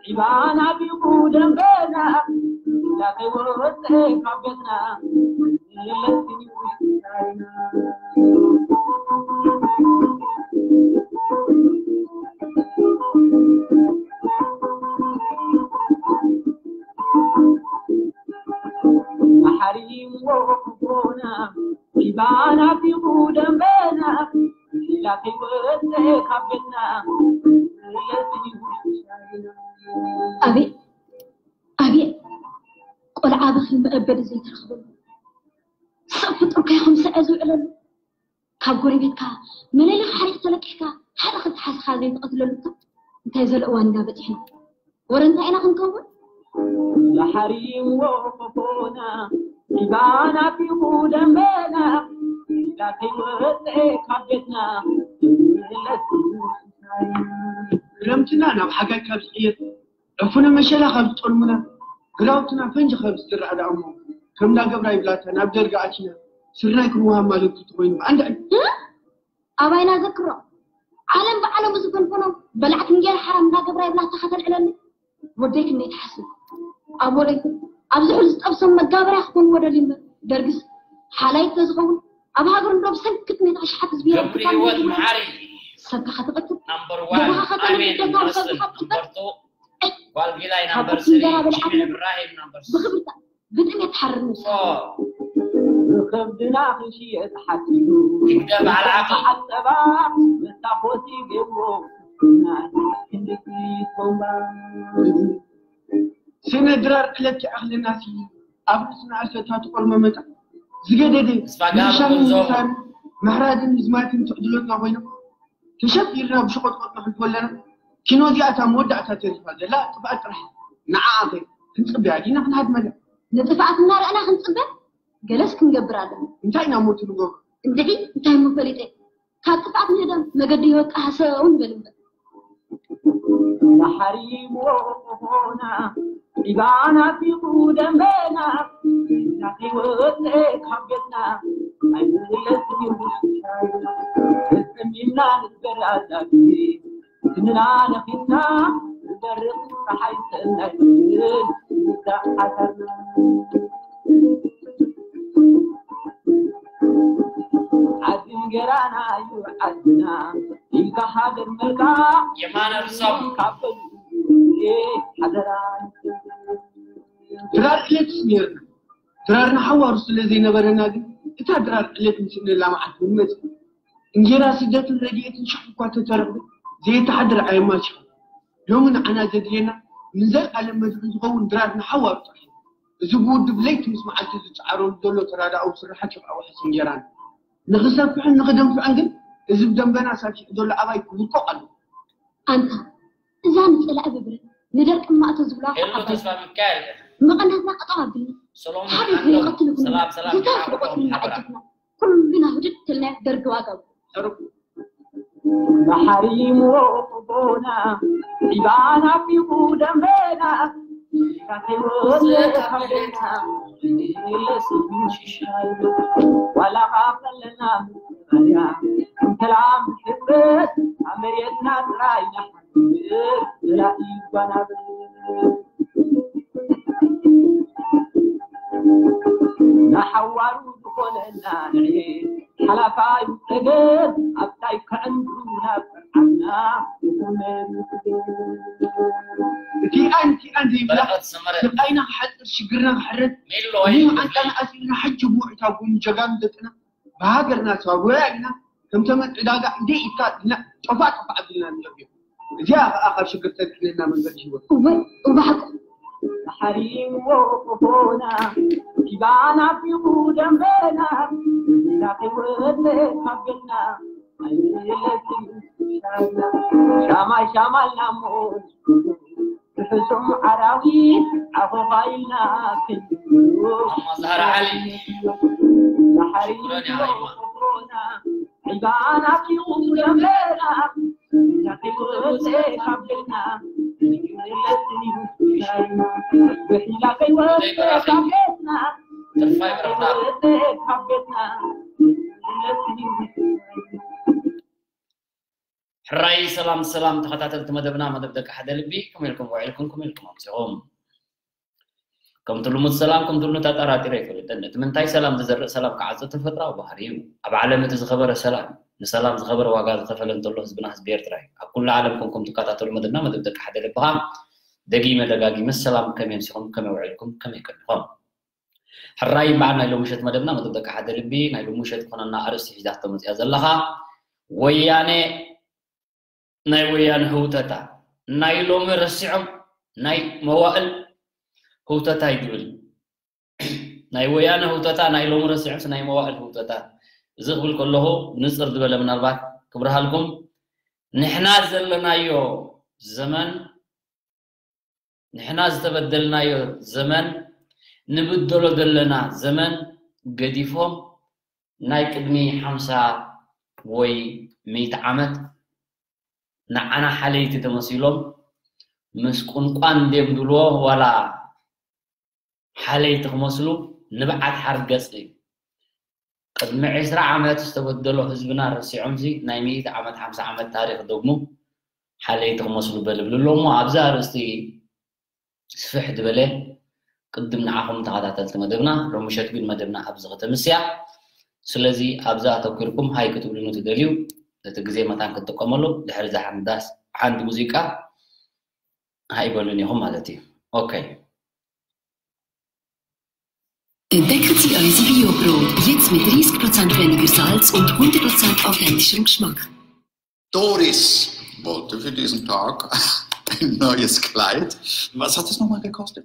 ዒባና ቢቑ ደንበና፣ ላኸይ ወፀ ካብ ቤትና፣ መለስኒ ውሽጣይና። ሓሪምዎ ክቦና፣ ዒባና ቢቑ ደንበና፣ ላኸይ ወፀ ካብ ቤትና፣ መለስኒ ውሽጣይና። ኣቤት ኣቤት፣ ቆልዓ ብኺ መእበዲ ዘይትረኽበሉ ሰብ ፍጡርካ ይኹን ስዐ ዝውዕለሉ። ካብ ጎረቤትካ መለለይ ሓሪቕ ተለቂሕካ ሓደ ክልተ ሓስኻ ዘይትቐትለሉ እካ እንታይ ዘሎ እዋን ኢና በፂሕና? ወረ እንታይ ኢና ክንከውን? ላሓሪምዎ ቆፎና፣ ዒባና ቢቑ ደንበና፣ ዒላ ከይወፀ ካብ ቤትና፣ ክረምትና ናብ ሓጋይ ካብ ዝቕየር፣ ዕፉነ መሸላ ካብ ዝጠልሙና፣ ግራውትና ፈንጂ ካብ ዝዝራእ ደኣ እሞ፣ ከም እንዳገብራ ይብላታ ናብ ደርጊ ኣቲና፣ ስርናይ ክንወሃብ ማለት እዩ ተኾይኑ። ኣንዳ እ? ኣባይና ዘክሮ፣ ዓለም ብዓለሙ ዝፈንፈኖ፣ በላዕቲ እንጌራ ሓራም እንዳገብራ ይብላታ ከተልዕለኒ። ወደይ ክንደይ ትሓስብ? ኣብ ወደይ፣ ኣብዚ ሕዚ ዝጠብሶም መጋበርያ ክኾኑ ወደል እምበር፣ ደርግስ ሓላይ ተዝኸውን፣ ኣብ ሃገሩ እንዶ ብሰንኪ ጥሜት ኣሽሓት ህዝቢ ገብሪ ይረብጣ ህይወት ነይሩ። መዓሪ ሰብካ ከተቐትል፣ ናምበር ዋን፣ ገዛኻ ከተብል፣ ኣሜን ደጋዊ ይመስል ሰብካ ትቕበል። ናምበር ቱ፣ ጓል ጊላይ ካብ ናምበር ስሪ፣ እንጀራ በሊዓ ጅሚዕ ትነብር። እብራሂም ናምበር ስሪ። ብኽብርታ ብጥሜት ትሓርር ነብስኻ። ኦ። ብኸብድና ክንሽየጥ ሓሲቡ። ይግደ በዓል ዓቕሊ። በዓል ጸባ መታኾሲ ገብሮ። ክንድቲ ቦምባ። ስነ ድራር ዕለት ይኣኽለና ሲ ኣብ ርእስና ኣሰታ ትቆርመመታ። ዝገደደ ተስፋ ጋር ምንሻን ጉዞ። ምሳን ምሕራድን ምዝማትን ትዕድሎትና ኮይና። ተሸፊርና ብሸቆጥቆጥ ነሕልፎ ኣለና። ኪኖ እዚኣ እታ መወዳእታ ተሪፋ ዘላ ጥፍኣት ጥራሕ። ንዓኣ ኸ ክንጽበያ ዲና ክንሃድመላ? ንጥፍኣት እናረኣና ክንጽበ ገለስ ክንገብር ኣለና። እንታይ ኢና ሞቱ ንገብሮ? እንድዒ እንታይ እሞ ፈሊጠ? ካብ ጥፍኣት ንህደም መገዲ ህይወት ከሃሰው ንበል እምበር። ናሓሪምዎ ኾኾና፣ ዒባና ቢቑ ደንበና፣ ናተይ ወፀ ካብ ቤትና፣ ኣይምለስን እዩ ውሽጣይ። ተፀሚምና ንግበር ኣዛግቢ፣ ስንና ነኺስና፣ ንበርቕ ፀሓይ ሰናይ፣ ንውዳእ ሓሳብና። ዓዲ እንጌራና እዩ ዓድና፣ ኢልካ ሃገር መልካ የማነ ርሶም። ካብ በሉ ሓደራ። ድራር ዕለትስ ነይርና። ድራርና ሓዋሩ ስለ ዘይነበረና ግን፣ እታ ድራር ዕለት ንስእነላ መዓልቲ እውን መጽእ። እንጌራ ስደትን ረድኤትን ሽሕ እኳ ተተረኽበ፣ ዘየተሓድር ኣየማችኻን። ሎሚ ንዓና ዘድልየና፣ ንዘልኣለም መድሕን ዝኸውን ድራር ንሓዋሩ ጥራሕ እዩ። እዚ ብውድብ ለይቲ ምስ መዓልቲ ዝጸዓረሉ ዘሎ ተራዳኣዊ ስርሓት እዩ ከኣ ዋሕስ እንጌራና። ንኽሰፍሕን ንኽደንፍዕን ግን፣ እዚ ብደንበና ሳፊሑ ዘሎ ኣባይ ክውድቆ ኣለዎ። ኣንታ፣ እዛ ንጸላኢ ብብረት፣ ንደርቂ እማእቶ ዝብላ ሄሎ፣ ዓባይ ተስፋ ሚካኤል። መቐነትና ጠጠው ኣቢልና፣ ሰሎሞን ሓሪፍ ዓንዶም። ዘይቐትል ይኹን፣ ሰላም፣ ሰላም፣ ዝተረፈ ዲና ቆጽሊ ዓንዶም፣ ሓበራ። እናዓጀብና፣ ኩልና ህድድ ተልና ደርጊ ዋጋ። ተረፉ። መሓሪምዎ ቦና፣ ዒባና ቢቑ ደንበና፣ ካተይ ወዘ ካበና፣ ዋላ ካፈለና መባርያ፣ እንተላም ዝሕበት፣ ኣብ መሬትና ጥራይ ንሓ- ንሓዋሩ ዝኾነና ንዕየ ሓላፋይ ጸገም ኣብታይ ከዕንዱ ናብ ዓድና ዝኾነ እቲ ኣንቲ ኣንቲ ይብላ በረኸት ሰመረ። ስቃይና ክሓጽር ሽግርና ክሕረድ ሜሎ ወይ? ምዓንጣና ኣሲርና ሕጂ ብውዕታ ጎኑ ጀጋኑ ደቅና ብሃገርና ተዋጉያ ኢና። ከም ተመን ዕዳጋ እንደ ኢድካ ኢልና ጠፋ ጠፋ ኣቢልና ንነብዮ። እዚኣ ኸኣ ካብ ሽግር ተድሕነና መንገዲ ህይወት። እወ፣ እወ ሓቁ። ሓሪምዎ ቆፎና፣ ኪባና ቢቑ ደንበና፣ እንዳኸይወፀ ካብ ቤትና፣ ኣይለትን ሻማ፣ ሻማ ኢልና እሞ ብሕሱም ኣራዊት ዓኾኻ ኢልና ክንብሎ። ኣማ ዛህራ ዓሊ። ባሕሪ ሽኮረን ያ ሃይማ። ዒባና ኪቑ ደንበና፣ ከይወፀ ካብ ቤትና፣ ብሒላ ከይወፀ ካብ ቤትና፣ ትርፋይ ብረኽታ። ከይወፀ ካብ ቤትና፣ ሕራይ ሰላም ሰላም ተኸታተልቲ መደብና፣ መደብ ደቂ ሓደ ልቢ፣ ከመይ ኢልኩም ውዒልኩም፣ ከመይ ኢልኩም ኣምሲኹም? ከምቲ ልሙድ ሰላም፣ ከምቲ ልሙድ ኣጠራጢረ ኣይፈልጥን። እቲ ምንታይ ሰላም ዝዘርእ ሰላም ክዓጽድ ተፈጥራዊ ባህሪ እዩ። ኣብ ዓለም እቲ ዝኸበረ ሰላም፣ ንሰላም ዝኸበረ ዋጋ ዝኸፈለ እንተሎ ህዝብና ህዝቢ ኤርትራ እዩ። ኣብ ኩሉ ዓለም ኮንኩም ትከታተሉ መደብና፣ መደብ ደቂ ሓደ ልቢ ኸኣ፣ ደጊመ ደጋጊመ ሰላም፣ ከመይ ኣምሲኹም፣ ከመይ ውዒልኩም፣ ከመይ ቀኒኹም? ሕራይ በዓል ናይ ሎሚ ምሸት መደብና፣ መደብ ደቂ ሓደ ልቢ፣ ናይ ሎሚ ምሸት ዝኾነና ኣርእስቲ ሒዛቶ መጽያ ዘለኻ፣ ወያነ ናይ ወያነ ህውተታ፣ ናይ ሎሚ ረሲዖም ናይ መዋእል ህውተታ እዩ ዝብል። ናይ ወያነ ህውተታ ናይ ሎሚ ረሲዖምስ ናይ መዋእል ህውተታ። እዚ ክብል ከለኹ ንጽር ዝበለ ምናልባት ክብርሃልኩም፣ ንሕና ዘለናዮ ዘመን፣ ንሕና ዝተበደልናዮ ዘመን፣ ንብደሎ ዘለና ዘመን ገዲፎም ናይ ቅድሚ ሓምሳ ወይ ሚእቲ ዓመት ንዓና ሓለይቲ ተመሲሎም ምስ ቁንቋን ድዮም ድልዎ ዋላ ሓለይቲ ክመስሉ ንብዓት ሓርገጽ እዩ። ቅድሚ ዕስራ ዓመት ዝተበደሎ ህዝብና ረሲዖምሲ ናይ ሚእቲ ዓመት ሓምሳ ዓመት ታሪኽ ደግሙ ሓለይቲ ክመስሉ በልብል ኣሎ። እሞ ኣብዚ ኣርእስቲ ስፍሕ ዝበለ ቅድም ንዓኹም ተኸታተልቲ መደብና፣ ሎሚ ምሸት ግን መደብና ኣብዚ ከተምስያ። ስለዚ ኣብዚ ኣተኲርኩም ሃይ ክትብሉኒ ትደልዩ፣ እቲ ግዜ መታን ክትጥቀመሉ፣ ድሕሪ እዛ ሓንዳስ ሓንቲ ሙዚቃ ሃይ በሉን ኢኹም ማለት እዩ። ኦኬ። Entdeckt Sie eure C P U-Brot, jetzt mit dreißig Prozent weniger Salz und hundert Prozent authentischem Geschmack. Doris wollte für diesen Tag ein neues Kleid. Was hat es nochmal gekostet?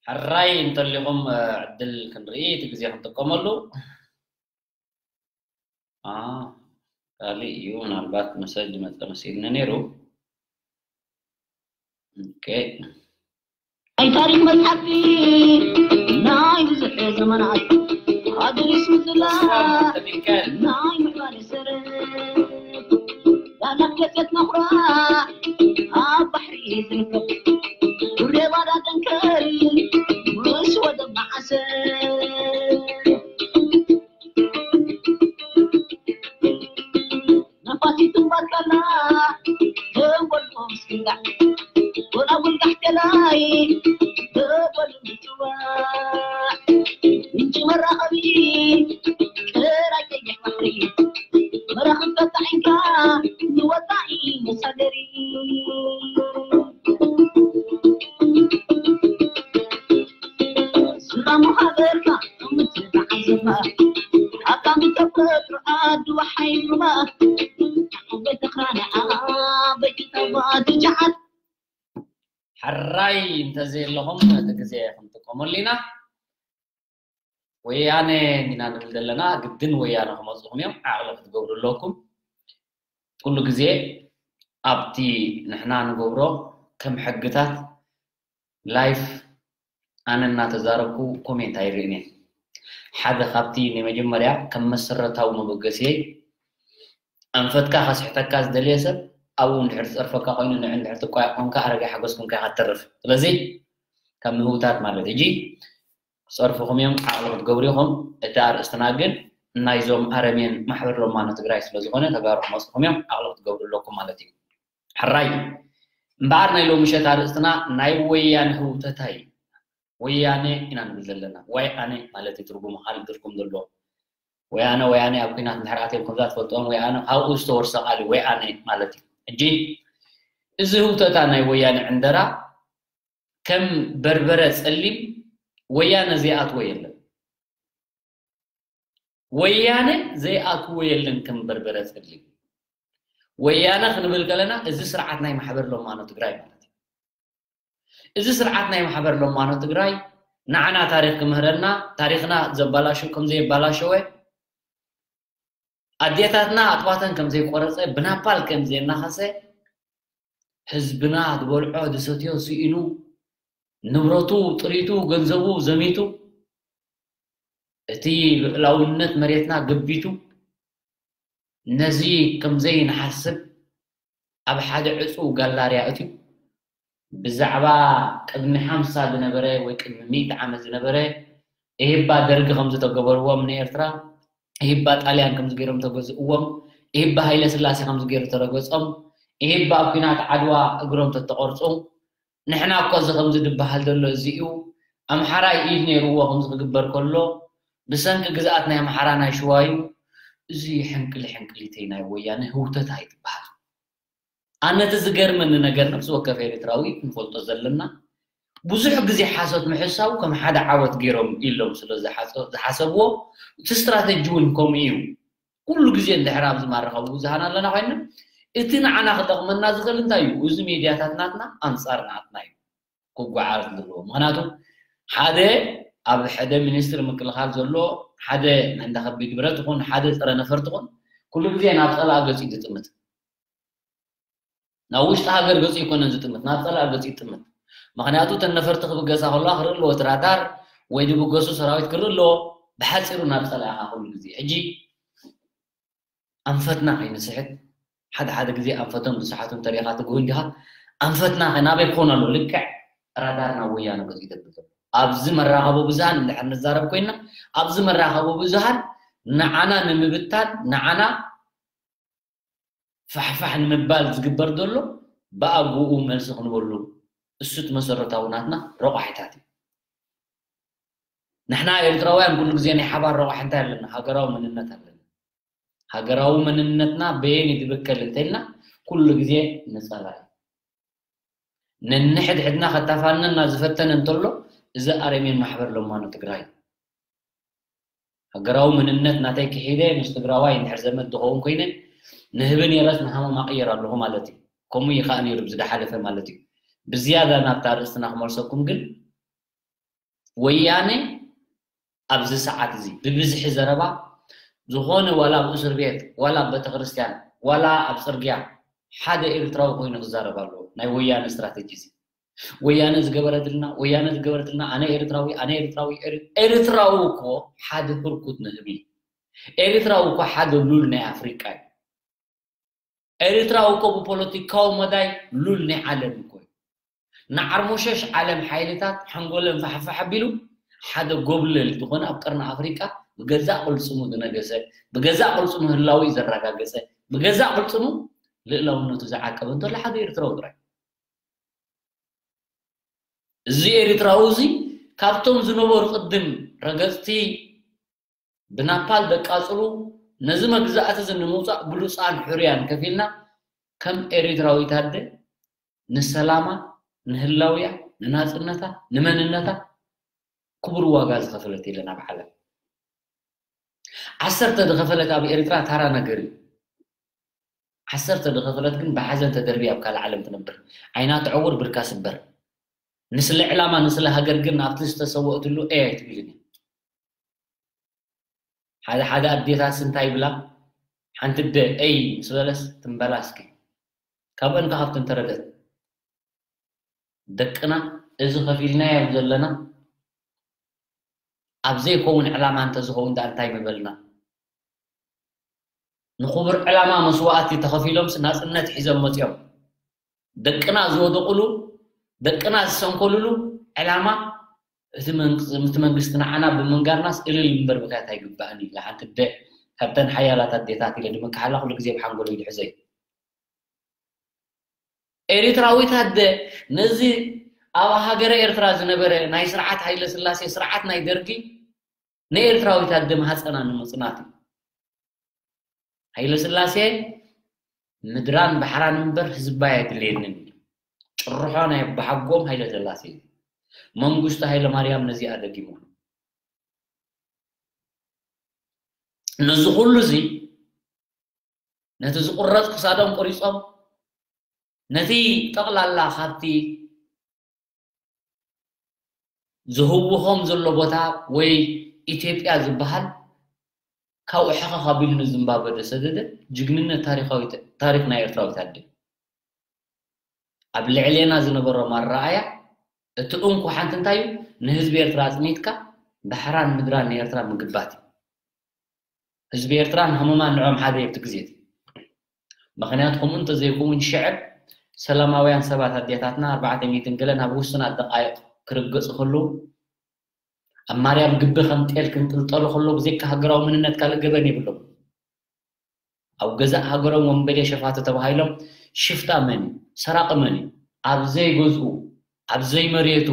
ሕራይ እንተሊኹም ዕድል ክንርኢ እቲ ግዜ ክንጥቀመሉ። ካሊእ እዩ፣ ምናልባት መሰጅ መፀ መሲልኒ ነይሩ። ኦኬ። ናይ ታሪኽ መጽሓፍቲ ናይ ብዙሕ ዘመናት ኣድሪስ ምዝላ ናይ ምዕባለ ሰረት ዳናት ደሴት መኹራ ኣብ ባሕሪ ዝርከብ ዱሬ ባዳ ደንከል ምስ ወደብ መዓሰር ነፋሲት እምባር ካላ ተንጎልጎ ምስግንዳዕ ጎላጉል ጋሕቴላይ ተጎሉ ምጽዋዕ ምንጪ መራኸቢ ጥራይ ቀይሕ ባሕሪ መራኽብ ተጣዒምካ ንወጻኢ መሳገሪ ስራሙ ሃገርካ ምትተዓዘባ ኣካሚ ተፈጥሮ ኣድዋ ሓይሉማ ቤተኽራና ቤተተባ ትጃዓት ሕራይ እንተዘየለኹም ነቲ ግዜ ክንጥቀመሉ ኢና። ወያነ ኢና ንብል ዘለና፣ ግድን ወያነ ክመፅኹም እዮም። ዓቕሊ ክትገብሩ ኣለኩም። ኩሉ ግዜ ኣብቲ ንሕና ንገብሮ ከም ሕግታት ላይፍ ኣነ እናተዛረብኩ ኮሜንት ኣይርእን እየ። ሓደ ካብቲ ናይ መጀመርያ ከም መሰረታዊ መበገሲየይ ኣንፈትካ ከስሕተካ ዝደልየ ሰብ ኣብኡ እንድሕር ዝፀርፈካ ኮይኑ ንዕ እንድሕር ትቋየቕ ኮንካ ኣረጋይ ሓጎስ ኮንካ ኢኻ ትተርፍ። ስለዚ ካብ ምህውታት ማለት ሕጂ ክፀርፍኹም እዮም ዓቕሊ ክትገብሩ ኢኹም። እቲ ኣርእስትና ግን ናይዞም ኣረሜን ማሕበር ሎማኖ ትግራይ ስለዝኾነ ተጋሩ ክመፅኹም እዮም ዓቕሊ ክትገብሩ ኣለኩም ማለት እዩ። ሕራይ እምበኣር ናይ ሎሚ ምሸት ኣርእስትና ናይ ወያነ ህውተታ እዩ። ወያነ ኢና ንብል ዘለና። ዋይ ኣነ ማለት እዩ ትርጉሙ ካልእ ትርጉም ዘለዎ። ወያነ ወያነ ኣብ ኲናት እንድሕር ኣትዮም ከምዛ ትፈልጥዎም ወያነ ካብኡ ዝተወርሰ ቃል እዩ ወያነ ማለት እዩ። ሕጂ እዚ ህውተታ ናይ ወያነ ዕንደራ ከም በርበረ ጸሊም ወያነ ዘይኣትዎ የለን። ወያነ ዘይኣትዎ የለን ከም በርበረ ጸሊም። ወያነ ክንብል ከለና እዚ ስርዓት ናይ ማሕበር ሎማኖ ትግራይ ማለት እዩ። እዚ ስርዓት ናይ ማሕበር ሎማኖ ትግራይ ንዓና ታሪኽ ክምህረና ታሪኽና ዘባላሸው ከም ዘየባላሸወ ኣዴታትና ኣጥባተን ከም ዘይቆረፀ ብናፓል ከም ዘየናኸሰ ህዝብና ዝበልዖ ዝሰትዮ ስኢኑ ንብረቱ ጥሪቱ ገንዘቡ ዘሚቱ እቲ ልኡላውነት መሬትና ገቢቱ ነዚ ከም ዘይንሓስብ ኣብ ሓደ ዕፁው ጋላርያ እትዩ ብዛዕባ ቅድሚ ሓምሳ ዝነበረ ወይ ቅድሚ ሚእቲ ዓመት ዝነበረ እህባ ደርጊ ከም ዝተገበርዎም ንኤርትራ እህባ ጣልያን ከም ዝገይሮም ተገዝእዎም እህባ ሃይለ ስላሴ ከም ዝገይሩ ተረገጾም እህባ ኣብ ኲናት ዓድዋ እግሮም ተተቆርጹ ንሕና እኮ እዚ ከምዚ ድበሃል ዘሎ እዚ እዩ ኣምሓራይ ኢድ ነይርዎ ከምዚ ክግበር ከሎ ብሰንኪ ግዝኣት ናይ ኣምሓራ ናይ ሽዋ እዩ እዚ ሕንቅሊ ሕንቅሊተይ ናይ ወያነ ህውተታ ይትበሃል ኣነቲ ዝገርመኒ ነገር ነፍሲ ወከፍ ኤርትራዊ ክንፈልጦ ዘለና ብዙሕ ግዜ ሓሶት ምሕሳቡ ከም ሓደ ዓወት ገይሮም ኢሎም ስለ ዝሓሰብዎ እቲ ስትራተጂ እውን ከምኡ እዩ ኩሉ ግዜ እንድሕር ኣብዚ ማረኸቡ ብዙሃን ኣለና ኮይና እቲ ንዓና ክጠቕመና ዝኽእል እንታይ እዩ እዚ ሚድያታት ናትና ኣንፃር ናትና እዩ ክጓዓዝ ዘለዎ ምክንያቱ ሓደ ኣብ ሕደ ሚኒስትሪ ምክልኻል ዘሎ ሓደ እንዳ ከቢድ ብረት ይኹን ሓደ ፀረ ነፈርቲ ይኹን ኩሉ ግዜ ናብ ፀላእ ገፂ ዝጥምት ናብ ውሽጢ ሃገር ገፂ ይኮነን ዝጥምት ናብ ፀላእ ገፂ ይጥምት ምክንያቱ እተን ነፈርቲ ክብገሳ ከለዋ ክርኢ ኣለዎ እቲ ራዳር ወይ ዝብገሱ ሰራዊት ክርኢ ኣለዎ ብሓፂሩ ናብ ፀላእኻ ኩሉ ግዜ ሕጂ ኣንፈትና ከይንስሕት ሓደ ሓደ ግዜ ኣንፈቶም ዝሰሓቱ እንተሪኢኻ ትግሁ እንዲኻ ኣንፈትና ናበይ ክኾን ኣለዎ ልክዕ ራዳር ናብ ወያነ ገፂ ይደብል ዘሎ ኣብዚ መራኸቢ ብዙሃን እንድሕር ንዛረብ ኮይና ኣብዚ መራኸቢ ብዙሃን ንዓና ንምብታን ንዓና ፋሕፋሕ ንምባል ዝግበር ዘሎ ብኣግኡ መልሲ ክንበሉ እሱ እቲ መሰረታዊ ናትና ረቋሒታት እዩ ንሕና ኤርትራውያን ኩሉ ግዜ ናይ ሓባር ረቋሒ እንታይ ኣለና ሃገራዊ መንነት ኣለና ሃገራዊ መንነትና በየን ይትብከል እንተልና ኩሉ ግዜ ንጸላኢ ነንሕድሕድና ከታፋነና ዝፈተነ እንተሎ እዚ ኣረሜን ማሕበር ለማኖ ትግራይ ሃገራዊ መንነት ናተይ ክሒደ ምስ ትግራዋይ እንድሕር ዘመድ ዝኸውን ኮይነ ንህቢ ነይረስ ንሃመማ ቅየር ኣለኹ ማለት እዩ። ከምኡ እዩ ከዓ ነይሩ ብዝደሓለፈ ማለት እዩ። ብዝያዳ ናብታ ኣርእስትና ክመልሰኩም ግን ወያነ ኣብዚ ሰዓት እዚ ብብዝሒ ዘረባ ዝኾነ ዋላ ኣብ እስር ቤት ዋላ ኣብ ቤተክርስትያን ዋላ ኣብ ፅርግያ ሓደ ኤርትራዊ ኮይኑ ክዛረብ ኣለዎ ናይ ወያነ ስትራተጂ እዚ ወያነ ዝገበረትልና፣ ወያነ ዝገበረትልና፣ ኣነ ኤርትራዊ፣ ኣነ ኤርትራዊ፣ ኤር-፣ ኤርትራዊ እኮ ሓደ ህርኩት ንህቢ። ኤርትራዊ እኮ ሓደ ሉል ናይ ኣፍሪቃ እዩ። ኤርትራዊ እኮ ብፖለቲካዊ መዳይ ሉል ናይ ዓለም እኮ እዩ። ንዓርሞሸሽ ዓለም ሓይልታት ሓንጎለን ፋሕፋሕ ኣቢሉ ሓደ ጎብለል ዝኾነ ኣብ ቀርኒ ኣፍሪቃ ብገዛእ ቅልጽሙ ዝነገሰ፣ ብገዛእ ቅልጽሙ ህላዊ ዘረጋገጸ፣ ብገዛእ ቅልጽሙ ልእላውነቱ ዝዓቀበ እንተሎ ሓደ ኤርትራዊ ጥራይ። እዚ ኤርትራዊ እዚ ካብቶም ዝነበሩ ቅድም ረገጽቲ ብናፓል ደቃጽሉ ነዚ መግዛእቲ እዚ ንምውጻእ ብሉጻን ሕሩያን ከፊልና ከም ኤርትራዊት ኣደ ንሰላማ፣ ንህላውያ፣ ንናጽነታ፣ ንመንነታ ክቡር ዋጋ ዝኸፈለት የለን ኣብ ዓለም። ዓሰርተ ዝኸፈለት ኣብ ኤርትራ ታራ ነገር እዩ። ዓሰርተ ዝኸፈለት ግን ብሓዘን ተደርብያ ኣብ ካልእ ዓለም ትነብር። ዓይና ትዕውር፣ ብርካ ስበር። ንስለ ዕላማ፣ ንስለ ሃገር ግን ኣብቲ ዝተሰወእትሉ እይ ኣይትብልን እያ። ሓደ ሓደ ኣዴታት እንታይ ይብላ? ሓንቲ ኣደ እይ ምስ በለስ ትንበላ እስኪ። ካብአን ከ ካብተን ተረደት። ደቅና እዚ ከፊልናዮም ዘለና ኣብ ዘይከውን ዕላማ እንተዝኸውን ደኣ እንታይ ምበልና? ንኽቡር ዕላማ መስዋእቲ ተኸፊሎምስ ናጽነት ሒዞም መጺኦም። ደቅና ዝወደቑሉ፣ ደቅና ዝሰንከሉሉ ዕላማ እቲ መንግ-፣ እቲ መንግስቲ ንዓና ብምንጋርናስ እልል እምበር ምኽያት ኣይግባእን እዩ። ሓንቲ ኣደ ካብተን ሓያላት ኣዴታት ኢለ ድምክሓላ ኩሉ ግዜ ብሓንጎለይ ድሕዘ እዩ። ኤርትራዊት ኣደ ነዚ ኣብ ሃገረ ኤርትራ ዝነበረ ናይ ስርዓት ሃይለ ስላሴ፣ ስርዓት ናይ ደርጊ፣ ንኤርትራዊት ኣደ ማህጸና ንምጽናት እዩ። ሃይለ ስላሴ ምድራን ባሕራን እምበር ህዝባይ ኣይድልየንን እዩ። ጭርሖ ናይ ኣባሓጎም ሃይለ ስላሴ እዩ። መንግስቱ ሃይለ ማርያም ነዚኣ ደጊሙ። ነዚ ኩሉ እዚ ነቲ ዝቁረጽ ክሳዶም ቆሪጾም፣ ነቲ ጠቕላላ ካብቲ ዝህውኾም ዘሎ ቦታ ወይ ኢትዮጵያ ዝበሃል ካብኡ ሕኸኽ ኣቢሉ ንዝምባብወ ዘሰደደ ጅግንነት ታሪኻዊ፣ ታሪኽ ናይ ኤርትራዊት ኣደ። ኣብ ልዕሌና ዝነበሮም ኣረኣእያ እቲ እንኮ ሓንቲ እንታይ እዩ? ንህዝቢ ኤርትራ ኣጽኒትካ ባሕራን ምድራን ንኤርትራ ምግባት እዩ። ህዝቢ ኤርትራን ሃመማን ንዖም ሓደ እዩ ኣብቲ ግዜ እቲ። ምኽንያቱ ከምኡ እንተዘይከውን ሽዕብ ሰላማውያን ሰባት ኣዴታትና ኣርባዕተ ሚእትን ገለ ናብ ውሱናት ደቃይቕ ክርገጹ ከለዉ ኣብ ማርያም ግቢ ከም ጤል ክንጥልጠሉ ከለዉ ብዘይካ ሃገራዊ መንነት ካልእ ገበን የብሎም። ኣብ ገዛእ ሃገሮም ወንበዴ ሸፋቱ ተባሂሎም ሽፍታ መን እዩ? ሰራቒ መን እዩ? ኣብ ዘይገዝኡ፣ ኣብ ዘይመሬቱ፣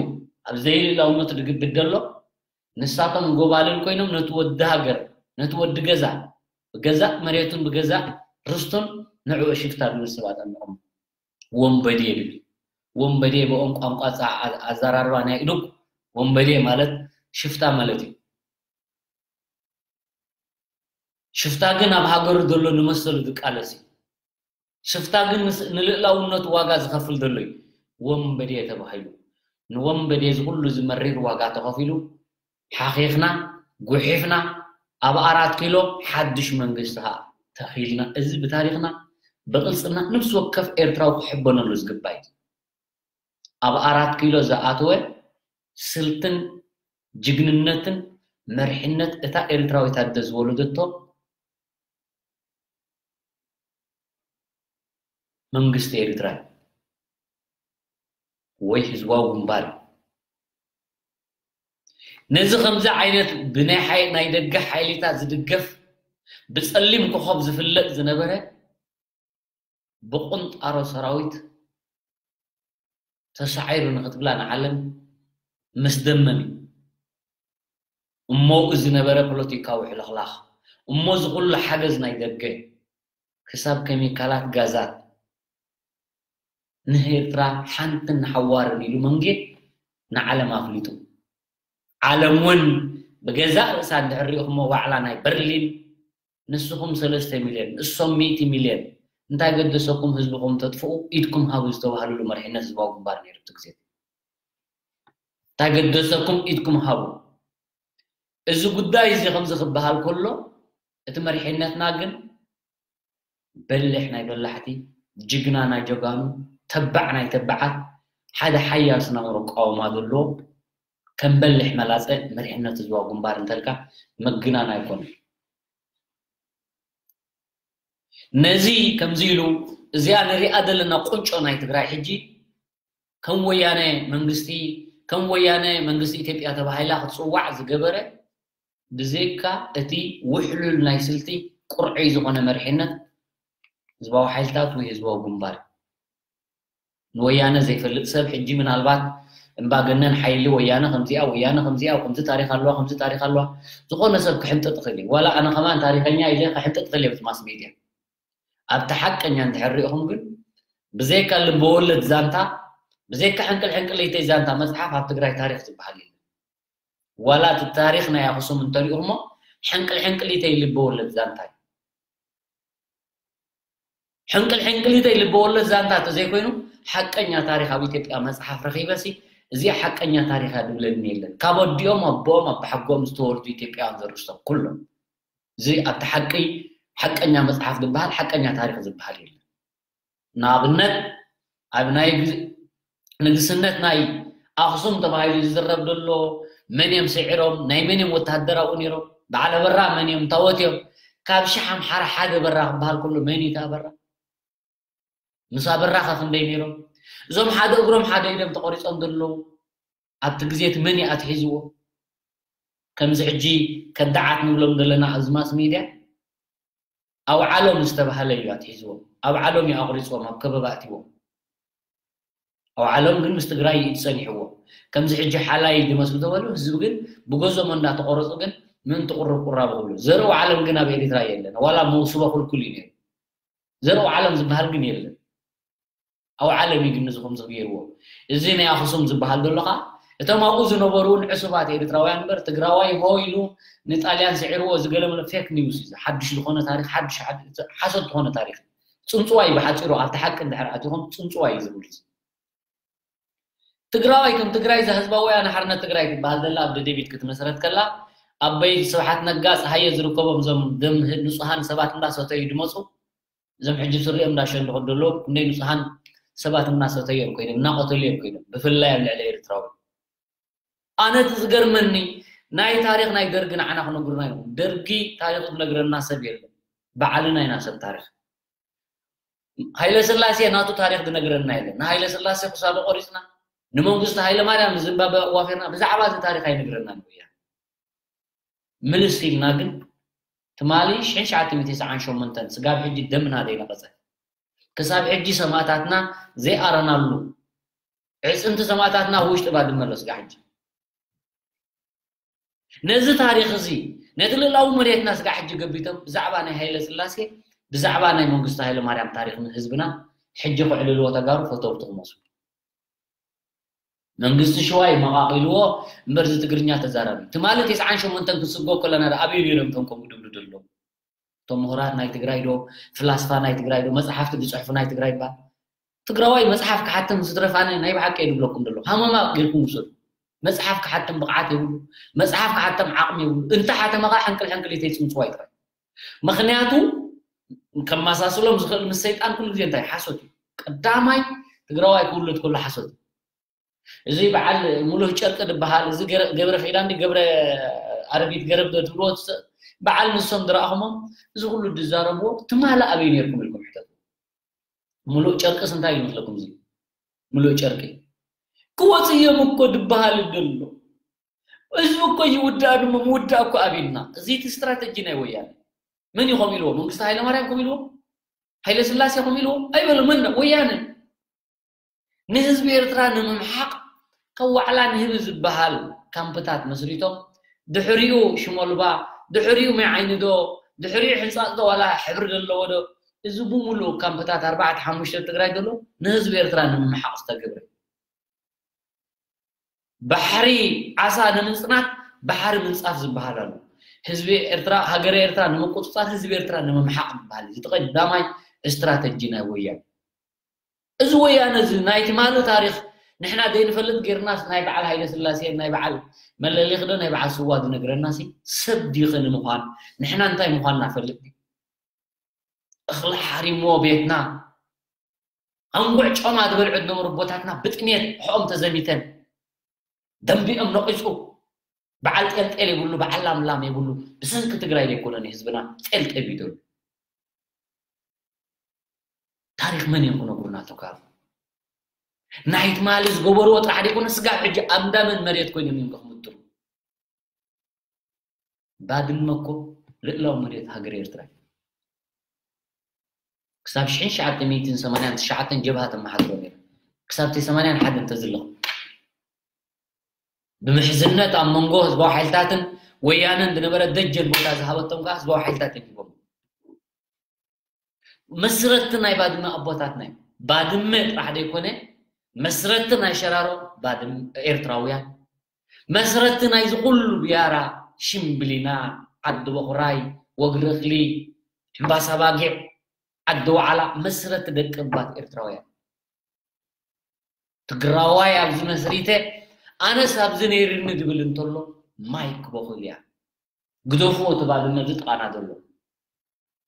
ኣብ ዘይልእላውነቱ ዝግብድ ዘሎ ንሳቶም ጎባልል ኮይኖም ነቲ ወዲ ሃገር፣ ነቲ ወዲ ገዛ፣ ብገዛእ መሬቱን ብገዛእ ርስቱን ንዕኡ ሽፍታ ዝብል ሰባት ኣሚቖም ወንበዴ ይብል። ወንበዴ ብኦም ቋንቋ ጻ-፣ ኣ-፣ ኣዘራርባ ናይ ኢሉግ ወንበዴ ማለት ሽፍታ ማለት እዩ። ሽፍታ ግን ኣብ ሃገሩ ዘሎ ንመሰሉ ዝቃለስ እዩ። ሽፍታ ግን ንስ-፣ ንልእላውነቱ ዋጋ ዝኸፍል ዘሎ እዩ። ወንበዴ ተባሂሉ። ንወንበዴ እዚ ኩሉ እዚ መሪር ዋጋ ተኸፊሉ፣ ሓኺኽና፣ ጉሒፍና፣ ኣብ ኣራት ኪሎ ሓድሽ መንግስቲ ኸኣ ተኺልና። እዚ ብታሪኽና፣ ብቕልጽና፣ ነፍሲ ወከፍ ኤርትራዊ ክሕበነሉ ዝግባእ እዩ። ኣብ ኣራት ኪሎ ዝኣተወ ስልትን ጅግንነትን መርሒነት እታ ኤርትራዊት ኣደ ዝወለደቶ መንግስቲ ኤርትራ ወይ ህዝባዊ ግንባር እዩ። ነዚ ከምዚ ዓይነት ብናይ ሓይ-፣ ናይ ደገ ሓይሊታት ዝድገፍ ብጸሊም ኮኾብ ዝፍለጥ ዝነበረ ብቁንጣሮ ሰራዊት ተሳዒሩ ንኽትብላ ንዓለም መስደመም እዩ። እሞኡ ዝነበረ ፖለቲካዊ ሕልኽላኽ፣ እሞ እዚ ኩሉ ሓገዝ ናይ ደገ፣ ክሳብ ኬሚካላት ጋዛት ንኤርትራ ሓንትን ንሓዋርን ኢሉ መንጌ ንዓለም ኣፍሊጡ። ዓለም እውን ብገዛእ ርእሳ እንድሕር ሪእኹሞ ዋዕላ ናይ በርሊን ንስኹም ሰለስተ ሚልዮን፣ ንሶም ሚእቲ ሚልዮን፣ እንታይ ገደሰኩም ህዝብኹም ተጥፍኡ፣ ኢድኩም ሃቡ ዝተባህልሉ መሪሕነት ህዝባዊ ግንባር ነይሩ እቲ ግዜ። እንታይ ገደሰኩም ኢድኩም ሃቡ። እዚ ጉዳይ እዚ ከምዚ ክበሃል ከሎ፣ እቲ መሪሕነትና ግን በሊሕ ናይ በላሕቲ፣ ጅግና ናይ ጀጋኑ፣ ተባዕ ናይ ተባዓት፣ ሓደ ሓያል ስነ ኣእምሮ ኣቃውማ ዘለዎ ከም በሊሕ መላጸ መሪሕነት ህዝባዊ ግንባር እንተልካ ምግናን ኣይኮነን። ነዚ ከምዚ ኢሉ እዚኣ ንሪኣ ዘለና ቁንጮ ናይ ትግራይ ሕጂ ከም ወያነ መንግስቲ ከም ወያነ መንግስቲ ኢትዮጵያ ተባሂላ ክትፅዋዕ ዝገበረ ብዘይካ እቲ ውሕሉል ናይ ስልቲ ቁርዐይ ዝኾነ መሪሕነት ህዝባዊ ሓይልታት ወይ ህዝባዊ ግንባር ንወያነ ዘይፈልጥ ሰብ ሕጂ ምናልባት እምባገነን ሓይሊ ወያነ ከምዚኣ ወያነ ከምዚኣ ከምዚ ታሪክ ኣለዋ ከምዚ ታሪክ ኣለዋ ዝኾነ ሰብ ክሕንጥጥ ይኽእል እዩ። ዋላ ኣነ ከማን ታሪከኛ ኢለ ክሕንጥጥ ይኽእል እየ ብቲ ማስ ሜድያ። ኣብቲ ሓቀኛ እንድሕር ሪኢኹም ግን ብዘይካ ልበወለድ ዛንታ ብዘይካ ሕንቅል ሕንቅሊተይ ዛንታ መፅሓፍ ኣብ ትግራይ ታሪክ ዝበሃል የለን። ዋላ እቲ ታሪክ ናይ ኣክሱም እንተሪእኹሞ ሕንቅል ሕንቅሊተይ ልበወለድ ዛንታ እዩ። ሕንቅል ሕንቅሊተይ ልበወለድ ዛንታ ተዘይኮይኑ ሓቀኛ ታሪክ ኣብ ኢትዮጵያ መፅሓፍ ረኺበሲ እዚኣ ሓቀኛ ታሪክ እያ ድብለኒ የለን። ካብ ኣዲኦም ኣቦኦም ኣባሓጎኦም ዝተወልዱ ኢትዮጵያውያን ዘርእስቶም ኩሎም እዚ ኣብቲ ሓቂ ሓቀኛ መፅሓፍ ዝበሃል ሓቀኛ ታሪክ ዝበሃል የለን። ንኣብነት ኣብ ናይ ንግስነት ናይ ኣክሱም ተባሂሉ ዝዝረብ ዘሎ መን እዮም ስዒሮም ናይ መን እዮም ወታደር ኣብኡ ነይሮም በዓል ኣበራ መን እዮም ታወት እዮም ካብ ሽሕ ኣምሓራ ሓደ በራ ክበሃል ከሎ መን እዩ እቲ ኣበራ ምስ ኣበራ ከ ክንደይ ነይሮም እዞም ሓደ እግሮም ሓደ ኢዶም ተቆሪፆም ዘለዉ ኣብቲ ግዜ እቲ መን እዩ ኣትሒዝዎ ከምዚ ሕጂ ከዳዓት ንብሎም ዘለና ኣብዚ ማስ ሚድያ ኣውዓሎም ዝተባሃለ እዩ ኣትሒዝዎም ኣውዓሎም እዩ ኣቑሪፅዎም ኣብ ከበባ ኣትይዎም ኣውዓሎም ግን ምስ ትግራይ እዩ ፀኒሕዎ ከምዚ ሕጂ ሓላይ ዝመስሉ ተበሉ ህዝቢ ግን ብገዞም እንዳተቆረፁ ግን ምእንቲ ቁርብ ቁራብ ክብሉ ዘርኢ ዓለም ግን ኣብ ኤሪትራ የለን ዋላ መውስቦ ክልኩል እዩ ነይሩ ዘርኢ ዓለም ዝበሃል ግን የለን ኣብ ዓለም እዩ ግን ንዝኹም ዝገይርዎ እዚ ናይ ኣክሱም ዝበሃል ዘሎ ከዓ እቶም ኣብኡ ዝነበሩ እውን ዕሱባት ኤርትራውያን እምበር ትግራዋይ ሆ ኢሉ ንጣልያን ስዒርዎ ዝገለመለ ፌክ ኒውስ እዩ ሓድሽ ዝኾነ ታሪክ ሓድሽ ሓሶት ዝኾነ ታሪክ ፅንፅዋይ ብሓፂሩ ኣብቲ ሓቂ እንድሕር ኣቲኹም ፅንፅዋይ እዩ ዝብል ትግራዋይ ከም ትግራይ እዛ ህዝባዊ ወያነ ሓርነት ትግራይ ትበሃል ዘላ ኣብ ደደቢት ክትመስረት ከላ ኣበይ ስብሓት ነጋ ፀሃየ ዝርከቦም እዞም ደም ንፁሃን ሰባት እንዳሰተዩ ድመፁ እዞም ሕጂ ስሪኦም እንዳሸንድኹ ደለዉ ክንደይ ንፁሃን ሰባት እናሰተዮም ኮይኖም እናቐተልዮም ኮይኖም ብፍላይ ኣብ ልዕሊ ኤርትራዊ ኣነ እቲ ዝገርመኒ ናይ ታሪክ ናይ ደርጊ ንዓና ክነግሩና ይኹም ደርጊ ታሪክ ዝነግረና ሰብ የለን ባዕልና ኢና ሰብ ታሪክ ሃይለ ስላሴ ናቱ ታሪክ ዝነግረና የለን ንሃይለ ስላሴ ክሳዶ ቆሪፅና ንመንግስቲ ሃይለ ማርያም ንዝምባበ ኣዋፊርና ብዛዕባ እዚ ታሪክ ኣይነግረና ንወያ ምልስ ኢልና ግን ትማሊ ሽሕን ትሽዓተ ሚእትን ተስዓን ሸሞንተን ስጋብ ሕጂ ደምና ዘይነቐፀ ክሳብ ሕጂ ሰማእታትና ዘይኣረናሉ ዕፅምቲ ሰማእታትና ኣብ ውሽጢ ባድመ ኣሎ ስጋ ሕጂ ነዚ ታሪክ እዚ ነቲ ልእላዊ መሬትና ስጋ ሕጂ ገቢቶም ብዛዕባ ናይ ሃይለ ስላሴ ብዛዕባ ናይ መንግስቲ ሃይለ ማርያም ታሪክ ህዝብና ሕጂ ክዕልልዎ ተጋሩ ፈተውቲ ክመስሉ መንግስቲ ሽዋ ይመቓቒልዎ እምበር እዚ ትግርኛ ተዛራቢ ትማሊ ተስዓን ሸሞንተን ክስጎ ከለና ኣበይ ነይሮም እቶም ከምኡ ድብሉ ዘለዉ እቶም ምሁራት ናይ ትግራይ ዶ ፍላስፋ ናይ ትግራይ ዶ መፅሓፍቲ ዝፅሕፉ ናይ ትግራይ ይበሃል ትግራዋይ መፅሓፍ ክሓትም ዝትረፋነ ናይ ብሓቂ የድብለኩም ዘሎ ሃመማ ጌርኩም ውሰዱ መፅሓፍ ክሓትም ብቕዓት የብሉ መፅሓፍ ክሓትም ዓቕሚ የብሉ እንተ ሓተመ ከዓ ሕንቅል ሕንቅሊተይ ፅምፅዋ ይጥራይ ምኽንያቱ ከመሳስሎም ዝኽእል ምስ ሰይጣን ኩሉ ግዜ እንታይ ሓሶት እዩ ቀዳማይ ትግራዋይ ክውለድ ከሎ ሓሶት እዩ እዚ በዓል ሙሉህ ጨርቂ ዝበሃል እዚ ገብረ ኪዳን ገብረ ኣረጊት ገረብ ትብልዎ በዓል ንሶም ዝረኣኹሞም እዚ ኩሉ ዝዛረብዎ ትማሊ ኣበይ ነርኩም ኢልኩም ሕተቱ ሙሉእ ጨርቅስ እንታይ ይመስለኩም እዚ ሙሉእ ጨርቂ ክወፅ እዮም እኮ ዝበሃል ደሎ ህዝቢ እኮ ይውዳእ ድማ ምውዳእ እኮ ኣብልና እዚ እቲ ስትራተጂ ናይ ወያነ መን እዩ ከምኡ ኢልዎ መንግስቲ ሃይለማርያም ከምኡ ኢልዎ ሃይለ ስላሴ ከምኡ ኢልዎ ኣይበሉ መን ወያነ ንህዝቢ ኤርትራ ንምምሓቕ ከዋዕላ ንህቢ ዝበሃል ካምፕታት መስሪቶም ድሕሪኡ ሽሞልባ ድሕሪኡ ማይ ዓይኒ ዶ ድሕሪኡ ሕንፃፅ ዶ ዋላ ሕብሪ ዘለዎ ዶ እዚ ብምሉእ ካምፕታት ኣርባዕተ ሓሙሽተ ትግራይ ዘሎ ንህዝቢ ኤርትራ ንምምሓቕ ዝተገብረ ባሕሪ ዓሳ ንምፅናት ባሕሪ ምንፃፍ ዝበሃል ኣሎ ህዝቢ ኤርትራ ሃገረ ኤርትራ ንምቁፅፃር ህዝቢ ኤርትራ ንምምሓቕ ዝበሃል እዚ ቀዳማይ ስትራተጂ ናይ ወያነ እዚ ወያነ እዚ ናይ ትማሊ ታሪክ ንሕና ዘይንፈልጥ ጌርናስ ናይ በዓል ሃይለ ስላሴ ናይ በዓል መለሊክ ዶ ናይ በዓል ስዋ ዝነግረና ሲ ሰብ ዲኸ ንምዃን ንሕና እንታይ ምዃንና ፈልጥ እኽሊ ሓሪሞ ቤትና ኣንጉዕ ጮማ ዝበልዑ ዝነበሩ ኣቦታትና ብጥሜት ሕኦም ተዘሚተን ደንቢኦም ነቒጹ። በዓል ጤልጤል የብሉ፣ በዓል ላምላም የብሉ። ብሰንኪ ትግራይ ዘይኮነን ህዝብና ጤልጤል እዩ ዘሎ። ታሪኽ መን እዮም ክነግሩና ተጋሩ? ናይ ትማሊ ዝገበርዎ ጥራሕ ደይኮነ ስጋብ ሕጂ ኣንዳመን መሬት ኮይኖም እዮም ክምድሩ። ባድመ እኮ ልእላዊ መሬት ሃገር ኤርትራ እዩ። ክሳብ ሽሕን ትሽዓተ ሚእትን ሰማንያን ትሽዓተን ጀብሃ ተመሓድሮ ነይራ። ክሳብ እቲ ሰማንያን ሓደን ተዝለኹ። ብምሕዝነት ኣብ መንጎ ህዝባዊ ሓይልታትን ወያነን ዝነበረ ደጀን ቦታ ዝሃበቶም ከዓ ህዝባዊ ሓይልታት እዮም ሂቦም። መስረትቲ ናይ ባድመ ኣቦታትና እዮም። ባድመ ጥራሕ ዘይኮነ መስረትቲ ናይ ሸራሮ ባድመ ኤርትራውያን፣ መስረትቲ ናይዚ ኩሉ ብያራ፣ ሽምብሊና፣ ዓዲ በኹራይ፣ ወግሪ እኽሊ፣ እምባሳ ባጊዕ፣ ዓዲ ዋዕላ መስረትቲ ደቂ ባት ኤርትራውያን። ትግራዋይ ኣብዚ መስሪተ ኣነስ ኣብዚ ነይርኒ ዝብል እንተሎ ማይክ በኹል እያ። ግደፍዎ እቲ ባድመ እዚ ጥቓና ዘሎ።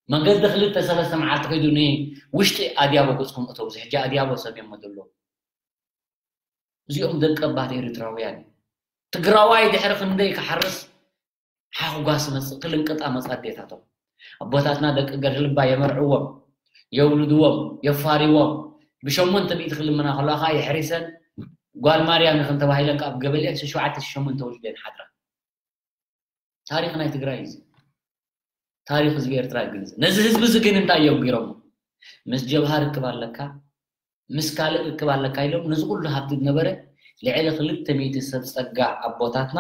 መንገዲ ክልተ ሰለስተ መዓልቲ ከይዱ ንውሽጢ ኣድያቦ ገጽኩም እተው። እዚ ሕጂ ኣድያቦ ሰብዮሞ ዘሎ። እዚኦም ደቂ ባት ኤርትራውያን እዮም። ትግራዋይ ድሕሪ ክንደይ ክሓርስ ሓኹጓስ መጽእ ክልንቅጣ መጽ ኣዴታቶም። ኣቦታትና ደቂ ገርህልባ የመርዕዎም፣ የውልድዎም፣ የፋርዎም። ብሸሞንተ ሚእቲ ክልምና ከለዋ ከዓ የሕሪሰን ጓል ማርያም ይኽን ተባሂለን ካብ ገበልኤን ሸውዓተ ሸሞንተ ወሊደን ሓድራ። ታሪኽ ናይ ትግራይ እዩ። ታሪኽ ህዝቢ ኤርትራ ይግንዘብ። ነዚ ህዝቢ እዚ ግን እንታይ እዮም ገይሮሞ? ምስ ጀብሃ ርክብ ኣለካ፣ ምስ ካልእ ርክብ ኣለካ ኢሎም ነዚ ኩሉ ሃብቲ ዝነበረ ልዕሊ ክልተ ሚእቲ ሰብ ጸጋ ኣቦታትና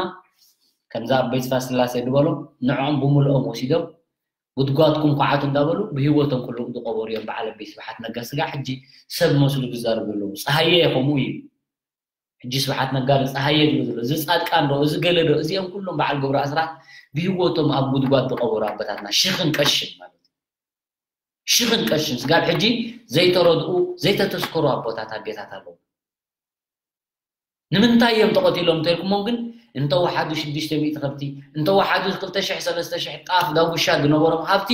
ከምዛ ኣቦይ ስብሐት ስላሴ ዝበሎ ንዕኦም ብምልኦም ወሲዶም ጉድጓድኩም ኳዓቱ እንዳበሉ ብህይወቶም ኩሎም ዝቐበሩ እዮም። በዓል ኣቦይ ስብሐት ነጋ ስጋዕ ሕጂ ሰብ መስሉ ዝዛረቡ ኣለዉ። ጸሃየ ከምኡ እዩ። ሕጂ ስብሓት ነጋ ዶ ጸሃየ ድዩ ዘሎ? እዚ ጻድቃን ዶ? እዚ ገለ ዶ? እዚኦም ኩሎም በዓል ገብሩ ኣስራት ብህይወቶም ኣብ ጉድጓድ ዝቐበሩ ኣቦታትና ሽኽን ቀሽን ማለት እዩ። ሽኽን ቀሽን ስጋብ ሕጂ ዘይተረድኡ ዘይተተስከሩ ኣቦታት ኣዴታት ኣለዉ። ንምንታይ እዮም ተቐቲሎም እንተልኩሞም ግን እንተወሓዱ ሽዱሽተ ሚእቲ ከብቲ እንተወሓዱ ክልተ ሽሕ ሰለስተ ሽሕ ጣፍ ዳጉሻ ዝነበሮም ሃብቲ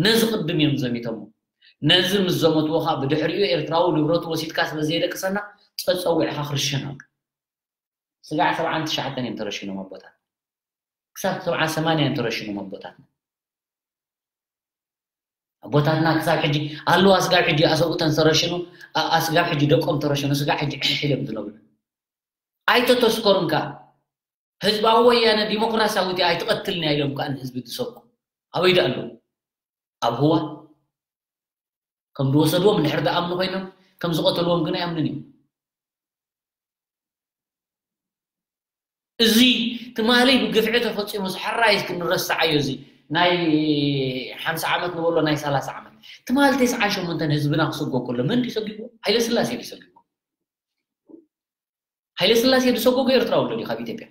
ነዚ ቅድም እዮም ዘሚቶሞ። ነዚ ምስ ዘመትዎ ኸኣ ብድሕሪኡ ኤርትራዊ ንብረቱ ወሲድካ ስለ ዘየደቅሰና ጸጸዊዕኻ ክርሸን ኣሎ። ስጋዕ ሰብዓን ትሽዓተን እዮም ተረሽኖም ኣቦታት። ክሳብ ሰብዓ ሰማንያ እዮም ተረሽኖም ኣቦታትና። ኣቦታትና ክሳብ ሕጂ ኣለዋ። ስጋብ ሕጂ ኣሰብኡተን ዝተረሽኑ፣ ኣ-፣ ኣ-፣ ስጋብ ሕጂ ደቆም ተረሽኑ፣ ስጋብ ሕጂ ዕሕ ኢሎም ዝነብሩ። ኣይተተስከሩን ከኣ። ህዝባዊ ወያነ ዲሞክራሲያዊት እያ ኣይትቐትልን እያ ኢሎም ከኣ ንህዝቢ ዝሰብኩ ኣበይ ደኣ ኣለዉ? ኣብ ህዋ ከም ዝወሰድዎም እንድሕር ዝኣምኑ ኮይኖም ከም ዝቐተልዎም ግን ኣይኣምኑን እዮም። እዚ ትማሊ ብግፍዒ ተፈጺሙ እዚ ሕራይ እስኪ ንረስዓዮ። እዚ ናይ ሓምሳ ዓመት ንበሎ ናይ ሰላሳ ዓመት ትማሊ ተስዓን ሸሞንተን ህዝብና ክሰጎ ከሎ መን ድዩ ሰጊዎ? ሃይለ ስላሴ ድዩ ሰጊዎ? ሃይለ ስላሴ ዝሰጎጎ ኤርትራዊ ኣሎ ድዩ ካብ ኢትዮጵያ?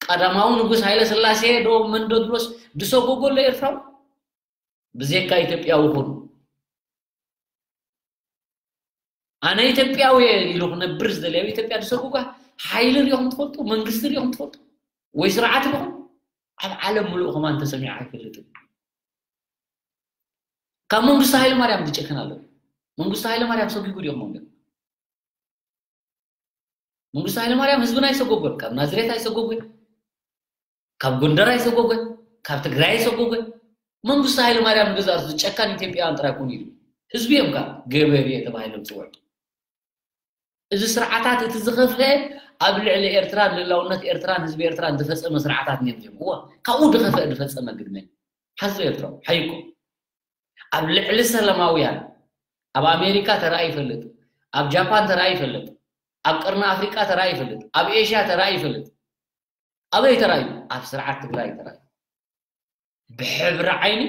ቀዳማዊ ንጉስ ሃይለ ስላሴ ዶ መን ዶ ድሮስ ዝሰጎጎ ኣሎ ኤርትራዊ? ብዘይካ ኢትዮጵያዊ ኩን። ኣነ ኢትዮጵያዊ እየ ኢሉ ክነብር ዝደሊ ኣብ ኢትዮጵያ ዝሰጉጋ ሓይሊ ሪኹም ትፈልጡ? መንግስቲ ሪኹም ትፈልጡ? ወይ ስርዓት ሪኹም? ኣብ ዓለም ምሉእ ከማን ተሰሚዑ ኣይፈልጥን። ካብ መንግስቱ ሃይለ ማርያም ዝጨክን ኣሎ? መንግስቱ ሃይለ ማርያም ሰጒጉ ድዮም መንገድ? መንግስቱ ሃይለ ማርያም ህዝብና ኣይሰጎጎን። ካብ ናዝሬት ኣይሰጎጎን። ካብ ጎንደር ኣይሰጎጎን። ካብ ትግራይ ኣይሰጎጎን። መንግስቱ ሃይለ ማርያም ንገዛእ ርእሱ ጨካን ኢትዮጵያውያን ጥራይ ኮን ኢሉ ህዝቢ እዮም ካብ ገበሬ ተባሂሎም ዝፅውዑ። እዚ ስርዓታት እቲ ዝኸፍአ ኣብ ልዕሊ ኤርትራን ልእላውነት ኤርትራን ህዝቢ ኤርትራን ዝፈፀመ ስርዓታት እዮም እዮም። እዋ ካብኡ ዝኸፍአ ዝፈፀመ ግድመ ሓዞ ኤርትራዊ ሓይኮ ኣብ ልዕሊ ሰላማውያን ኣብ ኣሜሪካ ተራእዩ ይፈልጥ፣ ኣብ ጃፓን ተራእዩ ይፈልጥ፣ ኣብ ቀርኒ ኣፍሪቃ ተራእዩ ይፈልጥ፣ ኣብ ኤሽያ ተራእዩ ይፈልጥ። ኣበይ ተራእዩ? ኣብ ስርዓት ትግራይ ተራእዩ። ብሕብሪ ዓይኒ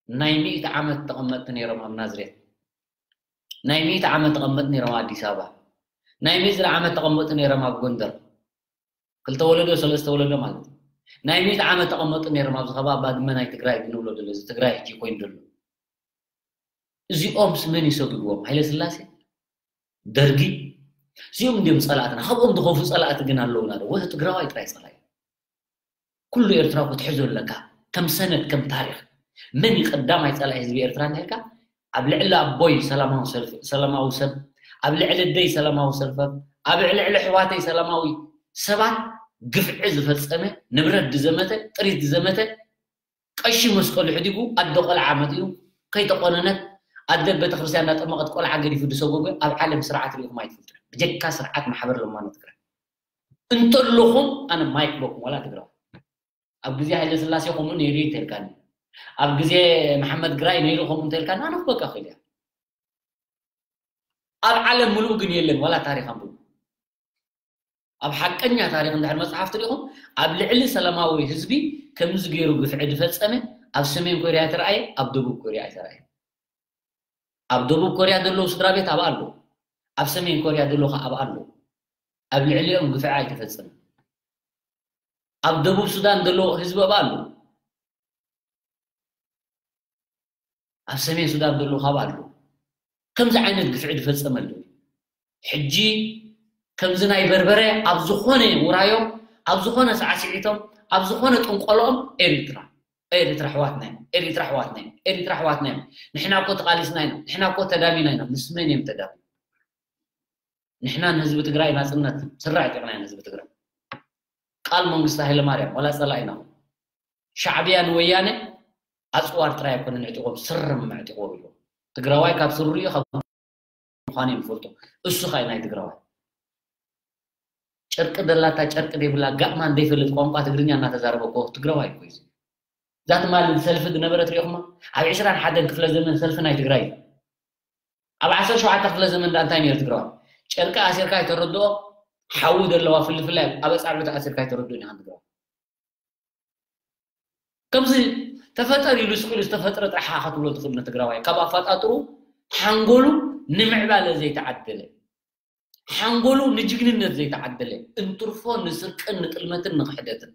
ናይ ሚእቲ ዓመት ተቐመጥቲ ነይሮም ኣብ ናዝሬት። ናይ ሚእቲ ዓመት ተቐመጥቲ ነይሮም ኣብ ኣዲስ ኣበባ። ናይ ሚእቲ ዓመት ተቐመጥቲ ነይሮም ኣብ ጎንደር። ክልተ ወለዶ ሰለስተ ወለዶ ማለት እዩ። ናይ ሚእቲ ዓመት ተቐመጡ ነይሮም ኣብዚ ከባቢ ባድመ ናይ ትግራይ ንብሎ ዘሎ እዚ ትግራይ ሕጂ ኮይኑ ዘሎ። እዚኦም ስመን ይሰግድዎም? ሃይለ ስላሴ፣ ደርጊ። እዚኦም እንዲዮም ጸላእትና። ካብኦም ዝኸፉ ጸላእቲ ግን ኣለውና ዶ? ወ ትግራዋይ ጥራይ ጸላኢ። ኩሉ ኤርትራ ክትሕዞ ኣለካ ከም ሰነድ ከም ታሪኽ። መን እዩ ቀዳማይ ጸላኢ ህዝቢ ኤርትራ እንተልካ፣ ኣብ ልዕሊ ኣቦይ ሰላማዊ ሰልፍ ሰላማዊ ሰብ፣ ኣብ ልዕሊ ኣደይ ሰላማዊ ሰልፈ፣ ኣብ ልዕሊ ኣሕዋተይ ሰላማዊ ሰባት ግፍዒ ዝፈጸመ፣ ንብረት ዝዘመተ፣ ጥሪት ዝዘመተ፣ ቀሺ መስቀሉ ሕዲጉ ኣደ ቆልዓ መጢኡ ከይተቆነነት፣ ኣደ ቤተክርስትያን እንዳጠመቐት ቆልዓ ገዲፉ ዝሰጎገ ኣብ ዓለም ስርዓት ሪኢኹም ኣይትፈልጡ። ብጀካ ስርዓት ማሕበር ለማኖ ትግራይ እንተለኹም ኣነ ማይክ በኩም ዋላ ትግራይ ኣብ ግዜ ሃይለ ስላሴ ከምኡ ነይሩ እንተልካኒ፣ ኣብ ግዜ መሓመድ ግራይ ነይሩ ከምኡ እንተልካኒ ኣነ ክበካ ክእል እያ። ኣብ ዓለም ምሉእ ግን የለን ዋላ ታሪኽ ኣንብቡ። ኣብ ሓቀኛ ታሪኽ እንድሕር መጽሓፍ ትሪኢኹም ኣብ ልዕሊ ሰላማዊ ህዝቢ ከምዚ ገይሩ ግፍዒ ዝፈጸመ ኣብ ሰሜን ኮርያ ተረኣየ፣ ኣብ ደቡብ ኮርያ ኣይተረኣየ። ኣብ ደቡብ ኮርያ ዘለዉ ስድራ ቤት ኣብ ኣሎ፣ ኣብ ሰሜን ኮርያ ዘሎ ከ ኣብ ኣሎ። ኣብ ልዕሊኦም ግፍዒ ኣይተፈጸመ። ኣብ ደቡብ ሱዳን ዘሎ ህዝቢ ኣብ ኣሎ። ኣብ ሰሜን ሱዳን ዘሎ ካብ ኣሎ። ከምዚ ዓይነት ግፍዒ ዝፈጸመሉ ሕጂ ከምዚ ናይ በርበረ ኣብ ዝኾነ ውራዮም ኣብ ዝኾነ ሳዕስዒቶም ኣብ ዝኾነ ጥንቆሎኦም ኤሪትራ ኤሪትራ ኣሕዋትና እዮም ኤሪትራ ኣሕዋትና እዮም ኤሪትራ ኣሕዋትና እዮም። ንሕና እኮ ተቓሊስና ኢና፣ ንሕና እኮ ተዳሚና ኢና። ምስ መን እዮም ተዳሚና? ንሕና ንህዝቢ ትግራይ ናጽነት ስረ ኣዕጢቕና ኢና። ህዝቢ ትግራይ ቃል መንግስቲ ሃይለማርያም ዋላ ጸላኢና ሻዕብያ ንወያነ ኣጽዋር ጥራይ ኣይኮነን ኣዕጢቖም ስርም ኣዕጢቕዎም ኢሉ። ትግራዋይ ካብ ስሩ እዩ ካብ ምዃኑ ይፈልጦ። እሱ ኸኣ ናይ ትግራዋይ ጨርቂ ደላታ ጨርቂ ደይብላ ጋእማን ዘይፈልጥ ቋንቋ ትግርኛ እናተዛረበ እኮ ትግራዋይ እኮ እዩ። እዛ ትማሊ ሰልፊ ዝነበረት ሪኢኹማ? ኣብ ዕስራን ሓደን ክፍለ ዘመን ሰልፊ ናይ ትግራይ እዩ። ኣብ ዓሰርተ ሸውዓተ ክፍለ ዘመን ዳ እንታይ ነይሩ ትግራዋይ? ጨርቂ ኣሲርካ ኣይተረድኦ፣ ሓዊ ዘለዋ ፍልፍላይ ኣብ ኣጻብዕቲ ኣሲርካ ኣይተረድኦ ኒኻ ትግራዋይ። ከምዚ ተፈጠር ኢሉ ስቕ ኢሉ ዝተፈጥረ ጥራሕ ክትብሎ ትኽእል ንትግራዋይ ካብ ኣፈጣጥሩ ሓንጎሉ ንምዕባለ ዘይተዓደለ ሓንጎሉ ንጅግንነት ዘይተዓደለ እንትርፎ ንስርቅን ንጥልመትን ንኽሕደትን።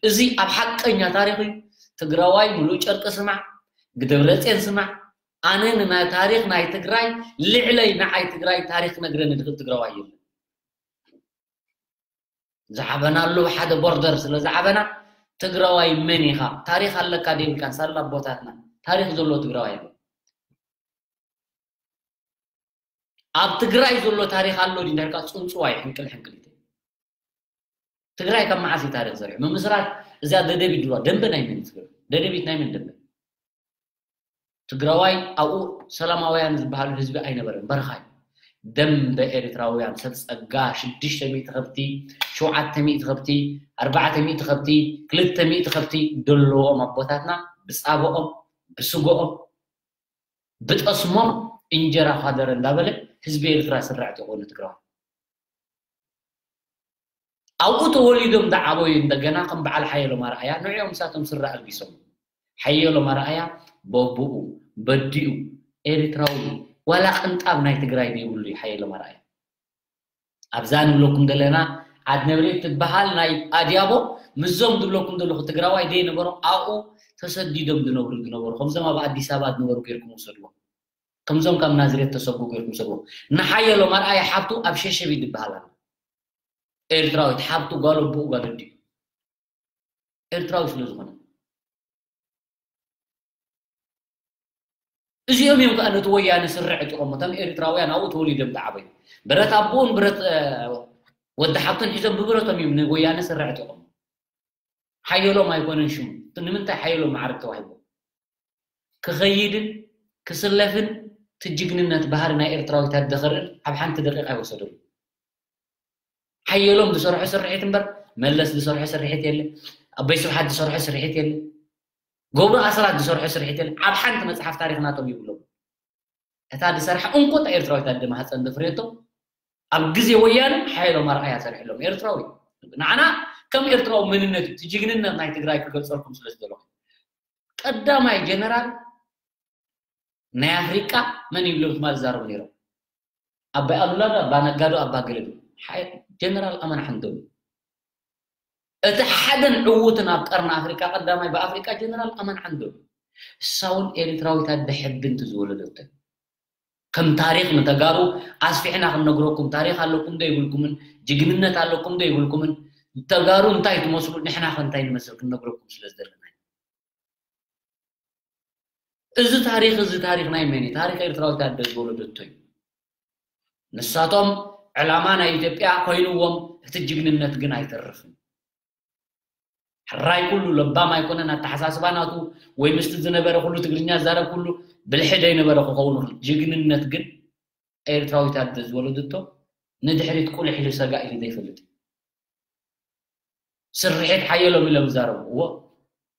እዚ ኣብ ሓቀኛ ታሪኽ እዩ። ትግራዋይ ሙሉእ ጨርቂ ስማዕ፣ ግደብረፅየን ስማዕ። ኣነ ንናይ ታሪኽ ናይ ትግራይ ልዕለይ ንዓይ ትግራይ ታሪኽ ክነግረኒ ዝኽእል ትግራዋይ የለን። ዝዓበናሉ ሓደ ቦርደር ስለ ዝዓበና ትግራዋይ መን ኢኻ ታሪኽ ኣለካ ደይብልካን ሳላ ኣቦታትና ታሪኽ ዘለዎ ትግራዋይ ኣሎ። ኣብ ትግራይ ዘሎ ታሪኽ ኣሎ ድዩ እንዳልካ ፅንፅዋይ ሕንቅል ሕንቅሊት። ትግራይ ካብ መዓስ እዩ ታሪኽ ዘሪሑ? ምምስራት እዚኣ ደደቢት ድዋ ደንበ ናይ መን እዩ ትግራይ? ደደቢት ናይ መን ደንበ? ትግራዋይ ኣብኡ ሰላማውያን ዝበሃሉ ህዝቢ ኣይነበረን፣ በረኻ እዩ። ደንበ ኤርትራውያን ሰብ ጸጋ ሽዱሽተ ሚእቲ ከብቲ፣ ሸውዓተ ሚእቲ ከብቲ፣ ኣርባዕተ ሚእቲ ከብቲ፣ ክልተ ሚእቲ ከብቲ ደለዎም ኣቦታትና ብጻብኦም ብስጎኦም ብጠስሞም እንጀራ ኳደረ እንዳበለ ህዝቢ ኤርትራ ስራዕ ተኾኑ ትግራዋይ ኣብኡ ተወሊዶም ዝዓበዩ እንደገና ከም በዓል ሓየሎም ኣርኣያ ንዕኦም ንሳቶም ስረ ኣልቢሶም ሓየሎም ኣርኣያ በቡኡ በዲኡ ኤርትራዊ ዋላ ቅንጣብ ናይ ትግራይ ዘይብሉ እዩ ሓየሎም ኣርኣያ ኣብዛ ንብለኩም ዘለና ዓድ ነብሬት ትበሃል ናይ ኣድያቦ ምዞም ዝብለኩም ዘለኹ ትግራዋይ ደይ ነበሮም ኣብኡ ተሰዲዶም ዝነብሩ ዝነበሩ ከምዞም ኣብ ኣዲስ ኣበባ ዝነበሩ ገይርኩም ውሰድዎም ከምዞም ካብ ናዝሬት ተሰጉ ገይርኩም ውሰድዎም ንሓየሎም ኣርኣያ ሓብቱ ኣብ ሸሸቢ ትበሃል ኣላ ኤርትራዊት ሓብቱ ጓል ኣቦኡ ጓል ኣዲኡ ኤርትራዊ ስለ ዝኾነ እዚኦም እዮም ከዓ ነቲ ወያነ ስረ ዕጢቖም እቶም ኤርትራውያን ኣብኡ ተወሊዶም ዝዓበዩ ብረት ኣቦኡን ብረት ወዲ ሓብቱን ሒዞም ብብረቶም እዮም ንወያነ ስረ ዕጢቖም ሓየሎም ኣይኮነን ሽሙ ንምንታይ ሓየሎም ማዕረግ ተዋሂቦ ክኸይድን ክስለፍን ትጅግንነት ባህሪ ናይ ኤርትራዊት ኣደ ክርእን ኣብ ሓንቲ ደቂቃ ኣይወሰደሉ ሓየሎም ዝሰርሖ ስርሒት እምበር መለስ ዝሰርሖ ስርሒት የለ ኣቦይ ስብሓት ዝሰርሖ ስርሒት የለ ገብሩ ኣስራት ዝሰርሖ ስርሒት የለ ኣብ ሓንቲ መፅሓፍ ታሪክ ናቶም ይብሎም እታ ዝሰርሓ እንኮ እታ ኤርትራዊት ኣደ ማህፀን ዘፍረየቶ ኣብ ግዜ ወያነ ሓየሎም ኣርኣያ ሰሪሕሎም ኤርትራዊ ንዓና ከም ኤርትራዊ መንነት እዩ እቲ ጅግንነት ናይ ትግራይ ክገልፀልኩም ስለ ዝደለኹ ቀዳማይ ጀነራል ናይ ኣፍሪቃ መን ይብሎም ትማል ዛረቡ ነይሮም ኣባይ ኣሉላ ዶ ኣባ ነጋ ዶ ኣባ ገለ ዶ ጀነራል ኣማን ሓንዶም እቲ ሓደን ዕዉትን ኣብ ቀርኒ ኣፍሪቃ ቀዳማይ ብኣፍሪቃ ጀነራል ኣማን ሓንዶም እሳ እውን ኤርትራዊት ኣደ ሕብንቲ ዝወለደቶ ከም ታሪክ ንተጋሩ ኣስፊሕና ክንነግረኩም ታሪክ ኣለኩም ዶ ይብልኩምን ጅግንነት ኣለኩም ዶ ይብልኩምን ተጋሩ እንታይ ትመስሉ ንሕና ከ እንታይ ንመስል ክንነግረኩም ስለ ዝደለና እዚ ታሪኽ እዚ ታሪኽ ናይ መን እዩ? ታሪኽ ኤርትራዊት ኣደ ዝወለደቶ እዩ። ንሳቶም ዕላማ ናይ ኢትዮጵያ ኮይንዎም እቲ ጅግንነት ግን ኣይተርፍን። ሕራይ ኩሉ ለባም ኣይኮነን ኣተሓሳስባ ናቱ ወይ ምስቲ ዝነበረ ኩሉ ትግርኛ ዛረብ ኩሉ ብልሒ ዘይነበረ ክኸውን ይኽእል። ጅግንነት ግን ኤርትራዊት ኣደ ዝወለደቶ ንድሕሪት ቁልሕ ኢሉ ሰጋእ ኢሉ ዘይፈልጥ እዩ። ስርሒት ሓየሎም ኢሎም ይዛረቡ። እዎ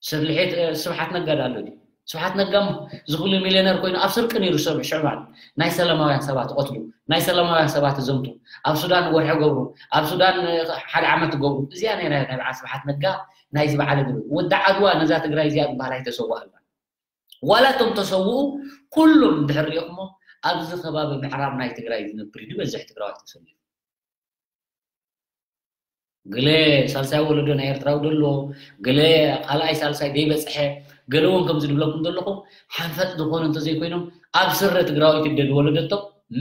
ስርሒት ስብሓት ነጋ ዳ ኣሎ ድዩ? ስብሓት ነጋ ዝኽሉ ሚልዮነር ኮይኑ ኣብ ስርቂ ነይሩ ሰብ ሽዕባን ናይ ሰላማውያን ሰባት ቐትሉ ናይ ሰላማውያን ሰባት ዘምቱ ኣብ ሱዳን ወርሒ ገብሩ ኣብ ሱዳን ሓደ ዓመት ገብሩ እዚኣ ነይራ ናይ በዓል ስብሓት ነጋ ናይዚ በዓል እግሪ ወዲ ዓድዋ ነዛ ትግራይ እዚኣ ዝበሃል ኣይተሰዋእላ ዋላ እቶም ተሰውኡ ኩሎም እንድሕር ሪእኹሞ ኣብዚ ከባቢ ምዕራብ ናይ ትግራይ ዝነብር እዩ ዝበዝሕ ትግራዋይ ተሰሊፉ ገለ ሳልሳይ ወለዶ ናይ ኤርትራዊ ደሎ ገለ ካልኣይ ሳልሳይ ዘይበፅሐ ገለ እውን ከምዚ ድብለኩም ዘለኹ ሓንፈጥ ዝኾኑ እንተዘይኮይኖም ኣብ ስረ ትግራዊት እደ ዝወለደቶ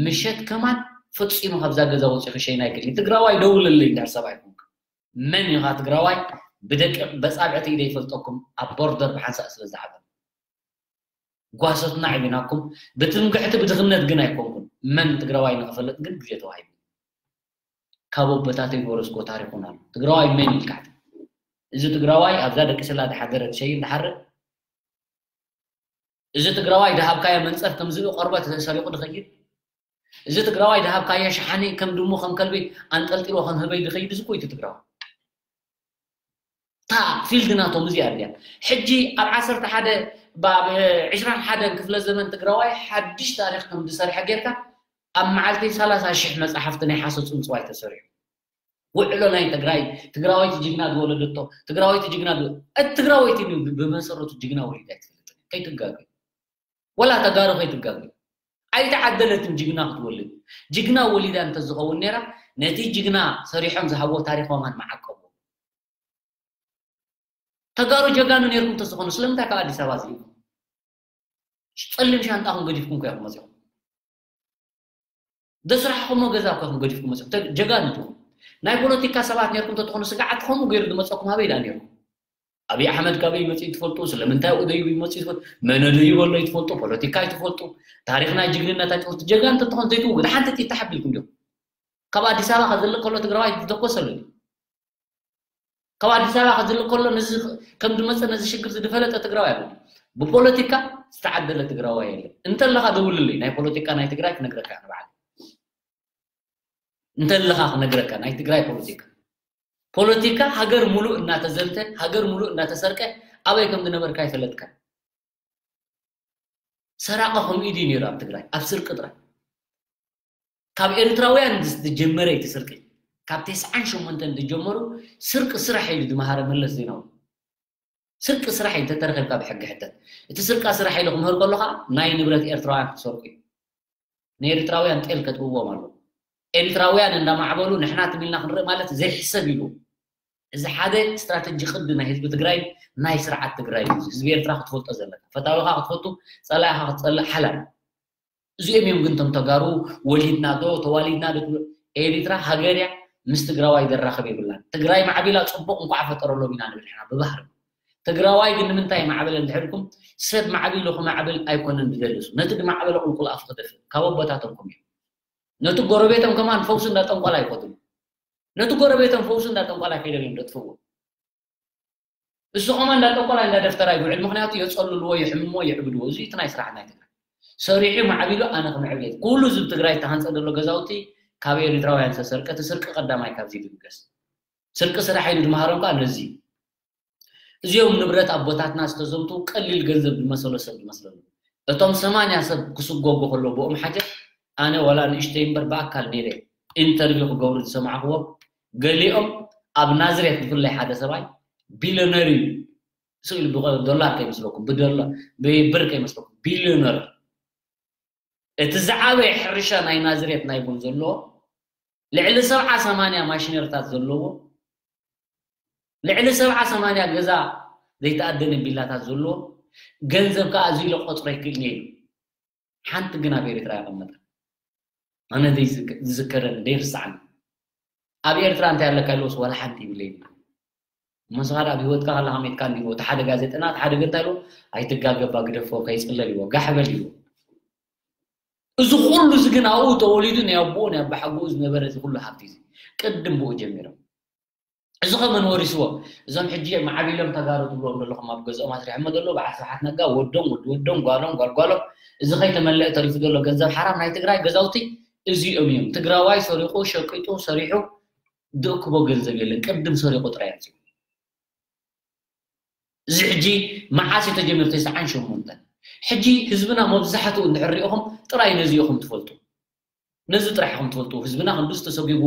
ምሸት ከማን ፈፂሙ ካብዛ ገዛ ወፂኹ ሸይና ኣይክእል ትግራዋይ ደውለለይ እንዳር ሰብኣይ ኮንካ መን ኢኻ ትግራዋይ ብደቂ በፃብዕቲ ኢደ ይፈልጠኩም ኣብ ቦርደር ብሓንሳእ ስለ ዝዓበ ጓሶትና ዕቢናኩም ብትምክሕቲ ብድኽነት ግን ኣይኮንኩን መን ትግራዋይ ንኽፈልጥ ግን ግዜ ተዋሂቡ ካብ ኣቦታተይ ዝወረስኮ ታሪኹን ኣሎ ትግራዋይ መን ኢልካ እዚ ትግራዋይ ኣብዛ ደቂ ስላ ዝሓደረ ትሸይን ዝሓርእ እዚ ትግራዋይ ዝሃብካዮ መንፀፍ ከም ዝብኢ ቆርበት ሰሪቑ ዝኸይድ እዚ ትግራዋይ ዝሃብካዮ ሸሓኒ ከም ድሙ ከም ከልቢ ኣንጠልጢሎ ከም ህበይ ዝኸይድ እዚ ኮይቲ ትግራዋይ እታ ፊልድ ናቶም እዚኣ ድያ ሕጂ ኣብ ዓሰርተ ሓደ ብ ዕስራን ሓደን ክፍለ ዘመን ትግራዋይ ሓድሽ ታሪክ ከም ዝሰርሐ ጌርካ ኣብ መዓልቲ ሰላሳ ሽሕ መፅሓፍቲ ናይ ሓሶት ፅምፅዋይ ተሰሪሑ ውዕሎ ናይ ትግራይ ትግራወይቲ ጅግና ዝወለደቶ ትግራወይቲ ጅግና እቲ ትግራወይቲ ብመሰረቱ ጅግና ወሊዳ ኣይትፈልጥን ከይትጋገ ወላ ተጋሩ ከይትጋገ ኣይተዓደለትን ጅግና ክትወልድ ጅግና ወሊዳ እንተዝኸውን ነራ ነቲ ጅግና ሰሪሖም ዝሃቦ ታሪክ ማን መዓቀቡ ተጋሩ ጀጋኑ ነርኩም ተዝኾኑ ስለምንታይ ካብ ኣዲስ ኣበባ ዝኢኹም ፀሊም ሻንጣኹም ገዲፍኩም ኮ ኢኹም መፂኹም ደስራሕኹሞ ገዛ ኮ ኢኹም ገዲፍኩም መፂኹም ጀጋኑ ኢኹም ናይ ፖለቲካ ሰባት ነርኩም ተትኾኑ ስግዓት ከምኡ ገይሩ ዝመፀኩም ኣበይ ዳ ነርኩም ኣብይ ኣሕመድ ካበይ መፅኡ ትፈልጡ ስለምንታይ ደዩ ይመፅኡ ትፈልጡ መነ ደዩ በሎ ይትፈልጡ ፖለቲካ ይትፈልጡ ታሪክ ናይ ጅግንነት ኣይትፈልጡ ጀጋኑ ተትኾኑ ዘይትውግድ ሓንቲ ጥይት ተሓቢልኩም ዲኹም ካብ ኣዲስ ኣበባ ካብ ዝልቅ ከሎ ትግራዋይ ዝተኮሰሉ ካብ ኣዲስ ኣበባ ካብ ዝልቅ ከሎ ነዚ ከም ዝመፀ ነዚ ሽግር ዝፈለጠ ትግራዋይ ኣሎ ብፖለቲካ ዝተዓደለ ትግራዋይ የለን እንተለካ ደውልለይ ናይ ፖለቲካ ናይ ትግራይ ክነግረካ ንባዕል እንተለካ ክነግረካ ናይ ትግራይ ፖለቲካ ፖለቲካ ሃገር ሙሉእ እናተዘምተ ሃገር ሙሉእ እናተሰርቀ ኣበይ ከም ዝነበርካ ይፈለጥካ ሰራቂ ከምኡ ኢዩ ነይሩ ኣብ ትግራይ ኣብ ስርቂ ጥራይ ካብ ኤርትራውያን ዝጀመረ እቲ ስርቂ ካብ ተስዓን ሸሞንተን ዝጀመሩ ስርቂ ስራሕ ኢሉ ዝመሃረ መለስ ዜናዊ ስርቂ ስራሕ ኢዩ እንተተረኺብካ ብሕጊ ሕተት እቲ ስርቃ ስራሕ ኢሉ ክምህር ከሎ ከዓ ናይ ንብረት ኤርትራውያን ክትሰርቁ እዩ ንኤርትራውያን ጤል ከጥብዎም ኣለዉ ኤርትራውያን እንዳማዕበሉ ንሕና ትም ኢልና ክንርኢ ማለት ዘይሕሰብ ኢሉ እዚ ሓደ ስትራተጂ ቅዲ ናይ ህዝቢ ትግራይ ናይ ስርዓት ትግራይ እዩ ህዝቢ ኤርትራ ክትፈልጦ ዘለካ ፈታዊካ ክትፈቱ ፀላኢካ ክትፀልእ ሓላል እዚኦም እዮም ግን ቶም ተጋሩ ወሊድና ዶ ተዋሊድና ዶ ትብሎ ኤርትራ ሃገር እያ ምስ ትግራዋይ ዘራኽብ የብላን ትግራይ ማዕቢላ ፅቡቅ እንኳዕ ፈጠረሎም ኢና ንብል ሕና ብባህሪ ትግራዋይ ግን ንምንታይ ማዕበለ እንድሕርኩም ሰብ ማዕቢሉ ክማዕብል ኣይኮነን ዝደልሱ ነቲ ዝማዕበለ ቁልቁል ኣፍ ክደፍእ ካብ ኣቦታቶም ኮም እዮም ነቲ ጎረቤቶም ከማን ፈውሲ እንዳጠንቋላ ይፈትሉ ነቲ ጎረቤቶም ፈውሲ እንዳጠንቋላ ከይዶም እዮም ዘጥፍዎ እሱ ከማን እንዳጠንቋላ እንዳደፍተራ ይውዕል ምክንያቱ የፀልልዎ የሕምሞ የዕብድዎ እዚ እቲ ናይ ስራሕ ናይ ትግራይ ሰሪሑ ማዕቢሉ ኣነ ክምዕብል ኩሉ ህዝቢ ትግራይ ተሃንፀ ዘሎ ገዛውቲ ካብ ኤርትራውያን ዝተሰርቀ እቲ ስርቂ ቀዳማይ ካብዚ ይብገስ ስርቂ ስራሕ ኢሉ ድመሃሮም ከዓ ነዚ እዚኦም ንብረት ኣቦታትና ዝተዘምቱ ቀሊል ገንዘብ ዝመሰሎ ሰብ ዝመስለሉ እቶም ሰማንያ ሰብ ክስጎጎ ከሎ ብኦም ሓጀት ኣነ ዋላ ንእሽተይ እምበር ብኣካል ነይረ ኢንተርቪው ክገብሩ ዝሰማዕክዎም ገሊኦም ኣብ ናዝሬት ብፍላይ ሓደ ሰብኣይ ቢልዮነር እዩ ስኢሉ ዶላር ከይመስለኩም ብዶላር ብብር ከይመስለኩም ቢልዮነር እቲ ዝዓበየ ሕርሻ ናይ ናዝሬት ናይ ቡን ዘለዎ ልዕሊ ሰብዓ ሰማንያ ማሽነሪታት ዘለዎ ልዕሊ ሰብዓ ሰማንያ ገዛ ዘይተኣደነ ቢላታት ዘለዎ ገንዘብ ከዓ ኣዝዩ ኢለ ቆፅሮ ይክእል ነይሩ ሓንቲ ግን ኣብ ኤርትራ ይቐመጠ ኣነ ዝዝከረኒ ዘይርስዓኒ ኣብ ኤርትራ እንታይ ኣለካ ኢልዎስ ዋላ ሓንቲ ይብለይ እሞ ንስኻ ደኣ ኣብ ህይወትካ ከለኻ ሜትካ እንዲዎ፣ እቲ ሓደ ጋዜጠና፣ እቲ ሓደ ገንታ ኢልዎ፣ "ኣይትጋገባ፣ ግደፎ፣ ከይጽለል" ኢልዎ፣ "ጋሕ በል" ኢልዎ። እዚ ኩሉ እዚ ግን ኣብኡ ተወሊዱ ናይ ኣቦኡ ናይ ኣባሓጎኡ ዝነበረ እዚ ኩሉ ሃብቲ እዚ ቅድም ብኡ ጀሚሮም። እዚ ከመን ወሪስዎ? እዞም ሕጂ ማዕቢሎም ተጋሩ ትብልዎም ዘለኹም ኣብ ገዝኦም ኣስሪሖሞ ዘለዉ በዓል ስብሓት ነጋ ወዶም፣ ወዲ ወዶም፣ ጓሎም፣ ጓል ጓሎም፣ እዚ ከይተመለአ ተሪፉ ዘሎ ገንዘብ ሓራም ናይ ትግራይ ገዛውቲ እዚኦም እዮም። ትግራዋይ ሰሪቑ፣ ሸቂጡ፣ ሰሪሑ ዝእክቦ ገንዘብ የለን። ቅድም ሰሪቑ ጥራይ ኣምፂኡ። እዚ ሕጂ መዓስ እዩ ተጀሚሩ? ተስዓን ሸሞንተን። ሕጂ ህዝብና መብዛሕትኡ እንድሕር ሪኢኹም ጥራይ ነዚ ኢኹም ትፈልጡ። ነዚ ጥራሕ ኢኹም ትፈልጡ። ህዝብና ክንዱስ ተሰጒጉ፣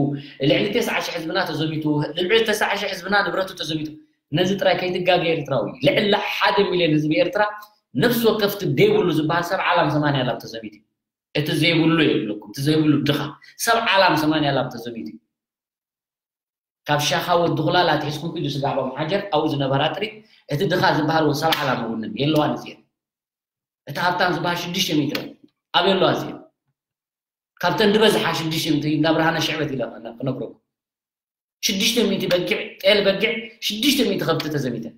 ልዕሊ ተስዓ ሺሕ ህዝብና ተዘሚቱ፣ ልዕሊ ተስዓ ሺሕ ህዝብና ንብረቱ ተዘሚቱ። ነዚ ጥራይ ከይትጋገ ኤርትራዊ። ልዕሊ ሓደ ሚልዮን ህዝቢ ኤርትራ ነፍሲ ወከፍቲ ደይብሉ ዝበሃል ሰብ ዓላም ሰማንያ ላብ ተዘሚቱ። እቲ ዘይብሉ የብለኩም፣ እቲ ዘይብሉ ድኻ። ሰብ ዓላም ሰማንያ ላብ ተዘሚቱ። ካብ ሻኻ ወዲ ኹላላ ኣትሒዝኩም ኪዱ ስጋዕ ባም ሓጀር ኣብኡ ዝነበራ ጥሪት፣ እቲ ድኻ ዝበሃል እውን ሰብ ዓላም እውን የለዋን እዚኤን። እቲ ሃብታም ዝበሃል ሽዱሽተ ሚእቲ እየን። ኣበይ ኣለዋ እዚኤን? ካብተን ዝበዝሓ ሽዱሽተ ሚእቲ እንዳ ብርሃነ ሽዕበት ኢለ ክነ-፣ ክነግረኩም። ሽዱሽተ ሚእቲ በጊዕ፣ ጤል በጊዕ፣ ሽዱሽተ ሚእቲ ከብቲ ተዘሚተን።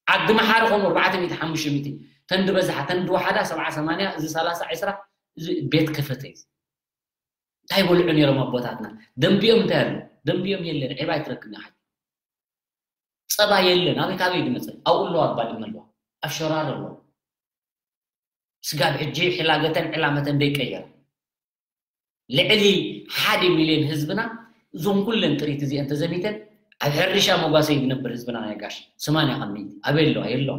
ዓዲ መሓሪ ከምኡ ኣርባዕተ ሚእቲ፣ ሓሙሽተ ሚእቲ። ተን ዝበዝሓ፣ ተን ዝወሓዳ ሰብዓ ሰማንያ፣ እዚ ሰላሳ ዒስራ፣ እዚ ቤት ከፈተ እዩ። እንታይ በልዑ ነይሮም ኣቦታትና? ደንቢኦም እንታይ ኣሎ? ደንቢኦም የለን። ዒባ ኣይትረክብን ኢኻ። ጸባ የለን። ኣበይ ካበይ ድመጸ? ኣብኡ ኣለዋ፣ ኣብ ባድመ ኣለዋ፣ ኣብ ሸራሮ ኣለዋ። ስጋብ ሕጂ ሕላገተን ዕላመተን ደይቀየራ። ልዕሊ ሓደ ሚልዮን ህዝብና እዞም ኩለን ጥሪት እዚአን ተዘሚተን ኣብ ሕርሻ መጓሰ እዩ ዝነብር ህዝብና ናይ ጋሽ። ሰማንያ ካብ ሚእቲ ኣበይ ኣለዋ? የለዋ።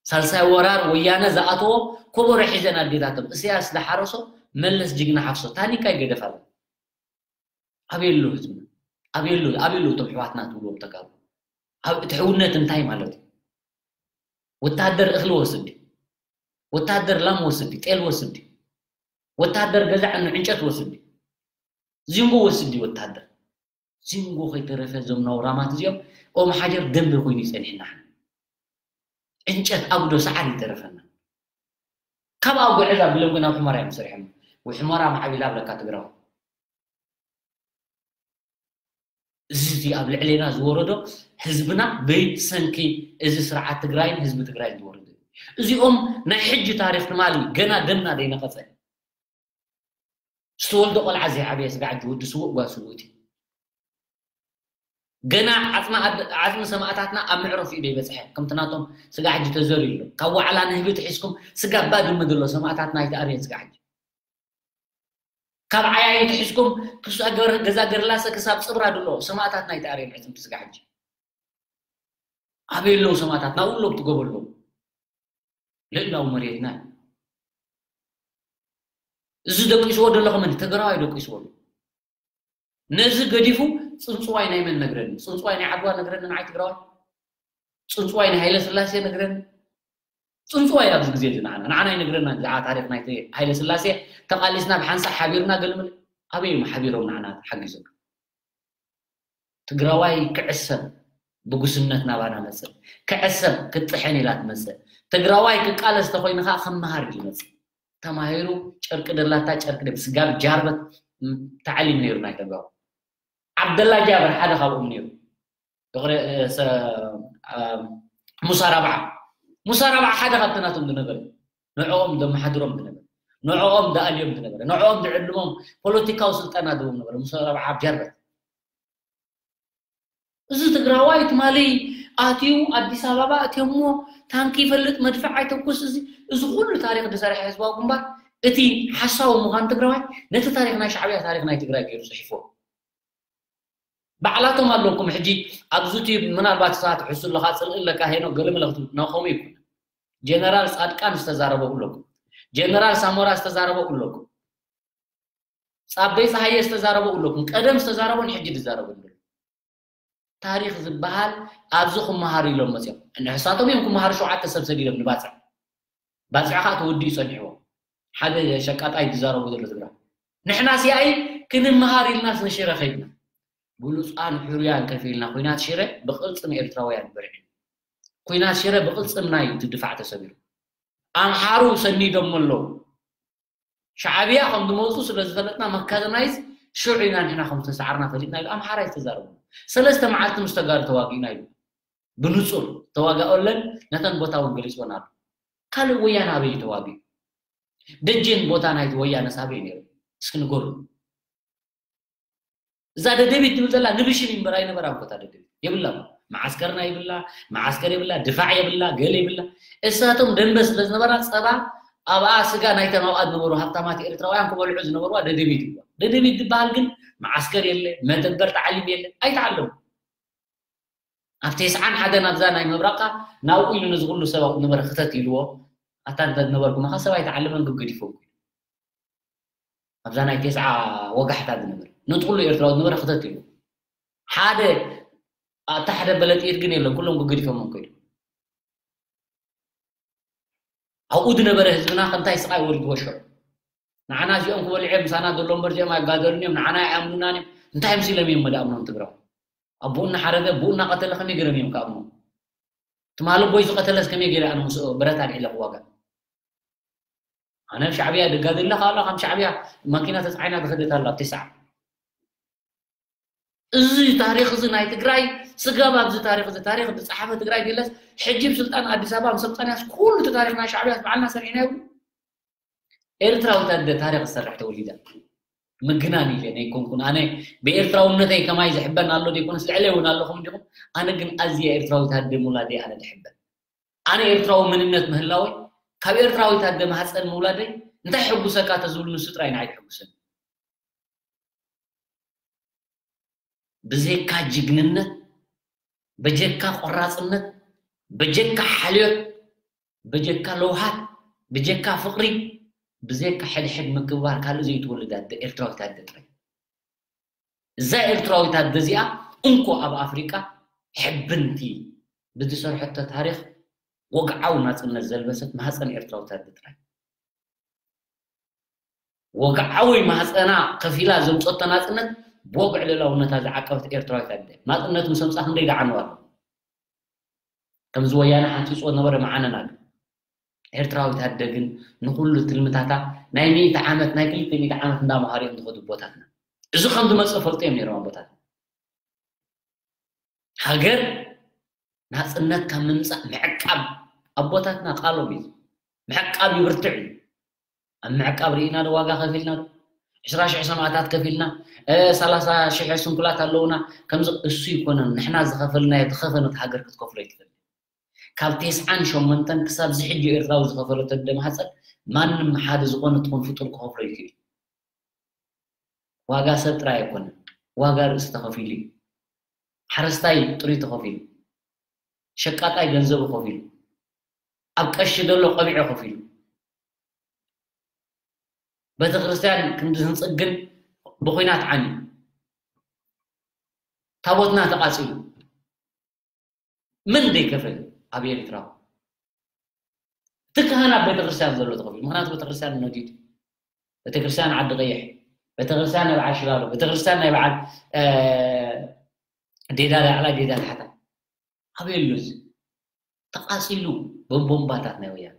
ሳልሳይ ወራር ወያነ ዝኣተዎ ኮቦሮ ሒዘን ኣዴታቶም። እስያስ ዝሓረሶ መለስ ጅግና ሓፍሶ። ታኒካ ይገደፍ ኣሎ። ኣበይ ኣሎ ህዝብና? ኣበይ ኣሎ፣ ኣበይ ኣሎ እቶም ኣሕዋትና ትብልዎም ተጋሩ? ኣብ እቲ ሕውነት እንታይ ማለት እዩ? ወታደር እኽሊ ወስድ ድዩ? ወታደር ላም ወስድ ድዩ? ጤል ወስድ ድዩ? ወታደር ገዛ ዕኑ ዕንጨት ወስድ ድዩ? ዚንጎ ወስድ ድዩ ወታደር? ዚንጎ ከይተረፈ እዞም ነውራማት እዚኦም ኦም ሓጀር ደንበ ኮይኑ ይጸኒሕና። ዕንጨት ኣጉዶ ሰዓር ይተረፈና። ካብ ኣጉዕዝ ኣቢሎም ግን ኣብ ሑመራ እዮም ሰሪሖም። ወይ ሑመራ ማዕቢላ ኣብለካ ትግራዊ። እዚ፣ እዚ ኣብ ልዕሌና ዝወረዶ ህዝብና ብሰንኪ እዚ ስርዓት ትግራይን ህዝቢ ትግራይን ዝወረዶ እዩ። እዚኦም ናይ ሕጂ ታሪኽ ትማሊ ገና ደምና ዘይነቐጸ። ዝተወልደ ቆልዓ ዘይዓበየ ስጋዕ ሕጂ ወዲ ስዉእ ጓል ስውእቲ። ገና ዓጽሚ ኣድ-፣ ዓጽሚ ሰማእታትና ኣብ መዕረፊኡ ዘይበጽሐ፣ ከምቲ ናቶም ስጋዕ ሕጂ ተዘርዩ ኣሎ። ካብ ዋዕላ ንህቢ ትሒዝኩም ስጋብ ባድመ ዘሎ ሰማእታትና ኣይተኣርየን ስጋዕ ሕጂ። ካብ ዓያዩ ትሒዝኩም ክሳብ ገር-፣ ገዛ ገርላሰ ክሳብ ጽብራ ዘሎ ሰማእታትና ኣይተኣርየን ዕጽምቲ ስጋዕ ሕጂ። ኣበይ ኣለዉ ሰማእታትና? ኣብኡ ኣለዉ፣ ትገበሎም። ልእላው መሬትና እዩ። እዚ ደቂስዎ ዘሎ ከመን ትግራዋይ ደቂስዎ ኣሎ። ነዚ ገዲፉ ጽንጽዋይ ናይ መን ነግረኒ? ጽንጽዋይ ናይ ዓድዋ ነግረኒ ንዓይ ትግራዋይ? ጽንጽዋይ ናይ ሃይለ ስላሴ ነግረኒ? ጽንጽዋይ ኣብዚ ግዜ እዚ ንዓና፣ ንዓና ይነግረና ብዛዕባ ታሪኽ ናይቲ ሃይለ ስላሴ ተቓሊስና ብሓንሳእ ሓቢርና ገልምል። ኣበይ እዮም ሓቢሮም ንዓና ሓጊዞም? ትግራዋይ ክዕሰብ ብጉስነት ናባና መጽእ። ክዕሰብ ክጥሕን ኢላ ትመጽእ። ትግራዋይ ክቃለስ ተኾይኑ ኸዓ ከም መሃር እዩ ዝመጽእ። ተማሂሩ ጨርቂ ደላታ ጨርቂ ደብ ስጋብ ጃርበት ተዓሊም ነይሩ ናይ ተጋሩ። ዓብደላ ጃብር ሓደ ካብኦም ነይሩ። ፍቕሪ፣ እ፣ ሰ-፣ እ፣ ሙሳ ራብዓ። ሙሳ ራብዓ ሓደ ካብቲ ናቶም ዝነበረ። ንዕኦም ዘመሓድሮም ዝነበረ። ንዕኦም ዝኣልዮም ዝነበረ። ንዕኦም ዝዕልሞም ፖለቲካዊ ስልጠና ዝህቦም ነበረ። ሙሳ ራብዓ ኣብ ጃርበት። እዚ ትግራዋይ ትማሊ ኣትዩ ኣዲስ ኣበባ እትየሞ ታንኪ ይፈልጥ መድፍዕ ኣይተኩስ። እዚ፣ እዚ ኩሉ ታሪኽ ዝሰርሐ ህዝባዊ ግንባር እቲ ሓሳዊ ምዃን ትግራዋይ ነቲ ታሪኽ ናይ ሻዕብያ ታሪኽ ናይ ትግራይ ገይሩ ጽሒፍዎ። ባዕላቶም ኣለኩም። ሕጂ ኣብዚ ዩቱብ ምናልባት ሰባት ሕሱ ኣለካ፣ ጽልኢ ኣለካ፣ ሄኖ ገለመለ ክትብል፣ ናው ከምኡ ይኩን። ጀነራል ጻድቃን ዝተዛረበ ኣለኩም። ጀነራል ሳሞራ ዝተዛረበ ኣለኩም። ጻበይ ጸሃየ ዝተዛረበ ኣለኩም። ቀደም ዝተዛረበን ሕጂ ዝዛረበን ዘሎ። ታሪኽ ዝበሃል ኣብዚ ክመሃሩ ኢሎም መጽዮም። ንሕሳቶም እዮም ክመሃሩ ሸውዓተ ሰብ ሰዲዶም ንባጽዕ። ባጽዕ ኸኣ ተወዲኡ ጸኒሕዎ። ሓደ ሸቃጣይ ዝዛረቦ ዘሎ ትግራ። ንሕና ሲኣይ ክንመሃር ኢልናስ ንሽረ ከይድና። ብሉጻን ሕሩያን ከፊልና ኲናት ሽረ ብቕልጽም ኤርትራውያን በርዒ። ኲናት ሽረ ብቕልጽምና እዩ እቲ ድፋዕ ተሰቢሩ። ኣምሓሩ ሰኒዶም ኣለዉ። ሻዕብያ ከም ዝመጹ ስለ ዝፈለጥና መካዘናይዝ ሽዑ ኢና ንሕና ከም ዝተሳዓርና ፈሊጥና ኢሉ ኣምሓራይ ዝተዛረቡ። ሰለስተ መዓልቲ ምስ ተጋሩ ተዋጊእና ኢሉ። ብንጹር ተዋጋኦለን ነተን ቦታ እውን ገሊጽወን ኣሎ። ካልእ ወያነ ኣበይ እዩ ተዋጊኡ? ደጀን ቦታ ናይቲ ወያነስ ኣበይ ነይሩ? እስኪ ንገሩ። እዛ ደደቢት ትብል ዘላ ንብሽን እምበር ኣይነበራን ቦታ ደደቢት። የብላ። መዓስከርና የብላ፣ መዓስከር የብላ፣ ድፋዕ የብላ፣ ገለ የብላ። እሳቶም ደንበ ስለ ዝነበራ ጸባ ኣብኣ ስጋ ናይተን ኣብኣ ዝነበሩ ሃብታማት ኤርትራውያን ክበልዑ ዝነበርዋ ደደቢት ይዋ። ደደቢት ዝበሃል ግን መዓስከር የለ፣ መደበር ተዓሊም የለ፣ ኣይተዓለሙ። ኣብ ተስዓን ሓደን ኣብዛ ናይ ምብራቕካ ናብኡ ኢሉ ነዚ ኩሉ ሰብ ኣብኡ ነበረ ክተት ኢልዎ። ኣታ እንተ ዝነበርኩ መኻ ሰብ ኣይተዓለመን ግብ ገዲፎም። ኣብዛ ናይ ተስዓ ወጋሕታ ዝነበረ ነቲ ኩሉ ኤርትራዊ ዝነበረ ክተት ኢልዎ። ሓደ ኣታ ሓደ በለጥኢት ግን የለን፣ ኩሎም ግብ ገዲፎም ከይዱ። ኣብኡ ዝነበረ ህዝብና ከምታይ ስቓይ ወሪድዎ ሽዑ። ንዓና እዚኦም ክበልዑ እዮም ምሳና ዘሎ እምበር እዚኦም ኣይጋደሉን እዮም፣ ንዓና ኣይኣምኑናን እዮም። እንታይ ምስሎም እዮም መዳእምኖም ትግራው? ኣቦኡ እናሓረደ ኣቦኡ እናቐተለ ከመይ ገይሮም እዮም ክኣምኑ? ትማሊ ኣቦይ ዝቐተለስ ከመይ ገይረ ኣነ ምስኡ ብረት ኣልዒለ ክዋጋእ? ኣነ ኣብ ሻዕብያ ደጋደለ ካላ ከም ሻዕብያ ማኪና ተፃዒና ዝኸደት ኣላ ኣብ ተስዓ። እዚ ታሪኽ እዚ ናይ ትግራይ ስጋብ ኣብዚ ታሪኽ እዚ ታሪኽ ዝፀሓፈ ትግራይ የለስ። ሕጂ ብስልጣን ኣዲስ ኣበባ ምስ ኣምፃናያስ ኩሉ እቲ ታሪኽ ናይ ሻዕብያ ባዕልና ሰሪሕና ይብሉ። ኤርትራዊት ኣደ ታሪኽ ዝሰርሕ ተወሊዳ ምግናን ኢለ ናይ ኮንኩን ኣነ ብኤርትራውነተይ ከማይ ዝሕበን ኣሎ ዘይኮነስ ልዕለ እውን ኣለኹም እንዲኹም። ኣነ ግን ኣዝየ ኤርትራዊት ኣደ ምውላደይ ኣነ ድሕበን። ኣነ ኤርትራዊ መንነት ምህላወይ ካብ ኤርትራዊት ኣደ ማህፀን ምውላደይ እንታይ ሕጉሰካ ተዝብሉ ንሱ ጥራይ ንዓይ ድሕጉሰኒ። ብዘይካ ጅግንነት፣ በጀካ ቆራፅነት፣ በጀካ ሓልዮት፣ በጀካ ለውሃት፣ በጀካ ፍቕሪ፣ ብዘይካ ሕድሕድ ምክብባር ካልእ ዘይትወልድ ኣደ ኤርትራዊት ኣደ ጥራይ። እዛ ኤርትራዊት ኣደ እዚኣ እንኮ ኣብ ኣፍሪቃ ሕብንቲ ብዝሰርሐቶ ታሪኽ ወግዓዊ ናፅነት ዘልበሰት ማህፀን ኤርትራዊት ኣደ ጥራይ። ወግዓዊ ማህፀና ከፊላ ዘምፀቶ ናፅነት ብወግዒ ልእላውነታ ዝዓቀበት ኤርትራዊት ኣደ ናፅነት ምስ ኣምፃ ክንደይ ደዓንዋ ኣሎ። ከምዚ ወያነ ሓንፂፅዎ ነበረ መዓነና ግን ኤርትራዊት ኣደ ግን ንኩሉ ትልምታታ ናይ ሚእቲ ዓመት ናይ ክልተ ሚእቲ ዓመት እንዳመሃሩ እዮም ዝኸዱ ኣቦታትና። እዚ ከም ዝመፅእ ፈልጡ እዮም ነይሮም ኣቦታትና። ሃገር ናፅነት ካብ ምምፃእ ምዕቃብ ኣቦታትና ቃሎም እዩ። ምዕቃብ ይብርትዕ እዩ። ኣብ ምዕቃብ ርኢና ዶ ዋጋ ከፊልና ዶ? ዕስራ ሽሕ ሰማእታት ከፊልና፣ እ፣ ሰላሳ ሽሕ ስንኩላት ኣለውና። ከምዚ እሱ ይኮነን ንሕና ዝኸፈልናዮ ተኸፈ ነቲ ሃገር ክትከፍሎ ይትኽእል። ካብ ተስዓን ሸሞንተን ክሳብ ዝሕጂ ኤርትራዊ ዝኸፈሎ ተደማህፀን ማንም ሓደ ዝኾነ ትኹን ፍጡር ክኸፍሎ ይክእል። ዋጋ ሰብ ጥራይ ኣይኮነን፣ ዋጋ ርእሲ ተኸፊሉ እዩ። ሓረስታይ ጥሪቱ ከፊሉ፣ ሸቃጣይ ገንዘቡ ከፊሉ፣ ኣብ ቀሺ ዘሎ ቀቢዑ ከፊሉ፣ ቤተክርስትያን ክንዲ ህንፅግ ግን ብኹናት ዓንዩ፣ ታቦትና ተቃፂሉ፣ መን ዘይከፈለ ኣብ ኤርትራ? እቲ ካህን ኣብ ቤተክርስትያን ዘሎ ተኸፊሉ። ምኽንያቱ ቤተክርስትያን ነዲዱ። ቤተክርስትያን ዓዲ ቀይሕ፣ ቤተክርስትያን ናይ በዓል ሽላሎ፣ ቤተክርስትያን ናይ በዓል፣ እ፣ ዴዳ ላዕላ፣ ዴዳ ታሕታ። ኣበይ ኣሎ እዚ? ተቃፂሉ ብቦምባታት ናይ ወያነ።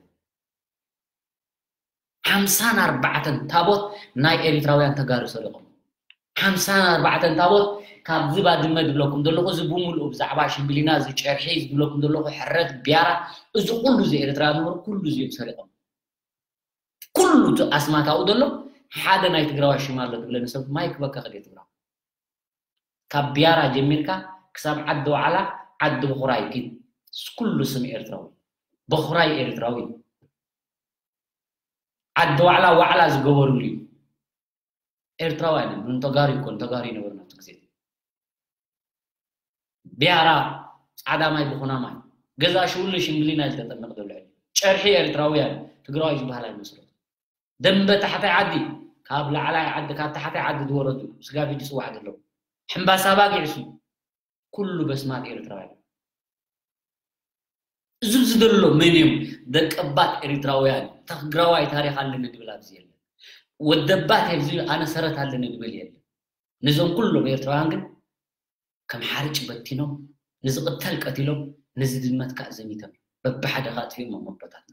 ሓምሳን ኣርባዕተን ታቦት ናይ ኤርትራውያን ተጋሩ ሰሪቖም። ሓምሳን ኣርባዕተን ታቦት ካብዚ ባድመ ዝብለኩም ዘለኹ፣ እዚ ብምሉኡ ብዛዕባ ሽምብሊና፣ እዚ ጨርሒ፣ እዚ ዝብለኩም ዘለኹ ሕረት፣ ቢያራ፣ እዚ ኩሉ እዚ ኤርትራ ዝነበሩ ኩሉ እዚ እዮም ሰሪቖም። ኩሉ እቲ ኣስማት ኣብኡ ዘሎ ሓደ ናይ ትግራዋይ ሽም ኣሎ ትብለኒ ሰብ ማይክ በካ ከደ ትግራዋይ። ካብ ቢያራ ጀሚርካ ክሳብ ዓዲ ዋዕላ፣ ዓዲ ብኹራይ ግን ኩሉ ስም ኤርትራዊ። ብኹራይ ኤርትራዊ። ዓዲ ዋዕላ ዋዕላ ዝገበሩሉ እዩ። ኤርትራዊ ኣይነበርን፣ ተጋሩ ይኮን፣ ተጋሩ ይነበርን ኣብቲ ግዜ። ቢያራ ጻዕዳ ማይ ብኹና ማይ። ገዛ ሽውሉ ሽምግሊና እዩ ዝተጠመቕ ዘሎ። ጨርሒ ኤርትራውያን ትግራዋይ ዝበሃል ኣይመስሎን። ደንበ ታሕታይ ዓዲ፣ ካብ ላዕላይ ዓዲ፣ ካብ ታሕታይ ዓዲ ዝወረዱ ስጋ ፊት ዝጽዋዕ ዘለዉ። ሕምባሳ ባጊዕ እሱ ኩሉ በስማት ኤርትራውያን። እዚ ኣብዚ ዘሎ መን እዮም? ደቀባት ኤርትራውያን። ትግራዋይ ታሪኽ ኣለኒ ድብል ኣብዚ የለን። ወደባት ኣብዚ ኣነ ሰረት ኣለኒ ድብል የለን። ነዞም ኩሎም ኤርትራውያን ግን ከም ሓርጭ በቲኖም፣ ንዝቕተል ቀቲሎም፣ ንዝድመት ከኣ ዘሚቶም፣ በብሓደ ከኣ ኣጥፊኦሞም ኣቦታትና።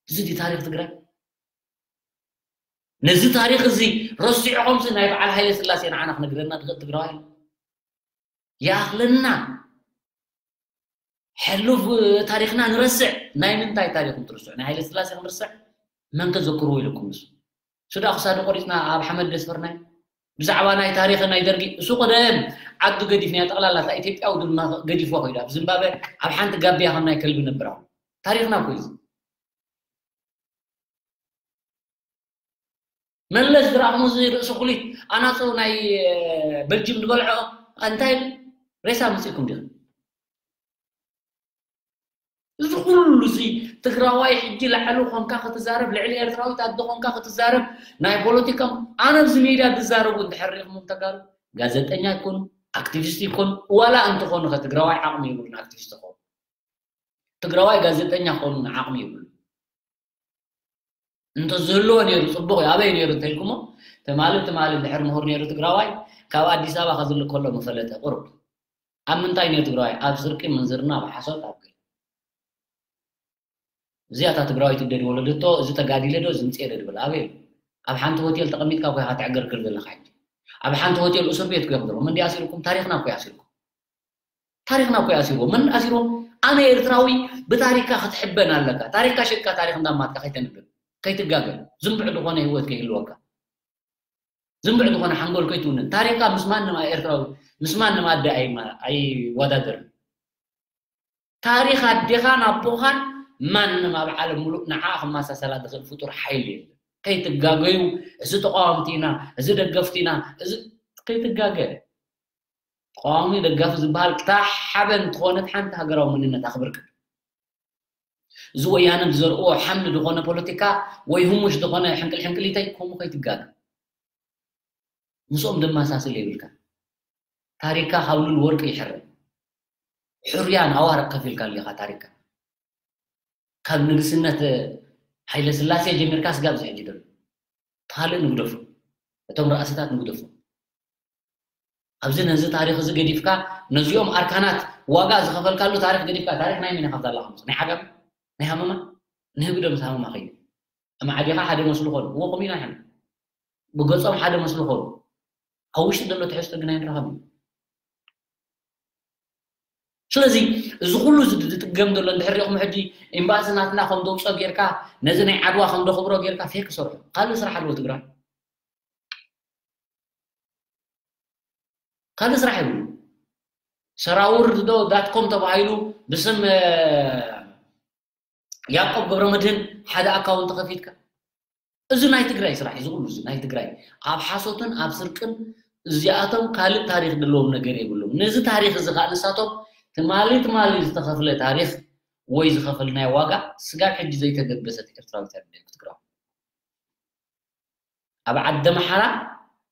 እዚ ድዩ ታሪኽ ትግራይ? ነዚ ታሪኽ እዚ ረሲዕኹምሲ ናይ በዓል ሃይለ ስላሴ ንዓና ክነግረና ዝኽእል ትግራዋይ ኣሎ? ይኣኽለና። ሕሉፍ ታሪኽና ንረስዕ። ናይ ምንታይ ታሪኽ እንትርስዑ? ናይ ሃይለ ስላሴ ክንርስዕ? መን ከዘክርዎ ኢለኩም ንሱ? ሱዳ ክሳዱ ቆሪፅና ኣብ ሓመድ ደስፈርናይ? ብዛዕባ ናይ ታሪኽ ናይ ደርጊ፣ እሱ ቀደም ዓዱ ገዲፍናዮ፣ ጠቕላላ እታ ኢትዮጵያዊ ድማ ገዲፍዋ ከይዱ። ኣብ ዝምባበ ኣብ ሓንቲ ጋቢያ ከም ናይ ከልቢ ነብራ። ታሪኽና እኮ እዩ እዚ። መለስ ዝረኣኹም እዚ ርእሲ ኩሊት ኣናፁ ናይ በልጅም ዝበልዖ እንታይ ሬሳ መፂእኩም ዲኹም? እዚ ኩሉ እዚ ትግራዋይ ሕጂ ላዕሊ ኮንካ ክትዛረብ፣ ልዕሊ ኤርትራዊት ኣደ ኮንካ ክትዛረብ፣ ናይ ፖለቲካ ኣነ ኣብዚ ሜድያ ዝዛረቡ እንድሕር ሪኢኹም ተጋሩ ጋዜጠኛ ይኮኑ፣ ኣክቲቪስት ይኮኑ፣ ዋላ እንተኾኑ ከ ትግራዋይ ዓቕሚ ይብሉን ኣክቲቪስት ይኾኑ። ትግራዋይ ጋዜጠኛ ክኾኑ ዓቕሚ ይብሉ። እንተዝህልዎ ነይሩ ጽቡቕ እዩ። ኣበይ ነይሩ እንተኢልኩሞ፣ ትማሊ ትማሊ እንድሕር ምሁር ነይሩ ትግራዋይ ካብ ኣዲስ ኣበባ ከዝልእ ከሎ ምፈለጠ ቁሩብ። ኣብ ምንታይ ነይሩ ትግራዋይ? ኣብ ስርቂ፣ ምንዝርና፣ ኣብ ሓሶት፣ ኣብ ገለ። እዚኣ እታ ትግራወይቲ ደድ ወለደቶ፣ እዚ ተጋዲለ ዶ፣ እዚ ምጽኤ ዶ ድብል ኣበይ? ኣብ ሓንቲ ሆቴል ተቐሚጥካ እኮ ኢኻ ትዕገርግር ዘለኻ ሕጂ። ኣብ ሓንቲ ሆቴል እስር ቤት እኮ ኢኹም ዘለኹም። መን ድዩ ኣሲሩኩም? ታሪኽና እኮ እዩ ኣሲሩኩም። ታሪኽና እኮ እዩ ኣሲርዎ። መን ኣሲርዎ? ኣነ ኤርትራዊ ብታሪካ ክትሕበን ኣለካ። ታሪካ ሽጥካ ታሪኽ እንዳማትካ ከይተንብብ፣ ከይትጋገ፣ ዝንብዕ ዝኾነ ህይወት ከይህልወካ፣ ዝንብዕ ዝኾነ ሓንጎል ከይትውንን። ታሪካ ምስ ማንም ኤርትራዊ፣ ምስ ማንም ኣደ ኣይማ-፣ ኣይወዳደርን። ታሪኽ ኣዴኻን ኣቦኻን ማንም ኣብ ዓለም ሙሉእ ንዓ ክመሳሰላ ዝኽእል ፍጡር ሓይሊ የለን። ከይትጋገዩ፣ እዚ ተቃወምቲ ኢና፣ እዚ ደገፍቲ ኢና፣ እዚ ከይትጋገ። ተቃዋሚ ደጋፊ ዝበሃል ክታ ሓበን ዝኾነት ሓንቲ ሃገራዊ መንነት ኣኽብር ቅድም። እዚ ወያነ ዝዘርእዎ ሓምሊ ዝኾነ ፖለቲካ ወይ ህሙሽ ዝኾነ ሕንቅል ሕንቅሊተይ ከምኡ ከይትጋገ። ምስኦም ደመሳስል የብልካ። ታሪካ ካብ ሉል ወርቂ ይሕረድ። ሕሩያን ኣዋርቕ ከፊልካ ኣለኻ ታሪካ። ካብ ንግስነት ሃይለ ስላሴ ጀሚርካ ስጋብ ዝሕጂ ደሎ። ካልእ ንግደፎ። እቶም ራእስታት ንግደፎ። ኣብዚ ነዚ ታሪኽ እዚ ገዲፍካ ነዚኦም ኣርካናት ዋጋ ዝኸፈልካሉ ታሪኽ ገዲፍካ ታሪኽ ናይ መን ኢኻ ዘለኻ? ናይ ዓጋመ? ናይ ሃመማ? ንህግደፍ ምስ ሃመማ ኸይዱ። ኣማዕዲኻ ሓደ መስሉ ኾኑ። እዎ ከምኡ ኢና ንሕና። ብገጾም ሓደ መስሉ ኾኑ። ኣብ ውሽጢ ዘሎ ትሕዝቶ ግን ኣይንረኸብን። ስለዚ እዚ ኩሉ እዚ ዝጥገም ዘሎ እንድሕር ሪኢኹም ሕጂ ኤምባሲ ናትና ከም ደውጾ ጌርካ ነዚ ናይ ዓድዋ ከም ደኽብሮ ጌርካ ፌክ ሰርሑ። ካልእ ስራሕ ኣለዎ ትግራይ። ካልእ ስራሕ የብሉ። ሰራውር ዶ ዳት ኮም ተባሂሉ ብስም ያዕቆብ ገብረመድህን ሓደ ኣካውንት ከፊትካ። እዚ ናይ ትግራይ ስራሕ እዩ። እዚ ኩሉ እዚ ናይ ትግራይ ኣብ ሓሶትን ኣብ ስርቅን እዚኣቶም ካልእ ታሪኽ ዘለዎም ነገር የብሎም። ነዚ ታሪኽ እዚ ከዓ ንሳቶም ትማሊ ትማሊ ዝተኸፍለ ታሪኽ ወይ ዝኸፈልናዮ ዋጋ ስጋብ ሕጂ ዘይተገበሰት ኤርትራዊት ኣደ ክትግራው። ኣብ ዓዲ ኣምሓራ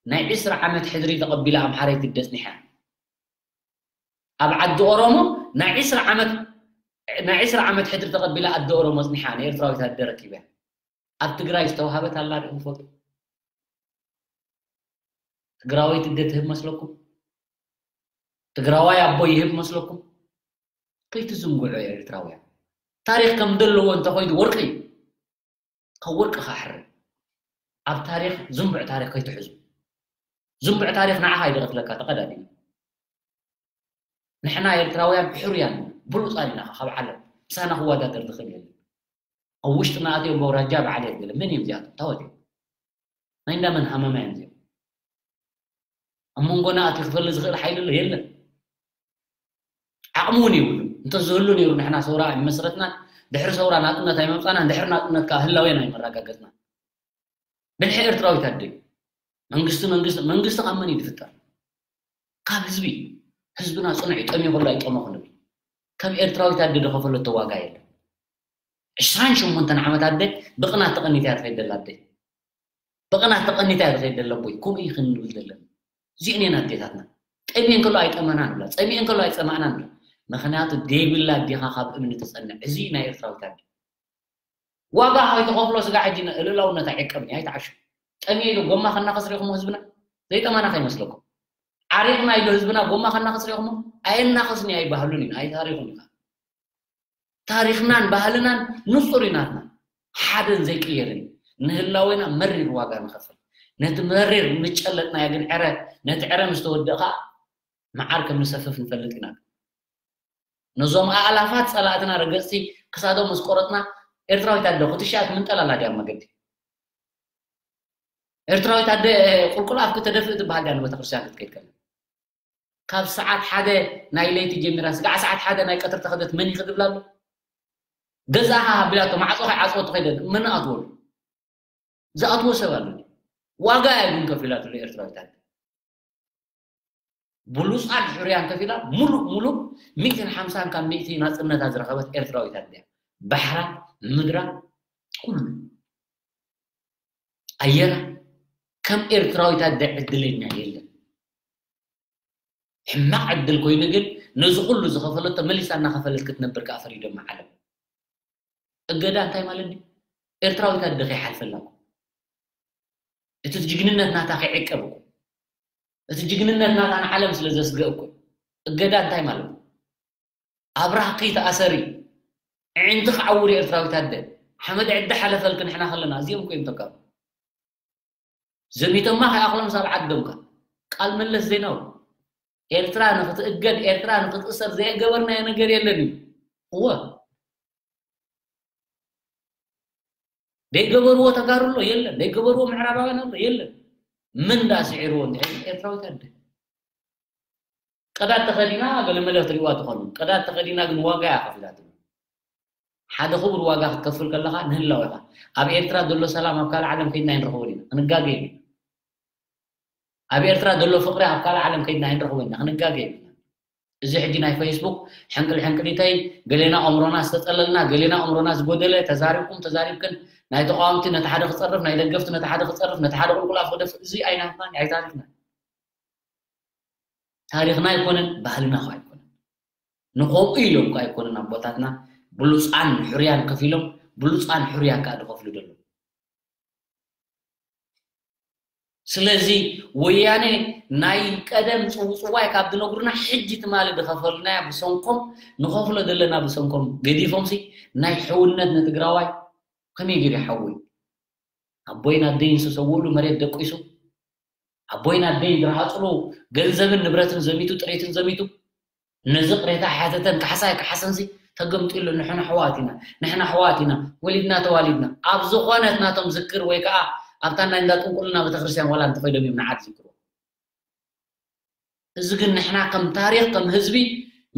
ናይ ዕስራ ዓመት ሕድሪ ተቐቢላ ኣምሓረይቲ ኣደ ኣጽኒሓ። ኣብ ዓዲ ኦሮሞ ናይ ዕስራ ዓመት ናይ ዕስራ ዓመት ሕድሪ ተቐቢላ ኣደ ኦሮሞ ኣጽኒሓ ንኤርትራዊት ኣደ ረኪበ። ኣብ ትግራይ ዝተዋሃበት ኣላ ዶ ትፈልጡ? ትግራወይቲ ኣደ ትህብ መስለኩም? ትግራዋይ ኣቦ ይህብ መስለኩም? ከይትዝንግዑ ኤርትራውያን። ታሪኽ ከም ዘለዎ እንተኾይኑ ወርቂ እዩ። ካብ ወርቂ ክሕር። ኣብ ታሪኽ ዝንቡዕ ታሪኽ ከይትሕዙ። ዝንቡዕ ታሪኽ ንዓኻ እዩ ዝቐትለካ ተቐዳዲሙ። ንሕና ኤርትራውያን ሕሩያን ኢና፣ ብሉጻት ኢና ካብ ዓለም። ምሳና ክወዳደር ዝኽእል የለን። ኣብ ውሽጥና ኣትዮም በውራጃ በዓል የት ገለ መን እዮም እዚኣቶም? ታወት እዮም። ናይ እንዳመን ሃመማ እዮም እዚኦም? ኣብ መንጎና ኣትዩ ክፈሊ ዝኽእል ሓይሊ ኣሎ? የለን። ዓቕሚ እውን የብሉን። እንተዝህሉ ነይሩ ንሕና ሰውራ ኣይመሰረትናን፣ ድሕሪ ሰውራ ናጽነት ኣይመምጻናን፣ ድሕሪ ናጽነት ከኣ ህላዌና ኣይመረጋገጽናን። ብልሒ ኤርትራዊት ኣደ። መንግስቲ፣ መንግስቲ፣ መንግስቲ ካብ መን እዩ ዝፍጠር? ካብ ህዝቢ። ህዝብና ጽኑዕ እዩ፣ ጠምዩ ከሎ ኣይጠመኹን ይብል። ከም ኤርትራዊት ኣደ ዝኸፈለቶ ዋጋ የለን። ዕስራን ሸሞንተን ዓመት ኣደ ብቕናት ተቐኒታ እያ ትኸይድ ዘላ ኣደ። ብቕናት ተቐኒታ እያ ትኸይድ ዘላ ኣቦይ። ከምኡ እዩ ክንብል ዘለና። እዚአን እየን ኣዴታትና። ጠምየን ከሎ ኣይጠመናን ብላ፣ ጸሚአን ከሎ ኣይጸማእናን ብላ። ምኽንያቱ ደይብላ ኣዴኻ ካብ እምኒ ትጸንዕ። እዚ እዩ ናይ ኤርትራዊት ኣደ። ዋጋ ከይትኸፍሎ ስጋ ሕጂ ን-፣ ልእላውነት ኣይዕቀብን እዩ፣ ኣይትዓሹ። ጠምየ ኢሉ ጎማ ከናኸስ ሪኢኹሞ ህዝብና? ዘይጠማና ከይመስለኩም። ዓሪቕና ኢሉ ህዝብና ጎማ ከናኸስ ሪኢኹሞ? ኣየናኸስን እዩ ኣይባህሉን እዩ፣ ኣይታሪኹን እዩ። ታሪኽናን ባህልናን ንጹር እዩ ናትና። ሓደን ዘይቅየርን እዩ። ንህላዌና መሪር ዋጋ ንኸፍል። ነቲ መሪር ምጨለጥናዮ ግን ዕረ፣ ነቲ ዕረ ምስ ተወድእ ኸኣ መዓር ከም ንሰፍፍ ንፈልጥ ኢና። ነዞም ኣእላፋት ጸላእትና ረገጽቲ ክሳዶም ምስ ቆረጽና፣ ኤርትራዊት ኣደ ኩትሻ ትምንጠላላ ድያ ኣብ መገዲ? ኤርትራዊት ኣደ ቁልቁል ኣፍኪ ተደፍእ ትበሃል ድያ ንቤተክርስትያን ክትከይድ ከላ? ካብ ሰዓት ሓደ ናይ ለይቲ ጀሚራ ስጋዕ ሰዓት ሓደ ናይ ቀትሪ ተኸደት መን ይኽድብላ ኣሎ? ገዛኻ ኣቢላቶ ማዕጾ ከይዓጽወቶ ከይደ መን ኣትወሉ? ዝኣትዎ ሰብ ኣሎ? ዋጋ እያ ግን ከፊላትሉ ኤርትራዊት ኣደ። ብሉጻን ሕሩያን ከፊላ ሙሉእ ሙሉእ ሚእትን ሓምሳን ካብ ሚእቲ ናጽነታ ዝረኸበት ኤርትራዊት ኣደ እያ። ባሕራ፣ ምድራ፣ ኩሉ ኣየራ ከም ኤርትራዊት ኣደ ዕድለኛ የለን። ሕማቕ ዕድል ኮይኑ ግን ነዚ ኩሉ ዝኸፈለቶ መሊሳ እናኸፈለት ክትነብር ከኣ ፈሪዶማ ዓለም። እገዳ እንታይ ማለት ድዩ? ኤርትራዊት ኣደ ከይሓልፈላ እኮ። እቲ ጅግንነት ናታ ከይዕቀብ እኮ። እቲ ጅግንነት ናታ ንዓለም ስለ ዘስግእ እኮ። እገዳ እንታይ ማለት እዩ? ኣብራህኪ ተኣሰሪ፣ ኣዒንትኺ ዓውሪ ኤርትራዊት ኣደ። ሓመድ ዕዲ ሓለፈልኪ ንሕና ከለና፣ እዚኦም እኮ እዮም ተጋሩ። ዘሚቶማ ከይኣኽሎም ሳብ ዓዶምካ። ቃል መለስ ዜናዊ፣ ኤርትራ ንኽትእገድ፣ ኤርትራ ንኽትእሰር ዘይገበርናዮ ነገር የለን እዩ። እወ። ዘይገበርዎ ተጋሩ ኣሎ? የለን። ዘይገበርዎ ምዕራባውያን ኣሎ? የለን። ምን ዳ ስዒርዎ እንድሕር ኤርትራዊት ኣደ። ቀዳድ ተኸዲና ገለ መለ ትሪእዋ ትኾኑ። ቀዳድ ተኸዲና ግን ዋጋ እያ ከፊላትሉ። ሓደ ክቡር ዋጋ ክትከፍል ከለኻ ንህላወ ኢኻ። ኣብ ኤርትራ ዘሎ ሰላም ኣብ ካልእ ዓለም ከይድና ኣይንረኽቦን ኢና። ክንጋገ ኢና። ኣብ ኤርትራ ዘሎ ፍቕሪ ኣብ ካልእ ዓለም ከይድና ኣይንረኽቦን ኢና። ክንጋገ ኢና። እዚ ሕጂ ናይ ፌስቡክ ሕንቅል ሕንቅሊተይ፣ ገሌና ኣእምሮና ዝተጸለልና፣ ገሌና ኣእምሮና ዝጎደለ፣ ተዛሪብኩም ተዛሪብክን፣ ናይ ተቃወምቲ ነቲ ሓደ ክጸርፍ፣ ናይ ደገፍቲ ነቲ ሓደ ክጸርፍ፣ ነቲ ሓደ ቁልቁል ኣፍ ክደፍእ፣ እዚ ኣይናትናን ኣይታሪኽናን። ታሪኽና ኣይኮነን፣ ባህልና ኸ ኣይኮነን። ንኸምኡ ኢሎም ኸ ኣይኮነን ኣቦታትና ብሉጻን ሕሩያን ከፊሎም፣ ብሉጻን ሕሩያን ከኣ ዝኸፍሉ ዘለዉ። ስለዚ ወያነ ናይ ቀደም ጽውጽዋይ ካብ ዝነግሩና፣ ሕጂ ትማሊ ዝኸፈልናያ ብሰንኮም፣ ንኸፍሎ ዘለና ብሰንኮም ገዲፎምሲ፣ ናይ ሕውነት ንትግራዋይ ከመይ ገይሩ ይሓዊ? ኣቦይን ኣደይን ዝተሰውእሉ መሬት ደቂሱ፣ ኣቦይን ኣደይን ዝረሃጽሉ ገንዘብን ንብረትን ዘሚቱ፣ ጥሪትን ዘሚቱ፣ ነዚ ቅሬታ ሓተተን ካሕሳይ ካሕሰንሲ ተገምጢሉ፣ ንሕና ኣሕዋት ኢና፣ ንሕና ኣሕዋት ኢና፣ ወሊድና ተዋሊድና። ኣብ ዝኾነት ናቶም ዝክር ወይ ከዓ ኣብታ ናይ እንዳ ጥንቁልና ቤተክርስትያን ዋላ እንተኸይዶም እዮም ንዓድ ዝክሩ። እዚ ግን ንሕና ከም ታሪኽ፣ ከም ህዝቢ፣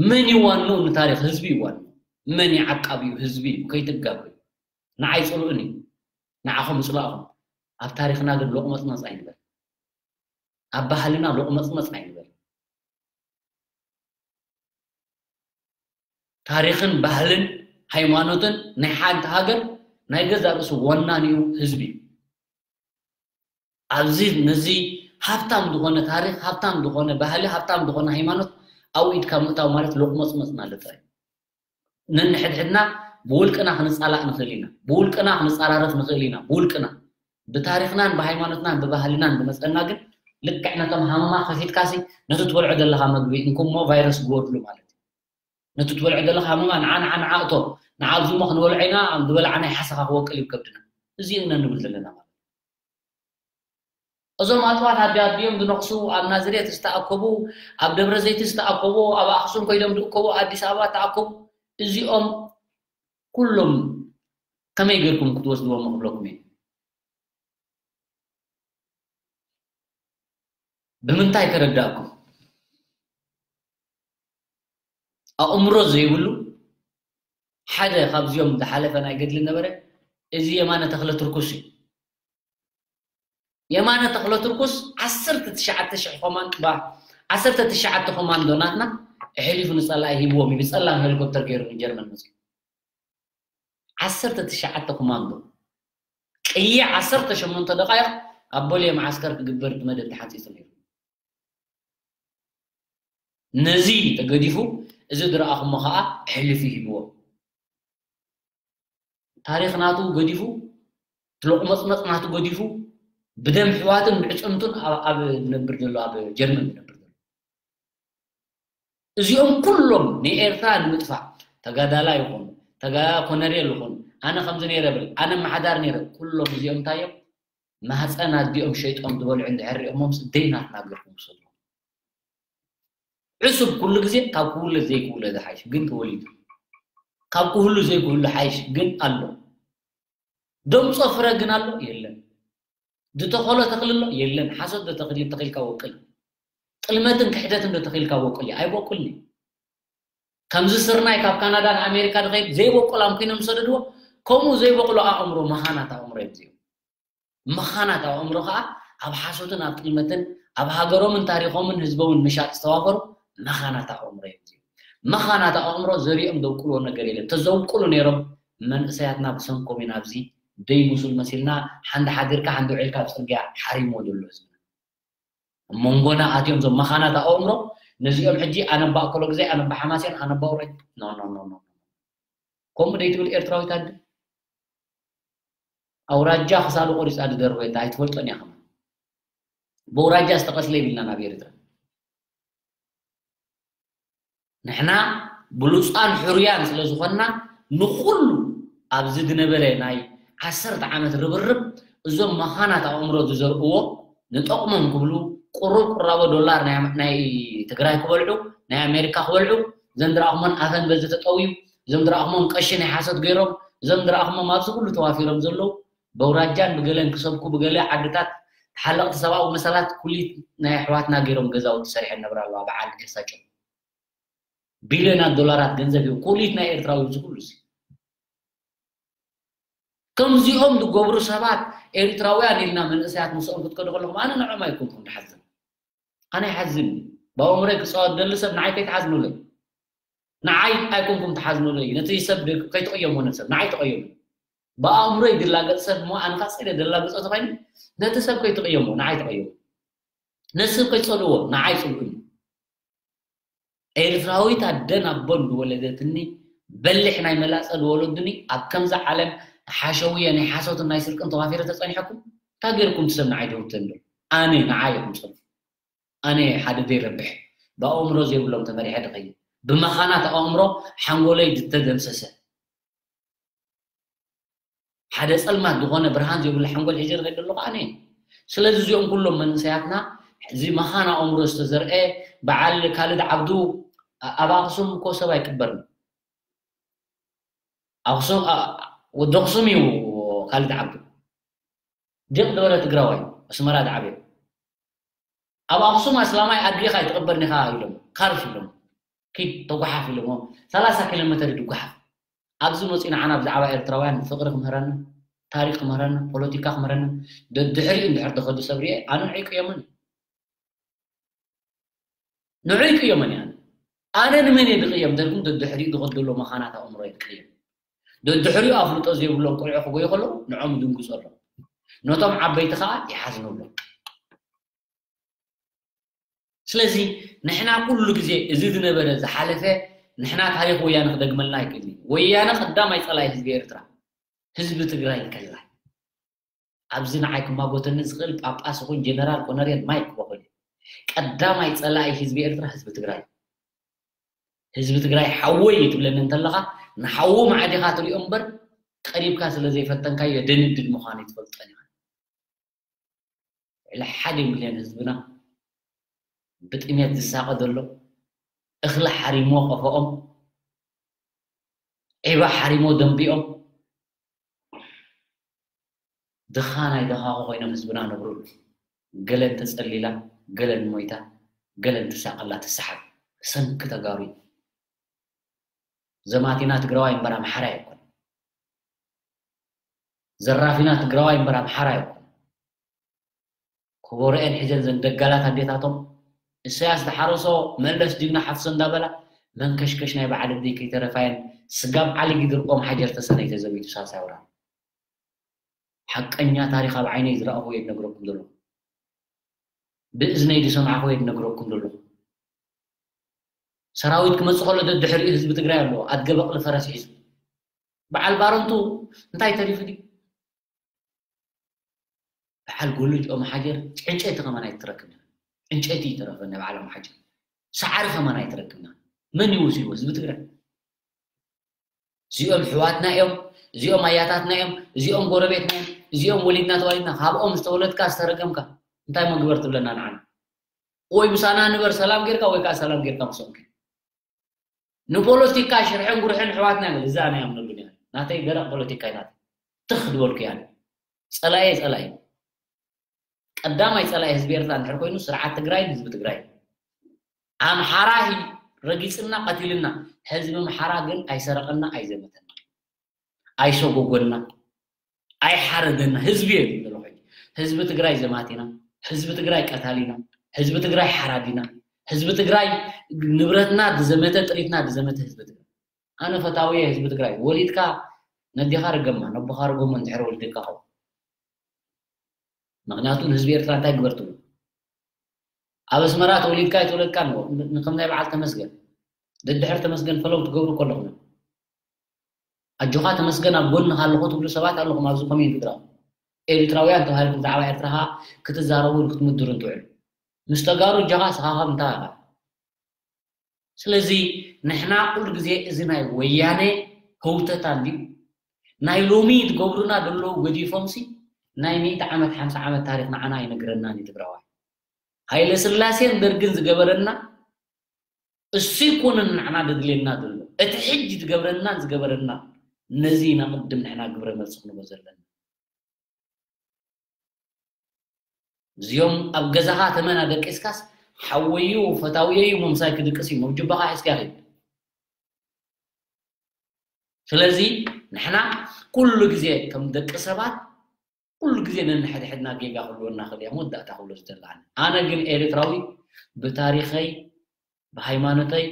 መን ይዋንኡ ንታሪኽ? ህዝቢ ይዋንኡ። መን ይዓቃብ እዩ? ህዝቢ እዩ። ከይትጋገዩ። ንዓይ ጽልኡኒ። ንዓኹም ይጽላእኹም። ኣብ ታሪኽና ግን ሎቕመጽመጽ ኣይንበል። ኣብ ባህልና ሎቕመጽመጽ ኣይንበል። ታሪኽን ባህልን ሃይማኖትን ናይ ሓንቲ ሃገር ናይ ገዛእ ርእሱ ወናኒኡ ህዝቢ እዩ። ኣብዚ ነዚ ሃብታም ዝኾነ ታሪኽ፣ ሃብታም ዝኾነ ባህሊ፣ ሃብታም ዝኾነ ሃይማኖት ኣብ ኢድካ ምእታው ማለት ሎቕመጽመጽ ማለት ጥራይ። ነንሕድሕድና ብውልቅና ክንጻላእ ንኽእል ኢና፣ ብውልቅና ክንጸራረፍ ንኽእል ኢና፣ ብውልቅና። ብታሪኽናን ብሃይማኖትናን ብባህልናን ዝመጸና ግን ልክዕ ነቶም ሃመማ ከፊትካሲ ነቲ ትበልዖ ዘለኻ መግቢ እንኩሞ ቫይረስ ግበርሉ ማለት እዩ። ነቲ ትበልዖ ዘለኻ ሃመማ ንዓ፣ ንዓ፣ ንዓ እቶ፣ ንዓ ኣብዚ እሞ ክንበልዖ ኢና፣ ዝበላዕናይ ሓሰኻ ክወቅል እዩ ከብድና። እዚ ኢና ንብል ዘለና ማለት እዩ። እዞም ኣጽዋት ኣዲ ኣዲኦም ዝነቕሱ፣ ኣብ ናዝሬት ዝተኣከቡ፣ ኣብ ደብረ ዘይት ዝተኣከቡ፣ ኣብ ኣኽሱም ኮይዶም ዝእከቡ፣ ኣዲስ ኣበባ ዝተኣከቡ፣ እዚኦም ኩሎም ከመይ ጌርኩም ክትወስድዎም ክብለኩም እየ። ብምንታይ ከረዳእኩም? ኣእምሮ ዘይብሉ ሓደ ካብዚኦም ዝሓለፈ ናይ ገድሊ ነበረ፣ እዚ የማነ ተኽለ ትርኩስ እዩ። የማነ ተኽለ ትርኩስ ዓሰርተ ትሽዓተ ሽሕ ኮማንዶ፣ ባ-፣ ዓሰርተ ትሽዓተ ኮማንዶ ናትና ኣሕሊፉ ንጸላኢ ሂብዎም እዩ። ብጸላም ሄሊኮፕተር ገይሩ ንጀርመን መጺኡ። ዓሰርተ ትሽዓተ ኮማንዶ። ቅየ ዓሰርተ ሸሞንተ ደቓይቕ ኣብ ቦሌ መዓስከር ክግበር ብመደብ ተሓንጺጹ ነይሩ። ነዚ ተገዲፉ፣ እዚ ዝረኣኹሞ ኸኣ ኣሕሊፉ ሂብዎ። ታሪኽ ናቱ ገዲፉ፣ እቲ ሎቕመጽመጽ ናቱ ገዲፉ፣ ብደም ኣሕዋቱን ብዕጽምቱን ኣብ፣ ኣብ ዝነብር ዘሎ፣ ኣብ ጀርመን ዝነብር ዘሎ። እዚኦም ኩሎም ንኤርትራ ንምጥፋእ፣ ተጋዳላይ ይኹን፣ ተጋ-፣ ኮነሬል ይኹን፣ ኣነ ከምዚ ነይረ ብል፣ ኣነ ኣመሓዳሪ ነይረ፣ ኩሎም እዚኦም እንታይ እዮም? ማህፀን ኣዲኦም ሸይጦም ዝበልዑ እንድሕር ሪኦሞምስ ደይ ናትና ገርኩም ውሰድዎም። ዕሱብ ኩሉ ግዜ ካብ ክውለድ ዘይክውለድ ሓይሽ ግን ተወሊዱ። ካብ ክህሉ ዘይክህሉ ሓይሽ ግን ኣሎ። ደምጾ ፍረ ግን ኣሎ የለን። ዝተኸሎ ተኽሊ ኣሎ የለን። ሓሶት ዶ ተኽሊ ተኺልካ ወቅል? ጥልመትን ክሕደትን ዶ ተኺልካ ወቅል? ኣይበቁልኒ። ከምዚ ስርናይ ካብ ካናዳ ንኣሜሪካ ድኸይድ ዘይበቁል ኣምኪኖም ዝሰደድዎ፣ ከምኡ ዘይበቁሎ ኣእምሮ መኻናት ኣእምሮ እዮም እዚኦም። መኻናት ኣእምሮ ከዓ ኣብ ሓሶትን ኣብ ጥልመትን ኣብ ሃገሮምን ታሪኾምን ህዝቦምን ምሻጥ ዝተዋፈሩ መኻናት ኣእምሮ እዮም እዚኦም። መኻናት ኣእምሮ ዘሪኦም ዘብቁልዎ ነገር የለን። ተዘብቁሉ ነይሮም መንእሰያትና ብሰንኮም ኢና ኣብዚ ደይ ሙሱል መሲልና ሓንቲ ሓዲርካ ሓንቲ ውዒልካ ኣብ ጽርግያ ሓሪሞ ዘሎ ህዝብና። ኣብ መንጎና ኣትዮም እዞም መኻናት ኣእምሮ ነዚኦም ሕጂ ኣነባ ኣኮሎ ግዜ ኣነባ ሓማሴን ኣነባ ውረይ ኖ ኖ ኖ ኖ ከምኡ ደይ ትብል ኤርትራዊት ኣደ ኣውራጃ ክሳዱ ቆሪጻ ድደርበየታ ኣይትፈልጦን እያ ከማን። ብኣውራጃ ዝተቐስለ ይብልና ናብ ኤርትራ። ንሕና ብሉጻን ሕሩያን ስለ ዝኾንና ንኹሉ ኣብዚ ዝነበረ ናይ ዓሰርተ ዓመት ርብርብ እዞም መኻናት ኣእምሮ ዝዘርእዎ ንጠቕሞም ክብሉ ቁሩብ ቁራቦ ዶላር ናይ ናይ ትግራይ ክበልዑ ናይ ኣሜሪካ ክበልዑ ዘንድራእኹሞን ኣፈን በዚ ተጠውዩ ዘንድራእኹሞም ቀሺ ናይ ሓሶት ገይሮም ዘንድራእኹሞም ኣብዚ ኩሉ ተዋፊሮም ዘለዉ በውራጃን ብገለን ክሰብኩ ብገለ ዓድታት ተሓለቕቲ ሰብኣዊ መሰላት ኩሊት ናይ ኣሕዋትና ገይሮም ገዛውቲ ሰሪሐን ነብራ ኣለዋ በዓል ኤሳቸው ቢልዮናት ዶላራት ገንዘብ እዩ ኩሊት ናይ ኤርትራዊ እዚ ኩሉ እዚ ከምዚኦም ዝገብሩ ሰባት ኤርትራውያን ኢልና መንእሰያት ምስኦም ክትከዱ ከለኹም ኣነ ንዕኦም ኣይኮንኩም ትሓዝን ኣነ ይሓዝን ብኣእምሮይ ክፃወት ደሊ ሰብ ንዓይ ከይትሓዝኑለይ ንዓይ ኣይኮንኩም ትሓዝኑለይ ነቲ ሰብ ከይትቕየሙ ነቲ ሰብ ንዓይ ተቐየሙ ብኣእምሮይ ዝላገፅ ሰብ እሞ ኣነ ካፀለ ደላግፆ ተኮይኑ ነቲ ሰብ ከይትቕየሙ ንዓይ ተቐየሙ ነቲ ሰብ ከይትፀልዎ ንዓይ ፅልኡኒ ኤርትራዊት ኣደን ኣቦን ዝወለደትኒ በሊሕ ናይ መላጸ ዝወለዱኒ ኣብ ከምዛ ዓለም ሓሸውየ ናይ ሓሶትን ናይ ስርቅን ተዋፊረ ተጸኒሐኩም እንታይ ገይርኩም ትሰብ ንዓይ ደውተን ዶ ኣነ ንዓይ ኢኹም ጸልፉ ኣነ ሓደ ዘይረብሕ ብኣእምሮ ዘይብሎም ተመሪሐ ድኸይድ ብመኻናት ኣእምሮ ሓንጎለይ ዝተደምሰሰ ሓደ ጸልማት ዝኾነ ብርሃን ዘይብሉ ሓንጎል ሒዘ ዝኸይድ ዘለኹ ኣነ እየ። ስለዚ እዚኦም ኩሎም መንእሰያትና እዚ መኻን ኣእምሮ ዝተዘርአ በዓል ካልድ ዓብዱ ኣብ ኣኽሱም እኮ ሰብ ኣይቅበርን። ኣኽሱም ወዲ ኣኽሱም እዩ ካልድ ዓብዱ። ዲቕ ዝበለ ትግራዋይ ኣስመራ ዝዓበየ። ኣብ ኣኽሱም ኣስላማይ ኣድሪኻ ኣይትቕበርን ኢኻ ኢሎም ካርፍ ኢሎም ኪድ ተጓሓፍ ኢሎሞ ሰላሳ ኪሎ ሜተር ድጓሓፍ ኣብዚ መፂኡ ንዓና ብዛዕባ ኤርትራውያን ፍቕሪ ክምህረና ታሪክ ክምህረና ፖለቲካ ክምህረና ደድሕሪኡ እንድሕር ተኸዱ ሰብ ርኤ ኣነ ንዑ ይቅየመን ንዑ ይቅየመን እያ ኣነ ንመን እየ ድቅየም ተልኩም ደድሕሪኡ ዝኸዱ ዘሎ መኻናት ኣእምሮ እየ ድቅየም ደድሕሪኡ ኣፍልጦ ዘይብሎም ቆልዑ ክጎዩ ከለዉ ንዖም ይድንግፁ ኣለዉ ነቶም ዓበይቲ ከዓ ይሓዝኑ ኣለዉ ስለዚ ንሕና ኩሉ ግዜ እዚ ዝነበረ ዝሓለፈ ንሕና ታሪኽ ወያነ ክደግመልና ኣይክእልን እዩ። ወያነ ቀዳማይ ጸላኢ ህዝቢ ኤርትራ ህዝቢ ትግራይ ከላ ኣብዚ ንዓይ ክማጎተኒ ዝኽእል ጳጳስ ይኹን ጀነራል ኮነሬል ማይክ ክበኽል እዩ። ቀዳማይ ጸላኢ ህዝቢ ኤርትራ ህዝቢ ትግራይ ህዝቢ ትግራይ ሓወይ እዩ ትብለኒ እንተለኻ ንሓዉ ማዕዲኻ ትሪኦ እምበር ቀሪብካ ስለ ዘይፈተንካዮ ደንድድ ምዃኑ ይትፈልጦን ኢኻ። ልዕሊ ሓደ ሚልዮን ህዝብና ብጥሜት ዝሳቐ ዘሎ እኽሊ ሓሪሞ ቆፎኦም ዒባ ሓሪሞ ደንቢኦም ድኻ ናይ ደኻኹ ኮይኖም ህዝብና ነብሩሉ ገለን ተጸሊላ ገለን ሞይታ ገለን ትሳቐላ ትሰሓብ ሰንኪ ተጋሩ ዘማቲና ትግራዋይ እምበር ኣምሓራ ኣይኮን ዘራፊና ትግራዋይ እምበር ኣምሓራ ኣይኮን ኮቦሮኤን ሒዘን ዘን ደጋላት ኣዴታቶም እሰያስ ዝሓረሶ መለስ ጅግና ሓፍሶ እንዳበላ መንከሽከሽ ናይ በዓል እብደይ ከይተረፋየን ስጋብ ዓሊ ጊድርቆም ሓጀር ተሰነይ ተዘሚቱ ሳልሳይ ወራር ሓቀኛ ታሪኽ ኣብ ዓይነይ ዝረኣኹ እየ ዝነግረኩም ዘለኹ ብእዝነይ ዝሰማዕኹ እየ ዝነግረኩም ዘለኹ ሰራዊት ክመፅእ ከሎ ደድሕሪኡ ህዝቢ ትግራይ ኣለዎ ኣድገ በቕሊ ፈረስ ሒዙ በዓል ባረንቱ እንታይ ተሪፉ ድዩ በዓል ጎልጅ ኦም ሓጀር ዕንጨይቲ ከማን ኣይትረክብና ዕንጨይቲ ይተረፈ ናይ በዓል ኦም ሓጀር ሰዓሪ ከማን ኣይትረክብና መን ይወስድዎ ህዝቢ ትግራይ እዚኦም ሕዋትና እዮም እዚኦም ኣያታትና እዮም እዚኦም ጎረቤትና እዮም እዚኦም ወሊድና ተዋሊድና ካብኦም ዝተወለድካ ዝተረገምካ እንታይ መግበር ትብለና ንዓና ወይ ምሳና ንበር ሰላም ጌርካ ወይ ከዓ ሰላም ጌርካ ምስኦም ንፖለቲካ ሽርሕን ጉርሕን ኣሕዋትና እዮም። እዛ ናይ ኣምነሉን እያ። ናተይ ደረቕ ፖለቲካ ናት ትኽ ዝበልኩ እያ። ጸላኤ ጸላኤ ቀዳማይ ጸላኢ ህዝቢ ኤርትራ እንድሕር ኮይኑ ስርዓት ትግራይን ህዝቢ ትግራይ ኣምሓራ እዩ። ረጊጽና ቀቲልና። ህዝቢ ኣምሓራ ግን ኣይሰረቐና ኣይዘመተና ኣይሰጎጎና ኣይሓረደና። ህዝቢ እየ ዝብል ዘለኹ። ህዝቢ ትግራይ ዘማቲና፣ ህዝቢ ትግራይ ቀታሊና፣ ህዝቢ ትግራይ ሓራዲና፣ ህዝቢ ትግራይ ንብረትና ዝዘመተ ጥሪትና ዝዘመተ ህዝቢ ትግራይ። ኣነ ፈታዊ ህዝቢ ትግራይ። ወሊድካ ነዴኻ ርገማ ነቦኻ ርገሞ እንድሕር ወልድካ ኸው ምክንያቱ ንህዝቢ ኤርትራ እንታይ ግበር ትብሉ? ኣብ ኣስመራ ተወሊድካ ኣይተወለድካን ንከም ናይ በዓል ተመስገን ደድሕር ተመስገን ፈለው ትገብሩ ከለኹም ኣጆኻ ተመስገን ኣብ ጎንኻ ኣለኹ ትብሉ ሰባት ኣለኹም ኣብዚ ኮሜንት ግራ ኤርትራውያን ተባሂልኩም ብዛዕባ ኤርትራ ክትዛረቡ ክትምድሩ እንትውዕሉ ምስ ተጋሩ እጃኻ ስኻኻ እንታይ ኢኻ? ስለዚ ንሕና ኩሉ ግዜ እዚ ናይ ወያነ ህውተታ እንድዩ ናይ ሎሚ ትገብሩና ዘለዉ ገዲፎምሲ ናይ ሚእቲ ዓመት ሓምሳ ዓመት ታሪክ ንዓና ኣይነግረናን እዩ ትግራዋይ። ሃይለ ስላሴን ደርግን ዝገበረና እሱ ይኮነን ንዓና ደድልየና ዘሎ እቲ ሕጂ ዝገብረናን ዝገበረና ነዚ ኢና ቅድም ንሕና ግብረ መልሲ ክንቦ ዘለና። እዚኦም ኣብ ገዛኻ ተመን ኣደቂስካስ ሓወዩ ፈታውየዩ ምምሳይ ክድቅስ እዩ መብጅባኻ ሒዝካ ይኸይድ። ስለዚ ንሕና ኩሉ ግዜ ከም ደቂ ሰባት ኩሉ ግዜ ነንሕድሕድና ጌጋ ክህልወና ክእል እያ መወዳእታ ክብሎ ዝደሊ ኣነ ኣነ ግን ኤርትራዊ ብታሪኸይ ብሃይማኖተይ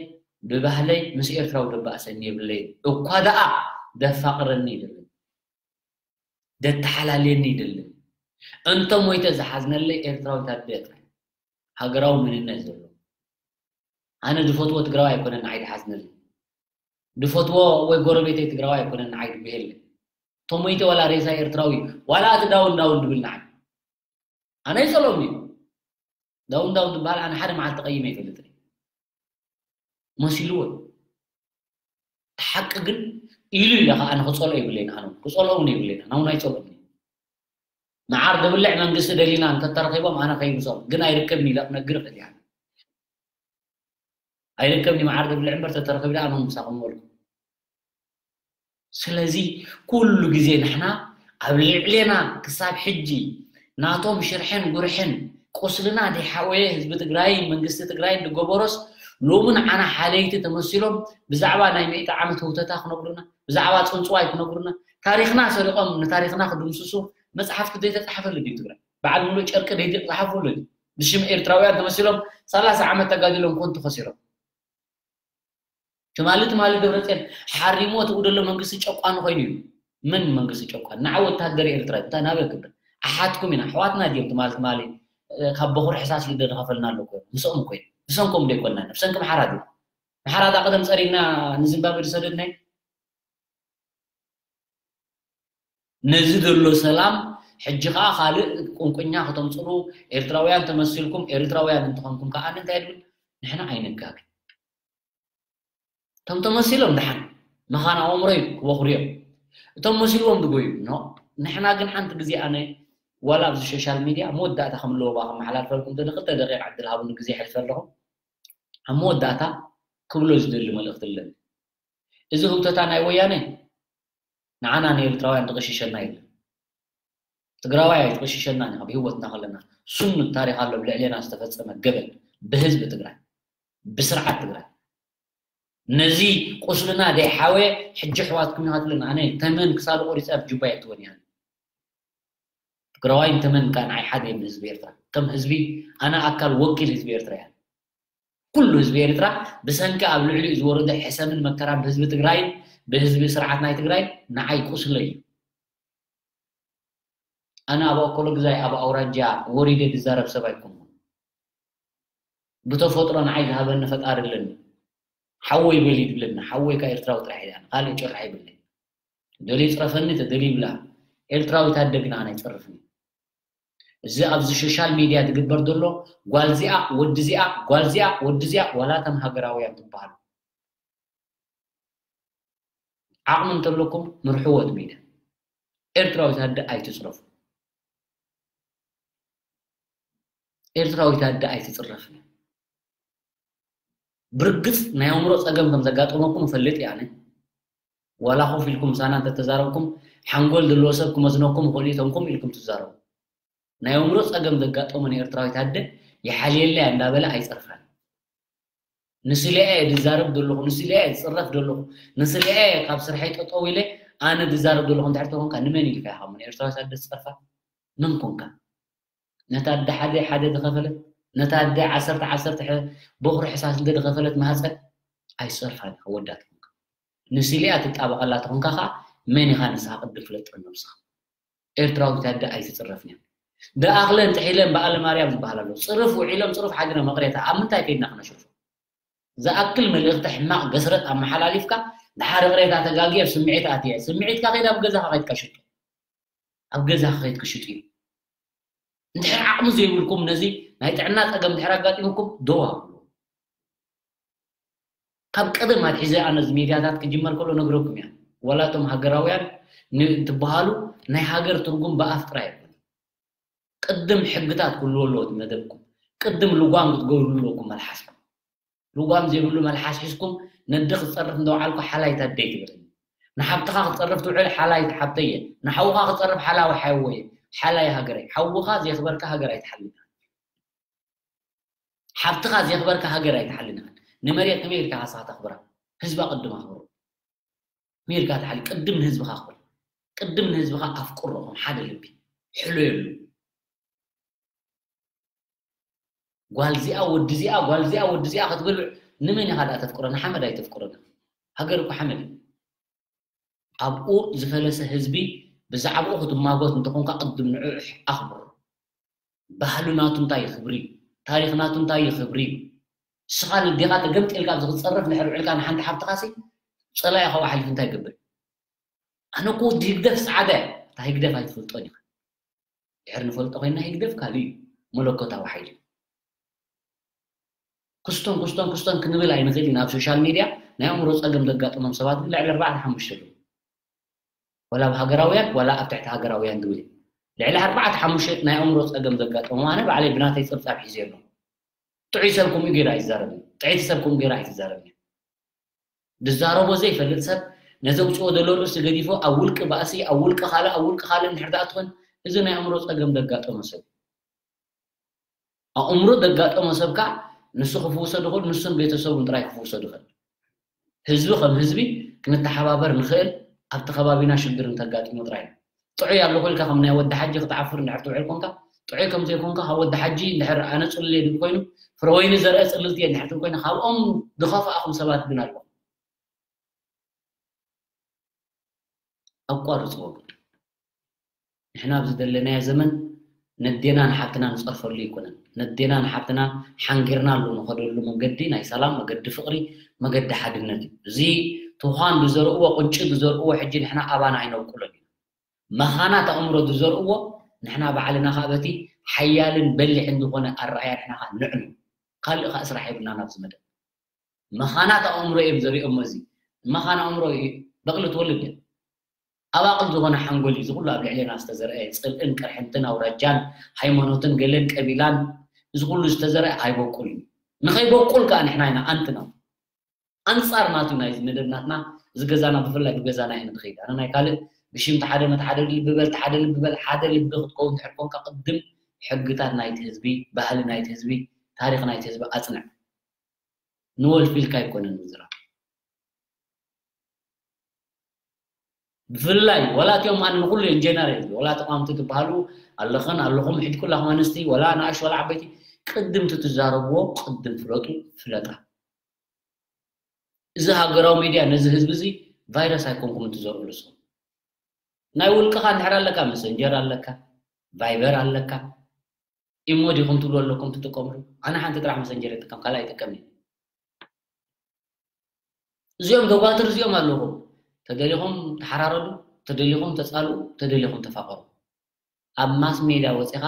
ብባህለይ ምስ ኤርትራዊ ደባእሰኒ የብለይን እኳ ደኣ ደፋቕረኒ ይደልን ደተሓላልየኒ ይደልን እንተ ሞይተ ዝሓዝነለይ ኤርትራዊት ኣደ ጥራይ ሃገራዊ መንነት ዘሎ ኣነ ዝፈትዎ ትግራዋይ ኣይኮነን ንዓይ ዝሓዝነለይ ዝፈትዎ ወይ ጎረቤተይ ትግራዋይ ኣይኮነን ንዓይ ዝብሄለይ ተሞይተ ዋላ ሬሳ ኤርትራዊ ዋላ እቲ ዳውን ዳውን ዝብል ንዓይ ኣነ ይጸልኦም እዩ ዳውን ዳውን ዝበሃል ኣነ ሓደ መዓልቲ ቀይመ ይፈልጥ መሲልዎ እቲ ሓቂ ግን ኢሉ ኢለ ከዓ ኣነ ክጸልኦ ይብለይን ኣነ ክጸልኦ እውን ይብለይን ኣነ እውን ኣይጸልኦም እዩ መዓር ዝብልዕ መንግስቲ ደሊና እንተተረኺቦም ኣነ ከይምሶም ግን ኣይርከብን ኢለ ክነግር እኽእል እያ ኣይርከብን እዩ መዓር ዝብልዕ እምበር ተተረኺቡ ደኣ ኣነ ምሳኹም በልኩ ስለዚ ኩሉ ግዜ ንሕና ኣብ ልዕሌና ክሳብ ሕጂ ናቶም ሽርሕን ጉርሕን ቁስልና ዘይሓወየ ህዝቢ ትግራይን መንግስቲ ትግራይን ዝገበሮስ ሎሚ ንዓና ሓለይቲ ተመሲሎም ብዛዕባ ናይ ሚእቲ ዓመት ህውተታ ክነግሩና ብዛዕባ ፅንፅዋይ ክነግሩና ታሪክና ሰሪቆም ንታሪክና ክድምስሱ መፅሓፍቲ ዘይተፃሓፈሉ ድዩ ትግራይ በዓል ሙሉእ ጨርቂ ደይዲ ዝሓፍሉ ድዩ ብሽም ኤርትራውያን ተመሲሎም ሰላሳ ዓመት ተጋዲሎም ኮንቱ ከሲሮም ትማሊ ትማሊ ደብረፅዮን ሓሪሞ ትኡ ደሎ መንግስቲ ጨቋኒ ኮይኑ እዩ መን መንግስቲ ጨቋኒ ንዓ ወታደር ኤርትራ እንታይ ናበይ ክብል ኣሓትኩም ኢና ኣሕዋትና ድዮም ትማሊ ትማሊ ካብ በኹሪ ሕሳስ ይደ ዝኸፈልና ኣሎ ኮይኑ ምስኦም እኮ እዩ ብሰንኮም ዶ ይኮና ብሰንኪ ምሓራ ድዩ ምሓራ እታ ቀደም ፀሪግና ንዚምባብዌ ዝሰደድናይ ነዚ ዘሎ ሰላም ሕጂ ከዓ ካልእ ቁንቁኛ ከተምፅሉ ኤርትራውያን ተመሲልኩም ኤርትራውያን እንትኾንኩም ከዓ እንታይ ድብል ንሕና ኣይንጋግን እቶም ተመሲሎም ደሓን መኻን ኣእምሮይ ክበኽሩ እዮም እቶም መሲልዎም ዝጎዩ ኖ ንሕና ግን ሓንቲ ግዜ ኣነ ዋላ ኣብዚ ሶሻል ሚድያ መወዳእታ ከም ኣለዎ ከመሓላልፈልኩም ደሊ ክልተ ደቂቕ ዕድል ሃቡኒ ግዜ ይሕልፈ ኣለኹ ኣብ መወዳእታ ክብሎ ዝደሊ መልእኽቲ ኣለኒ እዚ ህውተታ ናይ ወያነ ንዓና ንኤርትራውያን ዝቕሽሸና የለን ትግራዋይ ኣይትቕሽሸናን ኢኻ ብህይወትና ከለና ስኑድ ታሪኽ ኣሎ ብልዕሌና ዝተፈፀመ ገበን ብህዝቢ ትግራይ ብስርዓት ትግራይ ነዚ ቁስልና ዘይሓወየ ሕጂ ኣሕዋትኩም ኢኻ ትብለና ኣነ ተመን ክሳዱ ቆሪፀ ኣብ ጁባ የእትወን እያ ትግራዋይን ተመን ከዓ ንዓይ ሓደ እዮም ህዝቢ ኤርትራ ከም ህዝቢ ኣነ ኣካል ወኪል ህዝቢ ኤርትራ እያ ኩሉ ህዝቢ ኤርትራ ብሰንኪ ኣብ ልዕሊኡ ዝወረደ ሕሰምን መከራን ብህዝቢ ትግራይን ብህዝቢ ስርዓት ናይ ትግራይ ንዓይ ቁስለይ እዩ ኣነ ኣብ ኣኮሎ ግዛይ ኣብ ኣውራጃ ወሪደ ዝዛረብ ሰብ ኣይኮንኩን ብተፈጥሮ ንዓይ ዝሃበኒ ፈጣሪ ኣለኒ ሓወይ በሊ ይብለኒ ሓወይ ካ ኤርትራዊ ጥራሕ እያ ካልእ ጭራሕ ይብለኒ ደልዩ ይፅረፈኒ ተደልዩ ይብላ ኤርትራዊት ኣደ ግን ኣነ ኣይፅርፍኒ እዚ ኣብዚ ሶሻል ሚድያ ዝግበር ዘሎ ጓልዚኣ ወድዚኣ ጓልዚኣ ወድዚኣ ዋላ እቶም ሃገራውያን ትበሃሉ ዓቕሚ እንተለኩም ምርሕዎ እቲ ሚድያ ኤርትራዊት ኣደ ኣይትፅረፉ ኤርትራዊት ኣደ ኣይትጽረፍን። ብርግጽ ናይ ኣእምሮ ጸገም ከም ዘጋጠመኩም እፈልጥ እየ ኣነ። ዋላ ኮፍ ኢልኩም ምሳና እንተተዛረብኩም፣ ሓንጎል ዘለዎ ሰብ ክመዝነኩም ይኽእል እዩ፣ እቶም ኮፍ ኢልኩም ትዛረቡ። ናይ ኣእምሮ ጸገም ዘጋጠመ ንኤርትራዊት ኣደ ይሓልየለይ እንዳበለ ኣይጸርፋን። ንስለያ እየ ዝዛረብ ዘለኹ፣ ንስለያ እየ ዝጽረፍ ዘለኹ፣ ንስለያ እየ ካብ ስርሐይ ጠጠው ኢለ ኣነ ዝዛረብ ዘለኹ እንድሕር ተኾንካ፣ ንመን ኢልካ ኢኻ እሞ ንኤርትራዊት ኣደ ትጸርፋ? መን ኮንካ? ነታ ኣደ ሓደ ሓደ ዝኸፈለት፣ ነታ ኣደ ዓሰርተ ዓሰርተ ሕ-፣ በኹሪ ሕሳስ እንተ ዝኸፈለት ማህፀን ኣይትጸርፋን ኢኻ፣ ወዳት ኮንካ። ንስለያ ትጣበቐላ ተኾንካ ኸዓ መን ኢኻ ንስኻ ቅድም ፍለጥ ነብስኻ። ኤርትራዊት ኣደ ኣይትጽረፍን እያ። ደኣኽለን ጥሒለን በዓለ ማርያም ዝበሃል ኣሎ። ጽርፍ ውዒሎም ጽሩፍ ሓዲሮም መቕሬታ ኣብ ምንታይ ከይድና ክነሽርፎ? ዝኣክል መልእኽቲ ሕማቕ ገስረጥ ኣመሓላሊፍካ፣ ድሓር ይቕሬታ ተጋግየ ኣብ ስምዒት ኣትየ። ስምዒትካ ከይድ ኣብ ገዛኻ ከይድካ ሽጦ። ኣብ ገዛኻ ከይድካ ሽጡ እዩ። እንድሕር ዓቕሚ ዘይብልኩም ነዚ ናይ ጥዕና ጸገም ድሕር ኣጋጢሙኩም ደው ኣብሉ። ካብ ቀደም ኣትሒዘ ኣነ እዚ ሚድያታት ክጅመር ከሎ ነግረኩም እያ። ዋላ እቶም ሃገራውያን ን-፣ እንትበሃሉ ናይ ሃገር ትርጉም ብኣፍ ጥራይ ኣይኮነን። ቅድም ሕግታት ክህልዎ ኣለዎ እቲ መደብኩም። ቅድም ልጓም ክትገብሩ ኣለኩም መልሓስኩም። ልጓም ዘይብሉ መልሓስ ሒዝኩም ነዲ ክትጸርፍ እንተወዓልኩ ሓላይት ኣደይ ትብለኒ። ንሓብትኻ ክትጸርፍ ትውዕል ሓላይት ሓብተየ። ንሓውኻ ክትጸርፍ ሓላዊ ሓወየ። ሓላይ ሃገረይ። ሓውኻ ዘየኽበርካ ሃገር ኣይትሓልፍን። ሓብትኻ ዘየኽበርካ ሃገር ኣይትሓልን ኢኻ። ንመሬት ከመይ ኢልካ ንስኻ ተኽብራ? ህዝባ ቅድም ኣኽብሮ። ከመይ ኢልካ ትሓሊ? ቅድም ንህዝብኻ ኣኽብር። ቅድም ንህዝብኻ ኣፍቅሮ፣ ከም ሓደ ልቢ። ሕሎየሉ። ጓል እዚኣ፣ ወዲ እዚኣ፣ ጓል እዚኣ፣ ወዲ እዚኣ ክትብል ንመን ኢኻ ደኣ ተፍቅሮ? ንሓመድ ኣይተፍቅሮን ኢኻ። ሃገር እኮ ሓመድ እዩ። ኣብኡ ዝፈለሰ ህዝቢ ብዛዕባኡ ክትማጎት እንተኾንካ ቅድም ንዕኡ ኣኽብሮ። ባህሉ ናቱ እንታይ እዩ ክብሪ እዩ? ታሪኽ ናቱ እንታይ እዩ ክብሪ እዩ? ንስኻ ንዴኻ ተገምጢልካ ኣብዚ ክትጸርፍ እንድሕር ውዒልካ ንሓንቲ ሓብትኻሲ ጸላኢ ካብኡ ሓሊፉ እንታይ ይገብር? ኣነ እኮ ወዲ ህግደፍ ጻዕዳ እየ። እታ ህግደፍ ኣይትፈልጦን ኢኻ። ድሕር ንፈልጦ ኮይና ህግደፍ ካልእ እዩ። መለኮታዊ ሓይሊ። ክስቶን ክስቶን ክስቶን ክንብል ኣይንኽእል ኢና። ኣብ ሶሻል ሚድያ ናይ ኣእምሮ ጸገም ዘጋጠሞም ሰባት ግን ልዕሊ ኣርባዕተ ሓሙሽተ ኣለዉ። ዋላ ኣብ ሃገራውያን ዋላ ኣብ ትሕቲ ሃገራውያን ዝብል እዩ። ልዕሊ ኣርባዕተ ሓሙሽተ ናይ ኣእምሮ ጸገም ዘጋጠሞም ኣነ ባዕለይ ብናተይ ጸብጻብ ሒዘ ኣለኹ። ጥዑይ ሰብ ከምኡ ገይሩ ኣይዛረብን። ጥዕይቲ ሰብ ከምኡ ገይሩ ኣይትዛረብን። ዝዛረቦ ዘይፈልጥ ሰብ ነዚ ኣውፅኦ ዘሎ ርእሲ ገዲፎ ኣብ ውልቂ ባእሲ፣ ኣብ ውልቂ ካልእ፣ ኣብ ውልቂ ካልእ እንድሕር ደኣ ትኾን፣ እዚ ናይ ኣእምሮ ጸገም ዘጋጠሞ ሰብ። ኣእምሮ ዘጋጠሞ ሰብ ከዓ ንሱ ክፍውሶ ድኽእል፣ ንሱን ቤተሰቡን ጥራይ ክፍውሶ ድኽእል። ህዝቢ ከም ህዝቢ ክንተሓባበር ንኽእል ኣብቲ ከባቢና ሽግር እንተጋጢሙ ጥራይ እዩ። ጥዑይ ኣለኹ ኢልካ ከም ናይ ወዲ ሓጂ ክትዓፍር እንድሕር ትውዕል ኮንካ፣ ጥዑይ ከም ዘይኮንካ ካብ ወዲ ሓጂ እንድሕር ኣነ ጽሉል እየ ድብል ኮይኑ፣ ፍረ ወይኒ ዘርአ ጽልልቲ እየ እንድሕር ትብል ኮይና፣ ካብኦም ዝኸፍኣኹም ሰባት ግን ኣለኹም። ኣቋርጽዎ ግን። ንሕና ኣብዚ ዘለናዮ ዘመን ነዴና ንሓብትና ንጸርፈሉ ኣይኮነን። ነዴና ንሓብትና ሓንጊርናሉ ንኸደሉ መንገዲ ናይ ሰላም፣ መገዲ ፍቕሪ፣ መገዲ ሓድነት እዩ። እዚ ትዃን ዝዘርእዎ፣ ቁንጪ ዝዘርእዎ ሕጂ ንሕና ኣባና ኣይነብቁሎን ኢና። መኻናት ኣእምሮ ዝዘርእዎ ንሕና ባዕልና ኸኣ በቲ ሓያልን በሊሕን ዝኾነ ኣረኣእያ ንሕና ኸኣ ንዕኑ። ካልእ ኸኣ ስራሕ የብልናን ኣብዚ መደብ። መኻናት ኣእምሮ እዮም ዘሪኦሞ እዚ። መኻን ኣእምሮ እዩ በቕሊ ትወልድ እያ። ኣባቕል ዝኾነ ሓንጎል እዩ እዚ ኩሉ ኣብ ልዕሌና ዝተዘርአ ጽልእን ቅርሕንትን ኣውራጃን ሃይማኖትን ገለን ቀቢላን እዚ ኩሉ ዝተዘርአ ኣይበቁል እዩ። ንኸይበቁል ከኣ ንሕና ኢና ኣንትና። ኣንጻር ናቱ ናይዚ መደብ ናትና እዚ ገዛና ብፍላይ ብገዛና ኢና ንኸይድ። ኣነ ናይ ካልእ ብሽም ተሓደ መተሓደ ልቢ በል፣ ተሓደ ልቢ በል፣ ሓደ ልቢ ክትከውን እንድሕር ኮንካ ቅድም ሕግታት ናይቲ ህዝቢ፣ ባህሊ ናይቲ ህዝቢ፣ ታሪኽ ናይቲ ህዝቢ ኣጽንዕ። ንወልፊ ኢልካ ኣይኮነን ምዝራብ። ብፍላይ ዋላ እቲኦም ኣነ ንኹሉ እዮም ጀነራል ዝብል፣ ዋላ ተቃወምቲ ትበሃሉ ኣለኽን ኣለኹም፣ ሕጂ ኩላኹም ኣንስቲ ዋላ ንኣሽ ዋላ ዓበይቲ ቅድም እቲ ትዛረብዎ ቅድም ፍለጡ፣ ፍለጣ። እዚ ሃገራዊ ሚድያ ነዚ ህዝቢ እዚ ቫይረስ ኣይኮንኩም እንትዘርኡ ንስኹም። ናይ ውልቅኻ እንድሕር ኣለካ፣ መሰንጀር ኣለካ፣ ቫይበር ኣለካ፣ ኢሞ ዲኹም ትብሉ ኣለኩም ትጥቀምሉ? ኣነ ሓንቲ ጥራሕ መሰንጀር ይጥቀም፣ ካልእ ኣይጥቀምን። እዚኦም ደጓትር እዚኦም ኣለኹም። ተደሊኹም ተሓራረዱ፣ ተደሊኹም ተጻልኡ፣ ተደሊኹም ተፋቐሩ። ኣብ ማስ ሜድያ ወጺኻ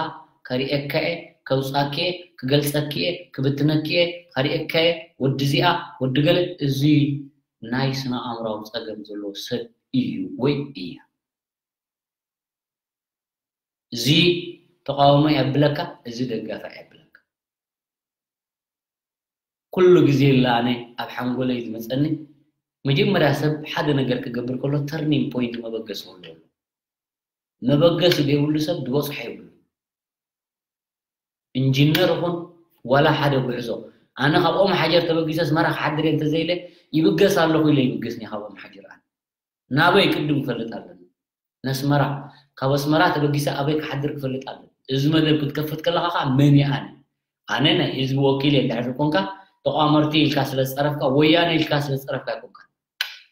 ከርእየካ እየ፣ ከውጻኪ እየ፣ ክገልጸኪ እየ፣ ክብትነኪ እየ፣ ከርእየካ እየ፣ ወዲ እዚኣ፣ ወዲ ገለ፣ እዚ ናይ ስነ ኣእምራዊ ጸገም ዘለዎ ሰብ እዩ ወይ እያ። እዚ ተቃውሞ የብለካ፣ እዚ ደጋፊ የብለካ። ኩሉ ግዜ ኣነ ኣብ ሓንጎለይ ዝመጸኒ፣ መጀመርያ ሰብ ሓደ ነገር ክገብር ከሎ turning point፣ መበገሲ ክህልዎ ኣለዎ። መበገሲ ዘይብሉ ሰብ ዝበጽሖ የብሉ። ኢንጂነር ይኹን ዋላ ሓደ ጉዕዞ፣ ኣነ ካብ ኦም ሓጀር ተበጊሰ ኣስመራ ክሓድር እየ እንተዘይለ፣ ይብገስ ኣለኹ ኢለ ይብገስኒ ካብ ኦም ሓጀር። ኣነ ናበይ ቅድም ክፈልጥ ኣለኒ? ነስመራ። ካብ ኣስመራ ተበጊሰ ኣበይ ክሓድር ክፈልጥ ኣለኒ? እዚ መደብ ክትከፍት ከለኻ ከዓ መን እየ ኣነ? ኣነ ናይ ህዝቢ ወኪል እየ እንድሕር ኮንካ፣ ተቋመርቲ ኢልካ ስለ ዝፀረፍካ፣ ወያነ ኢልካ ስለ ዝፀረፍካ ኣይኮንካ።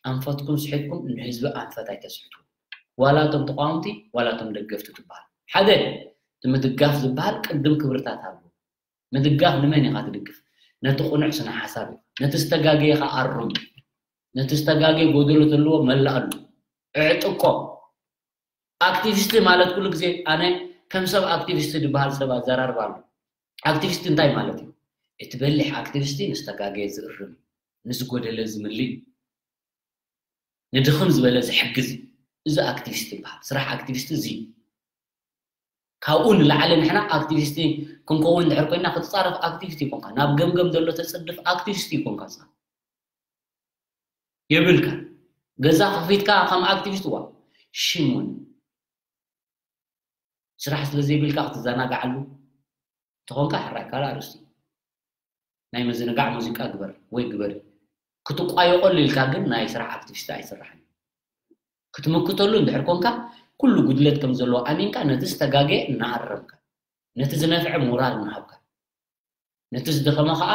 ኣንፈትኩም ስሒትኩም ንህዝቢ ኣንፈት ኣይተስሕቱ። ዋላ እቶም ተቋወምቲ ዋላ እቶም ደገፍቲ ትበሃል። ሓደ፣ እቲ ምድጋፍ ዝበሃል ቅድም ክብርታት ኣሎ። ምድጋፍ ንመን ኢኻ ትድግፍ? ነቲ ቅኑዕ ስነ ሓሳብ ኢኻ። ነቲ ዝተጋገየ ኸዓ ኣርም። ነቲ ዝተጋገየ ጎደሎ ተልዎ መላኣሉ። እዕጥቆ። ኣክቲቪስት ማለት ኩሉ ግዜ ኣነ ከም ሰብ ኣክቲቪስት ዝበሃል ሰብ ኣዘራርባ ኣሎ። ኣክቲቪስት እንታይ ማለት እዩ? እቲ በሊሕ ኣክቲቪስት ንዝተጋገየ ዝእርም፣ ንዝጎደለ ዝምልእ፣ ንድኽም ዝበለ ዝሕግዝ፣ እዚ ኣክቲቪስት ይበሃል። ስራሕ ኣክቲቪስት እዚ። ካብኡ ንላዕሊ ንሕና ኣክቲቪስት ክንከውን እንድሕር ኮይና ክትጻረፍ ኣክቲቪስት ይኮንካ። ናብ ገምገም ዘሎ ተጽድፍ ኣክቲቪስት ይኮንካ። የብልካ። ገዛ ከፊትካ ከም ኣክቲቪስት ዋ ሽሙን ስራሕ ስለ ዘይብልካ ክትዘናጋዓሉ እንተኾንካ ሕራይ ካልእ ኣርእስቲ። ናይ ምዝንጋዕ ሙዚቃ ግበር ወይ ግበሪ። ክትቋየቐሉ ኢልካ ግን ናይ ስራሕ ኣክቲቪስት ኣይስራሕን። ክትምክተሉ እንድሕር ኮንካ ኩሉ ጉድለት ከም ዘለዎ ኣሚንካ ነቲ ዝተጋገየ እናኣረምካ፣ ነቲ ዝነፍዐ ሞራል እናሃብካ፣ ነቲ ዝደኸመ ከዓ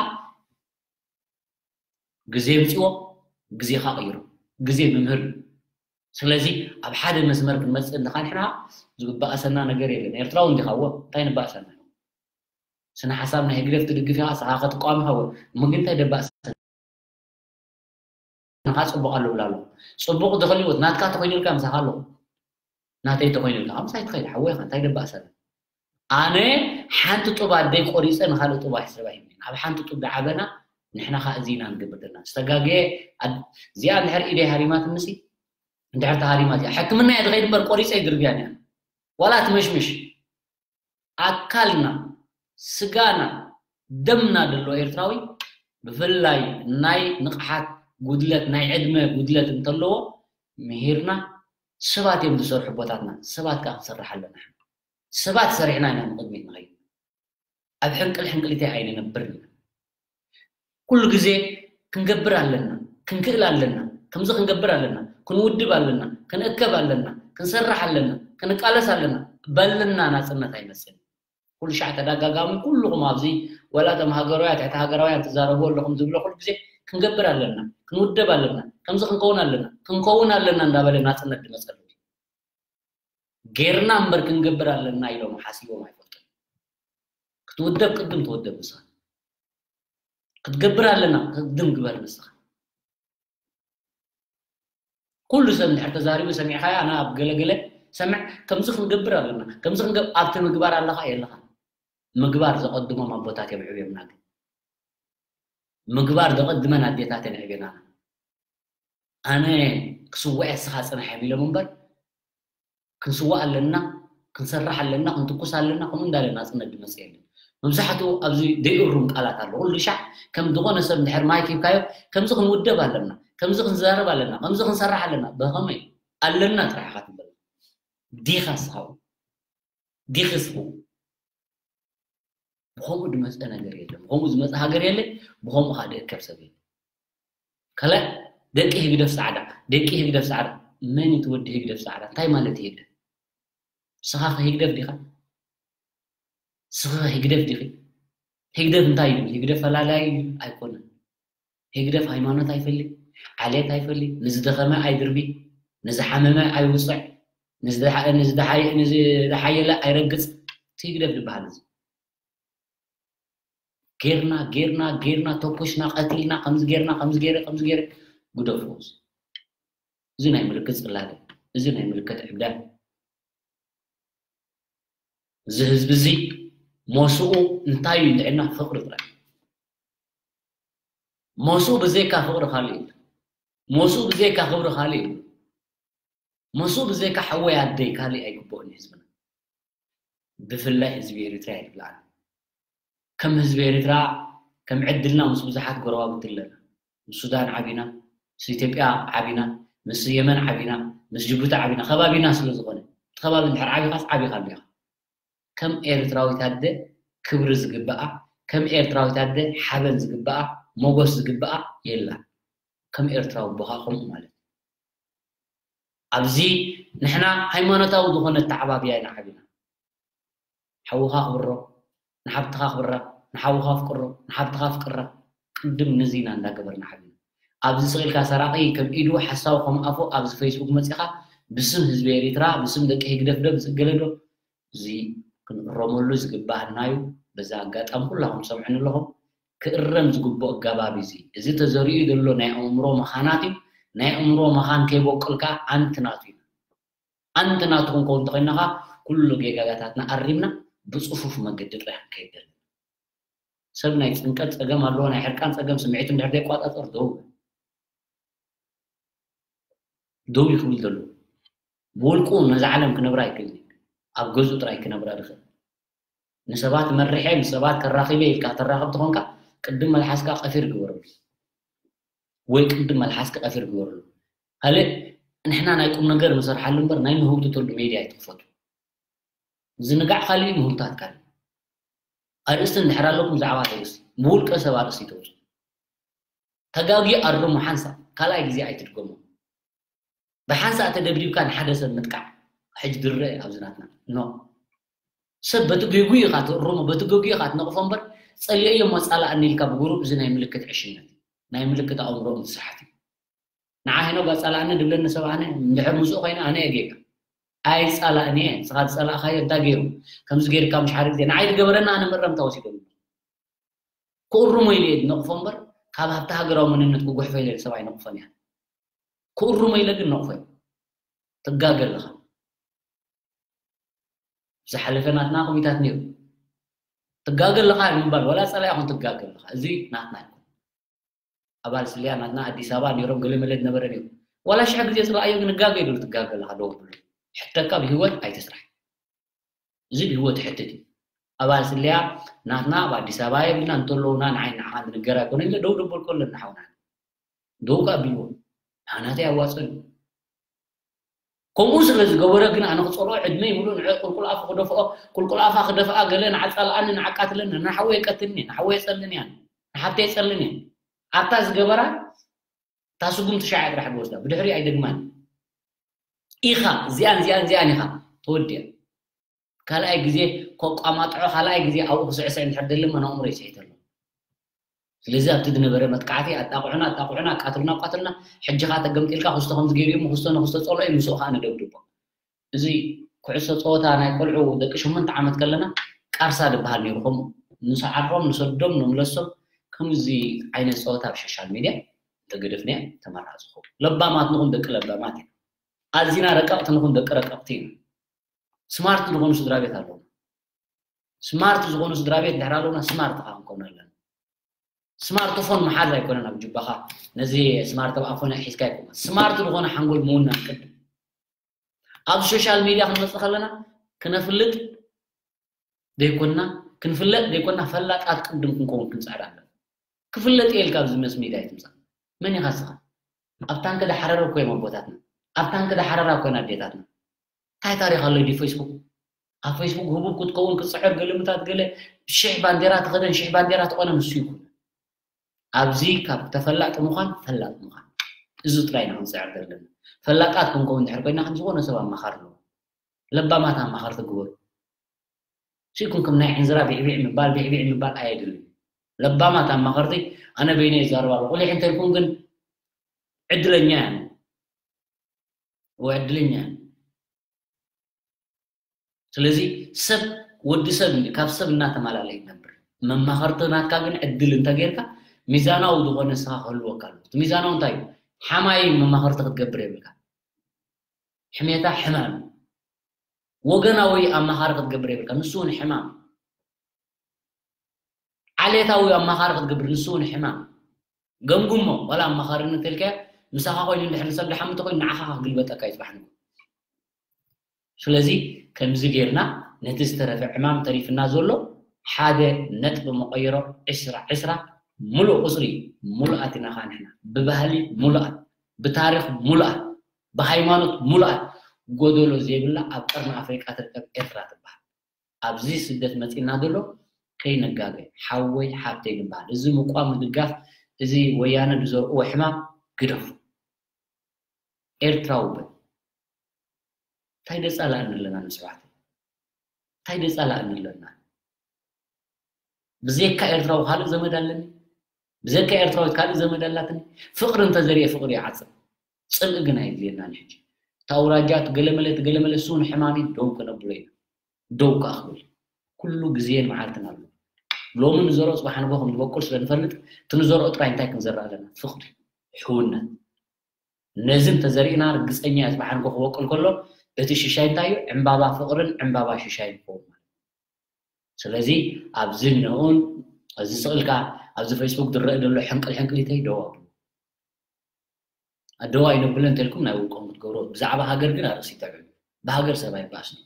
ግዜ ምፅዎ፣ ግዜኻ ቀይሮ። ግዜ መምህር እዩ። ስለዚ ኣብ ሓደ መስመር ክንመፅእ እንድኻ ንሕና ዝባእሰና ነገር የለን። ኤርትራዊ እንዲኻ እወ፣ እንታይ ንባእሰና? ስነ ሓሳብ ናይ ህግደፍ ትድግፍ ኢኻ፣ ንስኻ ክትቃወም ኢኻ እወ። እሞ ግን እንታይ ደባእሰና? ንኻ ፅቡቕ ኣሎ ብላ ኣሎ። ፅቡቕ ድኽልዎት ናትካ ተኾይኑልካ ምሳኻ ኣለኹ። ናተይ ተኾይኑልካ ምሳይ ትኸይድ ሓወይ ኢኻ፣ እንታይ ደባእሰና? ኣነ ሓንቲ ጡብ ኣደይ ቆሪፀ ንኻልእ ጡብ ኣይስባ ሂብኒ። ኣብ ሓንቲ ጡብ ዝዓበና ንሕና ኸዓ እዚ ኢና ንገብር ዘለና። ዝተጋገየ ኣድ-፣ እዚኣ እንድሕር ኢደይ ሃሪማትንሲ እንድሕር ተሃሪማት እያ። ሕክምና እየ ዝኸይድ እምበር ቆሪፀ ኣይድርብያን እያ። ዋላ ትመሽምሽ። ኣካልና፣ ስጋና፣ ደምና ደሎ ኤርትራዊ ብፍላይ ናይ ንቕሓት ጉድለት፣ ናይ ዕድመ ጉድለት እንተለዎ ምሂርና፣ ሰባት እዮም ዝሰርሑ ቦታትና፣ ሰባት ከኣ ክንሰርሕ ኣለና። ሰባት ሰሪሕና ኢና ንቕድሚት ንኸይድ። ኣብ ሕንቅል ሕንቅሊተይ ኣይንነብርን ኢና። ኩሉ ግዜ ክንገብር ኣለና፣ ክንክእል ኣለና፣ ከምዚ ክንገብር ኣለና፣ ክንውድብ ኣለና፣ ክንእከብ ኣለና፣ ክንሰርሕ ኣለና፣ ክንቃለስ ኣለና። በልና ናጽነት ኣይመጽእን። ኩሉ ሻዕ ተደጋጋሚ ኩልኹም ኣብዚ ወላ እቶም ሃገራውያን፣ ትሕቲ ሃገራውያን ትዛረቡ ኣለኹም ዝብሎ ኩሉ ግዜ ክንገብር ኣለና፣ ክንውደብ ኣለና፣ ከምዚ ክንከውን ኣለና፣ ክንከውን ኣለና እንዳበለ ናጽነት ዝመጸሉ። ጌርና እምበር ክንገብር ኣለና ኢሎም ሓሲቦም ኣይፈልጡን። ክትውደብ ቅድም ትወደብ ንስኻ። ክትገብር ኣለና ቅድም ግበር ንስኻ። ኩሉ ሰብ እንድሕር ተዛሪቡ ሰሚዕኻዮ፣ ኣነ ኣብ ገለገለ ሰምዕ፣ ከምዚ ክንገብር ኣለና፣ ከምዚ ክንገብ-፣ ኣብቲ ምግባር ኣለኻ የለኻ። ምግባር ዘቐድሞም ኣቦታት እዮም ዕብዮምና። ግን ምግባር ዘቐድመን ኣዴታት እየን ዕብየናና። ኣነ ክስዋእ እየ፣ ንስኻ ጽናሕ እዮም ኢሎም እምበር፣ ክንስዋእ ኣለና፣ ክንሰርሕ ኣለና፣ ክንትኩስ ኣለና፣ ከምኡ እንዳለ ናጽነት ዝመጽእ የለን። መብዛሕትኡ ኣብዚ ዘይእሩም ቃላት ኣሎ። ኩሉ ሻዕ ከም ዝኾነ ሰብ እንድሕር ማይክ ሂብካዮ፣ ከምዚ ክንውደብ ኣለና፣ ከምዚ ክንዛረብ ኣለና፣ ከምዚ ክንሰርሕ ኣለና። ብኸመይ ኣለና ጥራሕ ኢኻ ትብል? ዲኻ ንስኻ እውን? ዲኺ ንስኺ እውን? ብኸምኡ ዝመጸ ነገር የለን። ብኸምኡ ዝመጸ ሃገር የለን። ብኸምኡ ኸኣ ዝእከብ ሰብ የለን። ካልእ ደቂ ህግደፍ ጻዕዳ፣ ደቂ ህግደፍ ጻዕዳ። መን እዩ እቲ ወዲ ህግደፍ ጻዕዳ? እንታይ ማለት እዩ ህግደፍ? ንስኻ ኸ ህግደፍ ዲኻ? ንስኻ ኸ ህግደፍ ዲኺ? ህግደፍ እንታይ እዩ? ህግደፍ ፈላላይ ኣይኮነን። ህግደፍ ሃይማኖት ኣይፈሊ፣ ዓሌት ኣይፈሊ፣ ንዝደኸመ ኣይድርቢ፣ ንዝሓመመ ኣይውጽዕ፣ ንዝደሓ-፣ ንዝደሓየ-፣ ንዝደሓየለ ኣይረግጽ። እቲ ህግደፍ ዝበሃል እዚ። ጌርና፣ ጌርና፣ ጌርና፣ ተኩስና፣ ቀቲልና፣ ከምዚ ጌርና፣ ከምዚ ጌረ፣ ከምዚ ጌረ፣ ግደፍዎ። እዚ ናይ ምልክት ጽላለ፣ እዚ ናይ ምልክት ዕብዳን። እዚ ህዝቢ እዚ ሞስኡ እንታይ እዩ እንድዒልና? ፍቕሪ ጥራይ። ሞስኡ ብዘይካ ፍቕሪ ካልእ የለን። ሞስኡ ብዘይካ ክብሪ ካልእ የለን። ሞስኡ ብዘይካ ሓወይ ኣደይ ካልእ ኣይግብኦን እዩ ህዝብና። ብፍላይ ህዝቢ ኤሪትራ እየ ዝብል ኣነ። ከም ህዝቢ ኤሪትራ ከም ዕድልና ምስ ብዙሓት ጎረባብቲ ኣለና። ምስ ሱዳን ዓቢና፣ ምስ ኢትዮጵያ ዓቢና፣ ምስ የመን ዓቢና፣ ምስ ጅቡቲ ዓቢና፣ ከባቢና ስለ ዝኾነ። እቲ ከባቢ እንድሕር ዓቢኻስ ዓቢኻ ኣለኻ። ከም ኤርትራዊት ኣደ ክብሪ ዝግብኣ፣ ከም ኤርትራዊት ኣደ ሓበን ዝግብኣ፣ ሞጎስ ዝግብኣ የላን። ከም ኤርትራዊ ኣቦኻ ከምኡ ማለት እዩ። ኣብዚ ንሕና ሃይማኖታዊ ዝኾነ ኣተዓባብያ ኢና ዓቢና። ሓውኻ ኣኽብሮ፣ ንሓብትኻ ኣኽብራ፣ ንሓውኻ ኣፍቅሮ፣ ንሓብትኻ ኣፍቅራ። ቅድም ነዚ ኢና እንዳገበርና ዓቢና። ኣብዚ ስቕ ኢልካ ሰራቒ ከም ኢዱ ሓሳዊ ከም ኣፉ ኣብዚ ፌስቡክ መጺኻ ብስም ህዝቢ ኤሪትራ፣ ብስም ደቂ ህግደፍ ደብ ዝእገለ ዶ? እዚ ክንእረመሉ ዝግባኣና እዩ። በዛ ኣጋጣሚ ኩላኹም ትሰምዑኒ ኣለኹም፣ ክእረም ዝግብኦ ኣገባብ እዩ እዚ። እዚ ተዘሪኡ ዘሎ ናይ ኣእምሮ መኻናት እዩ። ናይ ኣእምሮ መኻን ከይበቁል ከኣ ኣንቲ ናቱ እዩ። ኣንቲ ናቱ ክንከውን እንተኾይንና ከኣ ኩሉ ጌጋታትና ኣሪምና ብጽፉፍ መገዲ ጥራሕ ክንከይድ ኣለና። ሰብ ናይ ጭንቀት ጸገም ኣለዎ፣ ናይ ሕርቃን ጸገም ስምዒቱ እንድሕር ዘይቋጻጸር ደው ይብል። ደው ይክብል ዘሎ። ብውልቁ ነዛ ዓለም ክነብራ ኣይክእልን እዩ። ኣብ ገዝኡ ጥራይ ክነብራ ዝኽእል። ንሰባት መሪሐ፣ ንሰባት ከራኺበ ኢልካ ተራኽብ ተኾንካ፣ ቅድም መልሓስካ ቀፊር ግበረሉ። ወይ ቅድም መልሓስካ ቀፊር ግበረሉ። ካልእ ንሕና ናይ ቁም ነገር ንሰርሓሉ እምበር ናይ ንህውትተሉ ሜድያ ኣይትኽፈቱ። ዝንጋዕ ካልእ እዩ፣ ምህውታት ካልእ። ኣርእስቲ እንድሕር ኣለኩም ብዛዕባ ኣርእስቲ፣ ብውልቀ ሰብ ኣርእስቲ ተውፅኡ። ተጋግዩ ኣርሙ ሓንሳእ፣ ካልኣይ ግዜ ኣይትድገሞ። ብሓንሳእ ተደብዲብካ ንሓደ ሰብ ምጥቃዕ፣ ሕጂ ድረ ኣብዚ ናትና። ኖ። ሰብ በቲ ገጉ ኢኻ ትእርሞ፣ በቲ ገጉ ኢኻ ትነቕፎ እምበር፣ ጸሊኤዮ እሞ ጻላእኒ ኢልካ ብጉሩብ፣ እዚ ናይ ምልክት ዕሽነት፣ ናይ ምልክት ኣእምሮ ምስሓት እዩ። ንዓ ሄኖግ ኣጻላእኒ ድብለኒ ሰብ ኣነ፣ እንድሕር ምስኡ ኮይነ ኣነ እየ ጌጋ። ኣይጻላእኒ እየ፣ ንስኻ ዝጸላእኻዮ እንታይ ገይሩ? ከምዚ ገይርካ ምሽ ሓደ ግዜ፣ ንዓይ ዝገበረኒ ኣነ መረምታ ወሲደሉ። ክእርሞ ኢለ እየ ዝነቕፎ እምበር፣ ካብ ሃብቲ ሃገራዊ መንነት ክጉሕፎ ኢለ ሰብ ኣይነቕፎን እየ። ክእርሞ ኢለ ግን ነቕፎ እየ። ትጋገ ኣለኻ። ዝሓለፈ ናትና ኮሚታት ነይሩ። ትጋገ ኣለኻ ምባል፣ ዋላ ጸላኢ ይኹን ትጋገ ኣለኻ። እዚ ናትና ይኹን። ኣባል ስልያ ናትና ኣዲስ ኣበባ ነይሮም፣ ገለ መለ ዝነበረ ነይሩ። ዋላ ሽሕ ግዜ ጽላእዮ ግን እጋገ ይብሉ፣ ትጋገ ኣለኻ፣ ደው ብሉ። ሕተካ ብህይወት ኣይትስራሕ። እዚ ብህይወት ይሕትት እዩ። ኣባል ስልያ ናትና ኣብ ኣዲስ ኣበባ የብልና፣ እንተለውና ንዓይ ንዓኻ ዝንገር ኣይኮነ ኢለ ደው ደበልኮ ኣለና ሓውና። ደው ከኣ ኣቢልዎ። ናህናተይ ኣዋጽኦ እዩ። ከምኡ ስለ ዝገበረ ግን ኣነ ክጸልኦ ዕድመይ ሙሉእ ንዕ ቁልቁል ኣፉ ክደፍኦ፣ ቁልቁል ኣፋ ክደፍኣ ገለ ንዓጻልኣኒ፣ ንዓቃትለኒ፣ ንሓወይ የቀትልኒ፣ ንሓወይ የጸልኒ እያ፣ ንሓብተይ የጸልኒ እያ። ኣብታ ዝገበራ እታ ስጉምቲ ሻዕ ጥራሕ ክወስዳ፣ ብድሕሪ ኣይደግማን። ኢኻ፣ እዚኣን፣ እዚኣን፣ እዚኣን ኢኻ፣ ተወዲኣ። ካልኣይ ግዜ ከቋማጥዖ፣ ካልኣይ ግዜ ኣብኡ ክስዕስዕ እንድሕር ደሊ እሞ ነእምሮ ይስሒት ኣሎ። ስለዚ ኣብቲ ዝነበረ መጥቃዕቲ ኣጣቕዑና፣ ኣጣቕዑና፣ ኣቃትሉና፣ ኣቃትሉና፣ ሕጂ ኸኣ ተገምጢልካ ክስቶ ከምዚ ገይሩ እሞ ክስቶ ንክስቶ ጸልኦ እዩ፣ ምስኡ ኸኣ ንደብድቦ። እዚ ኩዕሶ ጸወታ ናይ ቆልዑ ደቂ ሸሞንተ ዓመት ከለና ቃርሳ ዝበሃል ነይሩ። ከምኡ ንሰዓሮም፣ ንሰዶም፣ ንምለሶም ከምዚ ዓይነት ጸወታ ኣብ ሶሻል ሚድያ እንተገደፍናዮ ተመራጺ ይኸውን። ለባማት ንኹን ደቂ ለባማት ኢና። ኣዚና ረቀቕቲ ንኹን ደቂ ረቀቕቲ ኢና። ስማርት ዝኾኑ ስድራ ቤት ኣለዉ። ስማርት ዝኾኑ ስድራ ቤት እንድሕር ኣለዉና ስማርት ኸዓ ክንከውን ኣለና። ስማርትፎን መሓዝ ኣይኮነን ኣብ ጅባኻ ነዚ ስማርት ኣብ ኣፎና ሒዝካ ኣይኮነን። ስማርት ዝኾነ ሓንጎል ምውናን ቅድም። ኣብ ሶሻል ሚድያ ክንመጽእ ከለና ክነፍልጥ ዘይኮንና፣ ክንፍለጥ ዘይኮንና ፈላጣት ቅድም ክንከውን ክንጽዕር ኣለና። ክፍለጥ እየ ኢልካ ኣብዚ መስ ሚድያ ኣይትምጻእ። መን ኢኻ ንስኻ? ኣብ ታንክ ዳሓረረ እኮ እዮም ኣቦታትና። ኣብ ታንክ ዳሓረራ እኮ እየን ኣዴታትና። እንታይ ታሪኽ ኣሎ ድዩ ፌስቡክ? ኣብ ፌስቡክ ህቡብ ክትከውን ክትጽዕር ግልምታት ገለ ሽሕ ባንዴራ ተኸደን ሽሕ ባንዴራ ተቆነ ንሱ ይኩን። ኣብዚ ካብ ተፈላጢ ምዃን ፈላጥ ምዃን። እዚ ጥራይ ኢና ክንጽዕር ዘለና። ፈላጣት ክንከውን እንድሕር ኮይና ከም ዝኾነ ሰብ ኣማኻሪ ኣለዎ። ለባማት ኣማኸርቲ ግበሩ። ሲኩም ከም ናይ ዕንዝራ ቢዕቢዕ ምባል ቢዕቢዕ ምባል ኣየድልን። ለባማት ኣማኸርቲ ኣነ በይነ ይዛረብ ኣለኹ። ቁሊሕ እንተልኩም ግን ዕድለኛ እያ። ወይ ዕድለኛ እያ። ስለዚ ሰብ ወዲ ሰብ እንዲ ካብ ሰብ እናተማላለየ ይነብር። መማኸርቲ ናትካ ግን ዕድል እንተጌርካ ሚዛናዊ ዝኾነ ንስኻ ክህልወካ ኣለዎ። እቲ ሚዛናዊ እንታይ እዩ? ሓማይ መማኸርቲ ክትገብር የብልካ። ሕሜታ ሕማም እዩ። ወገናዊ ኣማኻሪ ክትገብር የብልካ። ንሱ እውን ሕማም እዩ። ዓሌታዊ ኣማኻሪ ክትገብር ንሱ እውን ሕማም። ገምግሞ ዋላ ኣማኻሪ እንተልካዮ ምሳኻ ኮይኑ እንድሕር ንሰብ ድሓሚ እንተኮይኑ ንዓኻ ክግልበጠካ እዩ ጽባሕ ንግሆ። ስለዚ ከምዚ ጌርና ነቲ ዝተረፈ ዕማም ተሪፍና ዘሎ ሓደ ነጥቢ መቐይሮ ዕስራ ዕስራ ሙሉእ ቁፅሪ ሙሉኣት ኢና ኸዓ ንሕና። ብባህሊ ሙሉኣት፣ ብታሪኽ ሙሉኣት፣ ብሃይማኖት ሙሉኣት፣ ጎደሎ ዘይብላ ኣብ ቀርኒ ኣፍሪቃ ትርከብ ኤርትራ ትበሃል። ኣብዚ ስደት መፂና ዘሎ ከይንጋገ፣ ሓወይ ሓብተይ ንበሃል። እዚ ምቋም ምድጋፍ፣ እዚ ወያነ ዝዘርእዎ ሕማም ግደፉ። ኤርትራዊ በል። እንታይ ደፃላእኒ ኣለና ንስብሓት? እንታይ ደፃላእኒ ኣለና? ብዘይካ ኤርትራዊ ካልእ ዘመድ ኣለኒ? ብዘይካ ኤርትራዊት ካልእ ዘመድ ኣላትኒ? ፍቕሪ እንተዘሪኤ ፍቕሪ ይዓፅር። ፅልኢ ግን ኣየድልየናን ሕጂ። እቲ ኣውራጃ፣ እቲ ገለመለ፣ እቲ ገለመለ፣ እሱ ንሕማሚ ደው ከነብሎ ኢና። ደው ከኣ ክብል። ኩሉ ግዜን መዓልትን ኣሎ። ሎሚ ንዘርኦ ጽባሕ ንግሆ ከም ዝበቁል ስለ ንፈልጥ፣ እቲ ንዘርኦ ጥራይ እንታይ ክንዘርእ ኣለና? ፍቕሪ፣ ሕውነት። ነዚ እንተዘሪእና ርግጸኛ እየ፣ ጽባሕ ንግሆ ክበቁል ከሎ፣ እቲ ሽሻይ እንታይ እዩ? ዕምባባ ፍቕርን ዕምባባ ሽሻይን ክኸውን ማለት እዩ። ስለዚ ኣብዚ እነኡን፣ እዚ ስቕ ኢልካ ኣብዚ ፌስቡክ ዝረአ ዘሎ ሕንቅል ሕንቅሊተይ ደው ኣብሉ። ኣደዋ ኣይነብልን እንተልኩም ናይ ውልቆም ክትገብሮ፣ ብዛዕባ ሃገር ግን ኣርእሲ ይተዕብሉ። ብሃገር ሰብ ኣይባእስን።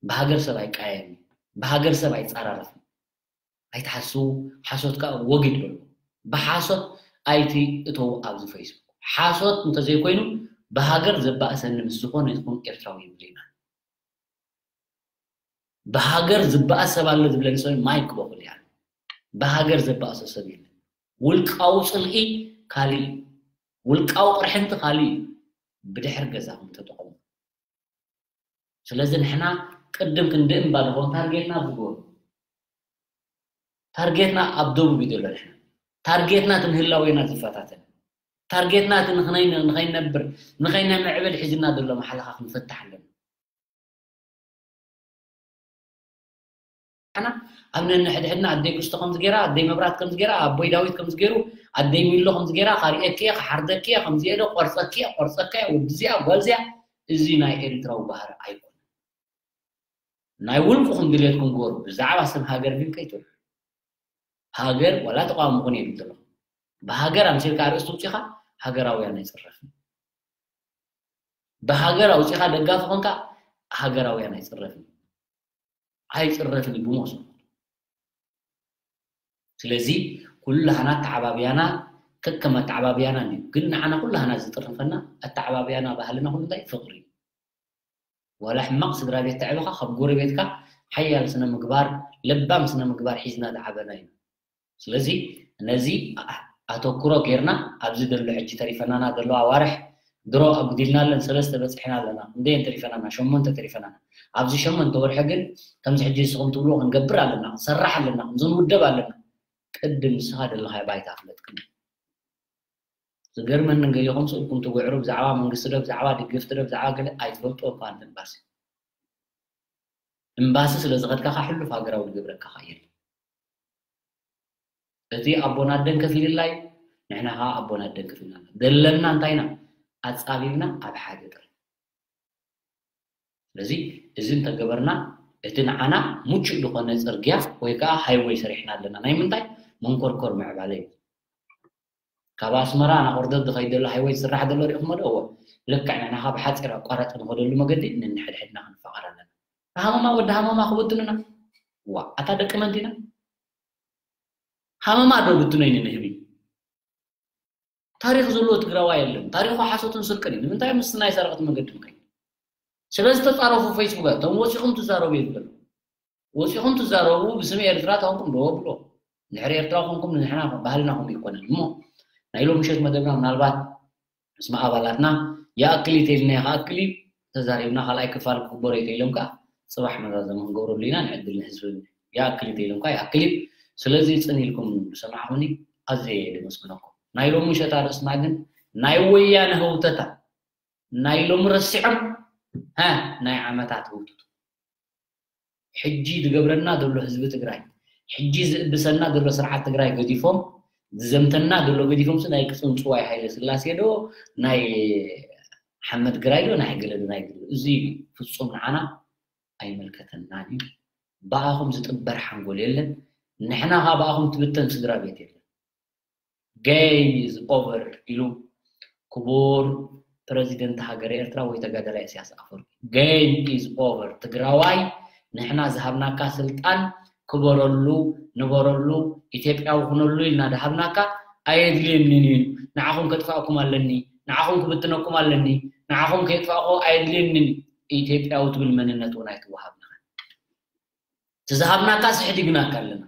ብሃገር ሰብ ኣይቃየምን። ብሃገር ሰብ ኣይጻራረፍን። ኣይትሓስቡ፣ ሓሶት ከኣ ወጊድ በሉ። ብሓሶት ኣይትእተዉ ኣብዚ ፌስቡክ። ሓሶት እንተዘይኮይኑ ብሃገር ዘባእሰኒ ምስ ዝኾነ ይኹን ኤርትራዊ ይብልና። ብሃገር ዝበኣስ ሰብ ኣሎ ዝብለኒ ሰብ ማይክ በኹል እያ። ብሃገር ዘባእሶ ሰብ የለን። ውልቃዊ ጽልኢ ካልእ እዩ። ውልቃዊ ቅርሕንቲ ካልእ እዩ። ብድሕሪ ገዛኹም ተጠቐሙ። ስለዚ ንሕና ቅድም ክንዲ እምባ ንኾን ታርጌትና ኣብዚ ጎኑ። ታርጌትና ኣብ ደቡብ እዩ ዘሎ ንሕና። ታርጌትና እቲ ንህላዌና ዝፈታተን። ታርጌትና እቲ ንኽነይ-፣ ንኸይነብር፣ ንኸይነምዕብል ሒዝና ዘሎ መሓለኻ ክንፈትሕ ኣለና። ኣና ኣብ ነንሕድሕድና ኣደይ ክስቶ ከምዚ ገይራ፣ ኣደይ መብራት ከምዚ ገይራ፣ ኣቦይ ዳዊት ከምዚ ገይሩ፣ ኣደይ ሚሎ ከምዚ ገይራ፣ ካሪኤኪ እየ፣ ክሓርደኪ እየ፣ ከምዚ እየ ዶ፣ ቆርጸኪ እየ፣ ቆርጸካ እየ፣ ወዲ እዚኣ፣ ጓል እዚኣ፣ እዚ ናይ ኤርትራዊ ባህሪ ኣይኮነን። ናይ ውልቅኹም ድሌትኩም ግበሩ፣ ብዛዕባ ስም ሃገር ግን ከይትውዕሉ። ሃገር ዋላ ተቃዋሚ ኩን የብል ዘለኹ። ብሃገር ኣምሲልካ ኣርእስቲ ውፂኻ ሃገራውያን ኣይፅረፍን። ብሃገር ኣውፂኻ ደጋፊ ኮንካ ሃገራውያን ኣይፅረፍን። ኣይፅረፍን እዩ ብሞት። ስለዚ ኩላህና ኣተዓባብያና ከከም ኣተዓባብያና እዩ። ግን ንዓና ኩላህና ዝጥርንፈና ኣተዓባብያና ባህልና ኩሉ እንታይ ፍቕሪ እዩ። ዋላ ሕማቕ ስድራ ቤት ተዕብኻ ካብ ጎረቤትካ ሓያል ስነ ምግባር፣ ለባም ስነ ምግባር ሒዝና ዝዓበና ኢና። ስለዚ ነዚ ኣ-፣ ኣተኩሮ ጌርና ኣብዚ ዘሎ ሕጂ ተሪፈናና ዘሎ ኣዋርሕ ድሮ ኣጉዲልናለን ሰለስተ በፂሕና ኣለና። ክንደየን ተሪፈናና? ሸሞንተ ተሪፈናና። ኣብዚ ሸሞንተ ወርሒ ግን ከምዚ ሕጂ ንስኹም ትብልዎ ክንገብር ኣለና፣ ክንሰርሕ ኣለና፣ ከምዚ ንውደብ ኣለና። ቅድም ንስኻ ዘለኻዮ ባይታ ፍለጥ ቅድም። ዝገርመኒ ገሊኹም ስእልኩም ትጉዕሩ ብዛዕባ መንግስቲ ዶ ብዛዕባ ደገፍቲ ዶ ብዛዕባ ገለ ኣይትፈልጡ እኳ እንተ እምባሲ። እምባሲ ስለ ዝኸድካ ኸዓ ሕሉፍ ሃገራዊ ዝገብረካ ኸዓ የለን። እቲ ኣቦና ኣደን ከፊልላ እዩ፣ ንሕና ኸዓ ኣቦና ኣደን ከፊልና ኣለና። ዘለና እንታይ ኢና? ኣጻቢብና ኣብ ሓደ ጥራይ። ስለዚ እዚ እንተገበርና እቲ ንዓና ምቹእ ዝኾነ ጽርግያ ወይ ከኣ ሃይወይ ሰሪሕና ኣለና። ናይ ምንታይ? መንኮርኮር ምዕባለ እዩ። ካብ ኣስመራ ናብ ኦርደት ዝኸይድ ዘሎ ሃይወይ ዝስራሕ ዘሎ ሪእኹሞ ዶ? እወ። ልክዕ ንሕና ካብ ሓጺር ኣቋራጺ ንኸደሉ መገዲ ነንሕድሕድና ክንፋቐር ኣለና። ሃመማ ወዲ ሃመማ ክበትኑና? ዋ፣ ኣታ ደቂ መን ዲና? ሃመማ ዶ ብትኖ እዩ ንህቢ? ታሪኽ ዘለዎ ትግራዋይ የለን። ታሪኹ ሓሶትን ስርቅን እዩ። ንምንታይ ምስ ናይ ሰረቕቲ መገዲ ንኸይድ? ስለ ዝተጻረፉ ፌስቡክ እቶም ወጺኹም ትዛረቡ እዮም ዘለዉ። ወጺኹም ትዛረቡ ብስም ኤርትራ ተኾንኩም ዶ ብሎ። ድሕሪ ኤርትራ ኮንኩም ንሕና ባህልና ከምኡ ይኮነን። እሞ ናይ ሎሚ ምሸት መደብና ምናልባት ምስ ኣባላትና ይኣክል እዩ ተኢልና ይኽኣክል እዩ ተዛሪብና፣ ካልኣይ ክፋል ክግበሮ እዩ ተኢሎም ከኣ ጽባሕ መዛዘሚ ክንገብረሉ ኢና። ንዕድል ንህዝቢ ይኣክል እዩ ተኢሎም ከኣ ይኣክል እዩ። ስለዚ ጽን ኢልኩም ዝሰማዕኹኒ ኣዝየ እየ ደመስግነኩም። ናይ ሎሚ ምሸት ኣርእስትና ግን ናይ ወያነ ህውተታ፣ ናይ ሎሚ ረሲዖም፣ ሃ፣ ናይ ዓመታት ህውተቱ። ሕጂ ዝገብረና ዘሎ ህዝቢ ትግራይ፣ ሕጂ ዝእብሰና ዘሎ ስርዓት ትግራይ ገዲፎም፣ ዝዘምተና ዘሎ ገዲፎም፣ ስ ናይ ቅጽንጽዋይ ሃይለ ስላሴ ዶ፣ ናይ ሓመድ ግራይ ዶ፣ ናይ ገለ ዶ፣ ናይ ገለ ዶ። እዚ ፍጹም ንዓና ኣይምልከተናን እዩ። ብኣኹም ዝጥበር ሓንጎል የለን። ንሕና ኸኣ ብኣኹም ትብተን ስድራ ቤት የለን። Game is over ኢሉ ክቡር ፕረዚደንት ሃገረ ኤርትራ ወይ ተጋዳላይ ኢሳያስ ኣፈወርቂ። Game is over። ትግራዋይ፣ ንሕና ዝሃብናካ ስልጣን ክበረሉ፣ ንበረሉ፣ ኢትዮጵያዊ ኩነሉ ኢልና ድሃብናካ ኣየድልየንን እዩ። ንዓኹም ከጥፋእኩም ኣለኒ፣ ንዓኹም ክብትነኩም ኣለኒ፣ ንዓኹም ከየጥፋእኩ ኣየድልየንን። ኢትዮጵያዊ ትብል መንነት እውን ኣይትወሃብናኻ። እቲ ዝሃብናካ ስሕዲግናካ ኣለና።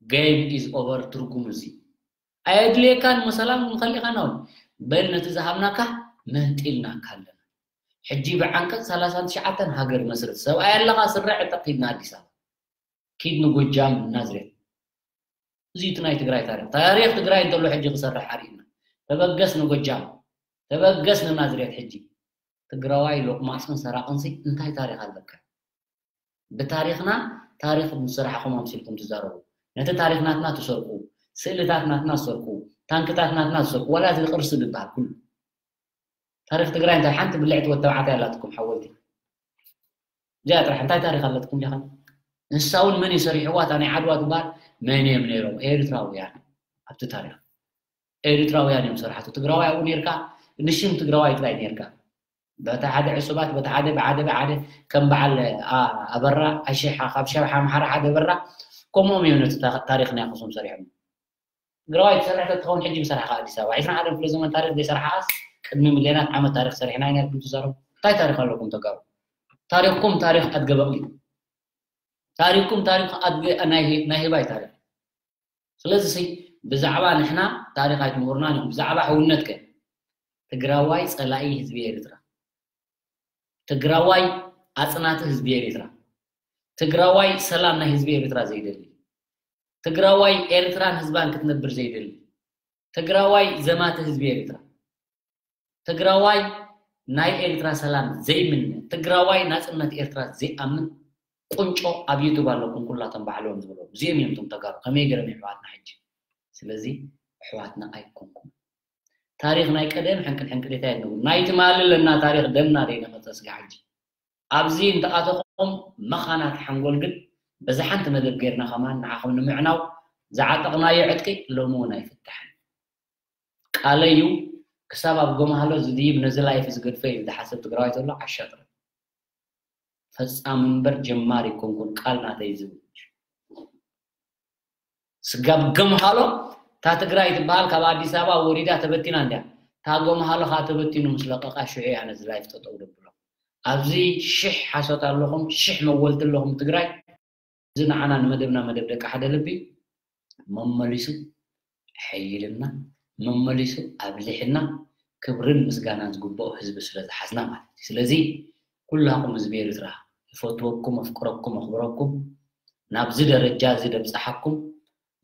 Game is over ትርጉሙ እዚ። ኣየድልየካን መሰላም ንኸሊኻ ናው በል ነቲ ዝሃብናካ መንጢልናካ ኣለና። ሕጂ ብዓንቀጽ ሰላሳን ትሽዓተን ሃገር መስርት ሰብኣይ ኣለኻ ስረ ዕጠቕ ኪድና ኣዲስ ኣበባ ኪድ ንጎጃም ናዝሬት። እዚ እቲ ናይ ትግራይ ታሪክ ታሪክ ትግራይ እንተሎ ሕጂ ክሰርሕ ኣርእና። ተበገስ ንጎጃም ተበገስ ንናዝሬት። ሕጂ ትግራዋይ ሎቅማፅን ሰራቅንሲ እንታይ ታሪክ ኣለካ? ብታሪኽና ታሪኽ ምስ ሰራሕኹም ኣምሲልኩም ትዛረቡ። ነቲ ታሪኽ ናትና ትሰርቁ፣ ስእልታት ናትና ትሰርቁ፣ ታንክታት ናትና ትሰርቁ፣ ዋላ እዚ ቅርሲ ዝበሃል ኩሉ። ታሪኽ ትግራይ እንታይ ሓንቲ ብልዕቲ ወተባዕታይ ኣላትኩም ሓወልቲ። እዚኣ ጥራሕ እንታይ ታሪኽ ኣለትኩም ዲኻ? ንሳ እውን መን እዩ ሰሪሕዋ? እታ ናይ ዓድዋ ትበሃል መን እዮም ነይሮም? ኤርትራውያን ኣብቲ ታሪኽ። ኤርትራውያን እዮም ሰራሕቱ። ትግራዋይ ኣብኡ ነርካ፣ ንሽም ትግራዋይ ጥራይ ነርካ። በታ ሓደ ዕሱባት በታ ሓደ ብሓደ ብሓደ ከም በዓል ኣበራ ኣሽሓ ካብ ሸብሓ ኣምሓራ ሓደ ኣበራ ከምኦም እዮም ነቲ ታሪኽ ናይ ኣክሱም ሰሪሖም። ትግራዋይ ትሰርሕ ተትኸውን ሕጂ ምሰራሕካ ኣዲስ ኣበባ ዕስራን ሓደን ክፍለ ዘመን ታሪኽ ዘይሰራሕኻስ ቅድሚ ሚልዮናት ዓመት ታሪኽ ሰሪሕና ኢና ኢልኩም ትዛረቡ። እንታይ ታሪኽ ኣለኩም ተጋሩ? ታሪኽኩም ታሪኽ ኣድገ በቕሊ። ታሪኽኩም ታሪኽ ኣድገ ናይ ህባይ ታሪኽ። ስለዚ ብዛዕባ ንሕና ታሪኽ ኣይትምህሩናን ኢኹም። ብዛዕባ ሕውነት ከ ትግራዋይ ጸላኢ ህዝቢ ኤርትራ፣ ትግራዋይ ኣጽናቲ ህዝቢ ኤርትራ፣ ትግራዋይ ሰላም ናይ ህዝቢ ኤርትራ ዘይደሊ፣ ትግራዋይ ኤርትራን ህዝባን ክትነብር ዘይደሊ፣ ትግራዋይ ዘማቲ ህዝቢ ኤርትራ፣ ትግራዋይ ናይ ኤርትራ ሰላም ዘይምነ፣ ትግራዋይ ናጽነት ኤርትራ ዘይኣምን ቁንጮ ኣብ ዩቱብ ኣለኩም ኩላቶም ባዕሎም ዝበሎም እዚኦም እዮም እቶም ተጋሩ። ከመይ ገይሮም የሕዋትና ሕጂ? ስለዚ ኣሕዋትና ኣይኮንኩም። ታሪኽ ናይ ቀደም ሕንቅል ሕንቅሊታ የለውም። ናይ ትማሊ ኣለና ታሪኽ ደምና ደይነቐጸ ስጋ ሕጂ ኣብዚ እንተኣተኹም መኻናት ሓንጎል ግን በዚ ሓንቲ መደብ ጌርና ከማን ንዓኹም ንምዕናው ዝዓጠቕናዮ ዕጥቂ ሎሚ እውን ኣይፍታሕን። ቃለይ እዩ። ክሳብ ኣብ ጎማህሎ ዝድይብ ነዚ ላይፍ ዝገድፎ እዩ ዝሓስብ ትግራዋይ ዘሎ ዓሻጥረ። ፈጻሚ እምበር ጀማሪ ኮንኩን ቃል ናተይ ዝብል ስጋብ ገምሃሎ እታ ትግራይ ትበሃል ካብ ኣዲስ ኣበባ ወሪዳ ተበቲና እንድያ። እታ ገምሃሎ ከዓ ተበቲኑ ምስ ለቀቃ ሽዑ እያ ነዚ ላይፍ ጠጠው ደብሎ። ኣብዚ ሽሕ ሓሶት ኣለኹም፣ ሽሕ መወልቲ ኣለኹም ትግራይ። እዚ ንዓና ንመደብና መደብ ደቂ ሓደ ልቢ መመሊሱ ሓይልና መመሊሱ ኣብሊሕና ክብርን ምስጋናን ዝግብኦ ህዝቢ ስለ ዝሓዝና ማለት እዩ። ስለዚ ኩላኹም ህዝቢ ኤርትራ ይፈትወኩም፣ ኣፍቅረኩም፣ ኣኽብረኩም ናብዚ ደረጃ እዚ ደብፅሓኩም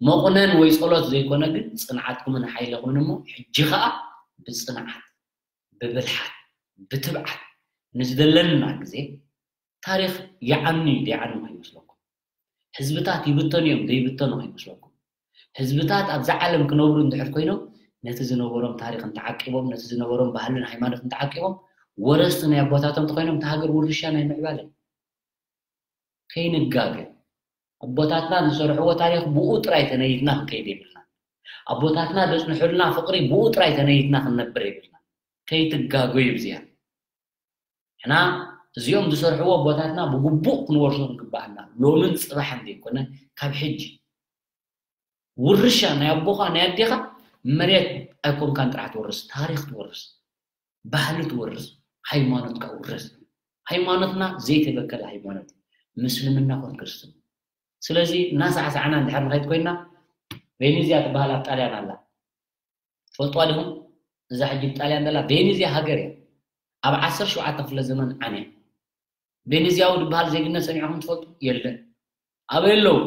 መቑነን ወይ ጸሎት ዘይኮነ ግን ጽንዓትኩምን ሓይለኹምን እሞ ሕጂ ኸኣ ብጽንዓት ብብልሓት ብትብዓት ንዝደለና ግዜ ታሪኽ ይዓኑ እዩ ደይዓኑ ከይመስለኩም። ህዝብታት ይብተኑ እዮም ደይብተኑ ከይመስለኩም። ህዝብታት ኣብዛ ዓለም ክነብሩ እንድሕር ኮይኖም ነቲ ዝነበሮም ታሪኽን ተዓቂቦም ነቲ ዝነበሮም ባህልን ሃይማኖትን ተዓቂቦም ወረስቲ ናይ ኣቦታቶም ተኮይኖም እቲ ሃገር ውርሻ ናይ ምዕባለ ከይንጋገ ኣቦታትና ዝሰርሕዎ ታሪኽ ብኡ ጥራይ ተነይትና ክንከይድ የብልና። ኣቦታትና ዘጽንሑልና ፍቕሪ ብኡ ጥራይ ተነይትና ክንነብር የብልና። ከይትጋገዩ ብዚኣ ሕና እዚኦም ዝሰርሕዎ ኣቦታትና ብግቡእ ክንወርሶ ክንግባኣና ሎምን ጽባሕን ዘይኮነ ካብ ሕጂ ውርሻ ናይ ኣቦኻ ናይ ኣዴኻ መሬት ኣይኮንካን ጥራሕ ትወርስ ታሪኽ ትወርስ ባህሊ ትወርስ ሃይማኖትካ ውርስ። ሃይማኖትና ዘይተበከለ ሃይማኖት ምስልምና ኮን ክርስትና። ስለዚ እናሳዕሳዕና እንድሕር ንኸይድ ኮይና ቬኔዝያ ትበሃል ኣብ ጣልያን ኣላ። ትፈልጥዋ ዲኹም? እዛ ሕጂ ብጣልያን ዘላ ቬኔዝያ ሃገር እያ። ኣብ ዓሰርተ ሸውዓተ ክፍለ ዘመን ዓንያ። ቬኔዝያዊ ዝበሃል ዜግነት ሰሚዕኹም ትፈልጡ? የለን። ኣበይ ኣለዉ?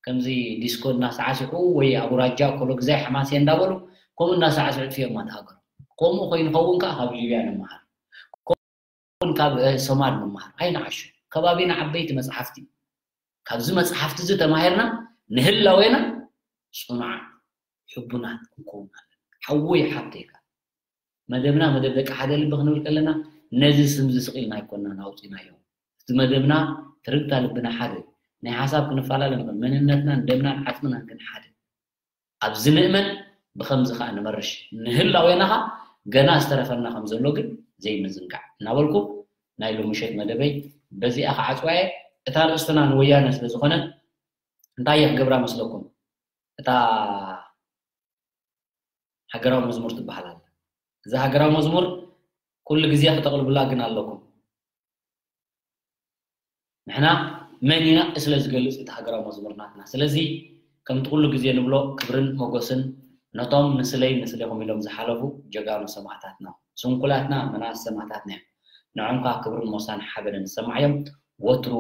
ከምዚ ዲስኮ እናሳዕስዑ ወይ ኣውራጃ ኮሎግዛይ ሓማሴ እንዳበሉ ከምኡ እናሳዕስዑ ጥፊኦማ ተሃገሩ። ከምኡ ኮይኑ ኸውን ከዓ ካብ ሊብያ ንምሃር። ን ካብ ሶማል ምምሃር ኣይንዓሹ። ከባቢና ዓበይቲ መፅሓፍቲ ካብዚ መፅሓፍቲ እዚ ተማሂርና ንህላዌና ፅኑዓት ሕቡናት ክንከውን ኣለና። ሓወይ ሓብተይካ መደብና መደብ ደቂ ሓደ ልቢ ክንብል ከለና ነዚ ስም እዚ ስቕ ኢልና ኣይኮናን ኣውፂናዮ። እቲ መደብና ትርግታ ልብና ሓደ ናይ ሓሳብ ክንፈላለ ንኽእል መንነትናን ደምናን ዓፅምናን ግን ሓደ ኣብዚ ንእመን ብኸምዚ ኸዓ ንመርሽ ንህላዌናኻ ገና ዝተረፈና ከም ዘሎ ግን ዘይምዝንጋዕ እናበልኩ ናይ ሎምሸት መደበይ በዚኣ ክዓፅዋየ እታ ርእስትና ንወያነ ስለ ዝኾነ እንታይ እየ ክገብራ መስለኩም? እታ ሃገራዊ መዝሙር ትበሃል ኣላ። እዛ ሃገራዊ መዝሙር ኩሉ ግዜ ክተቕልቡላ ግን ኣለኩም። ንሕና መን ኢና ስለ ዝገልጽ እቲ ሃገራዊ መዝሙር ናትና። ስለዚ ከምቲ ኩሉ ግዜ ንብሎ ክብርን ሞጎስን ነቶም ንስለይ ንስሌኹም ኢሎም ዝሓለፉ ጀጋኑ ሰማእታትና። ስንኩላትና መናስ ሰማእታትና እዮም። ንዖም ከዓ ክብርን ሞሳን ሓበንን ዝሰማዕ እዮም። ወትሩ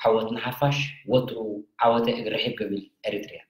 ዓወት ንሓፋሽ፣ ወትሩ ዓወተ እግሪ ርሒብ ገቢል ኤሪትሪያ።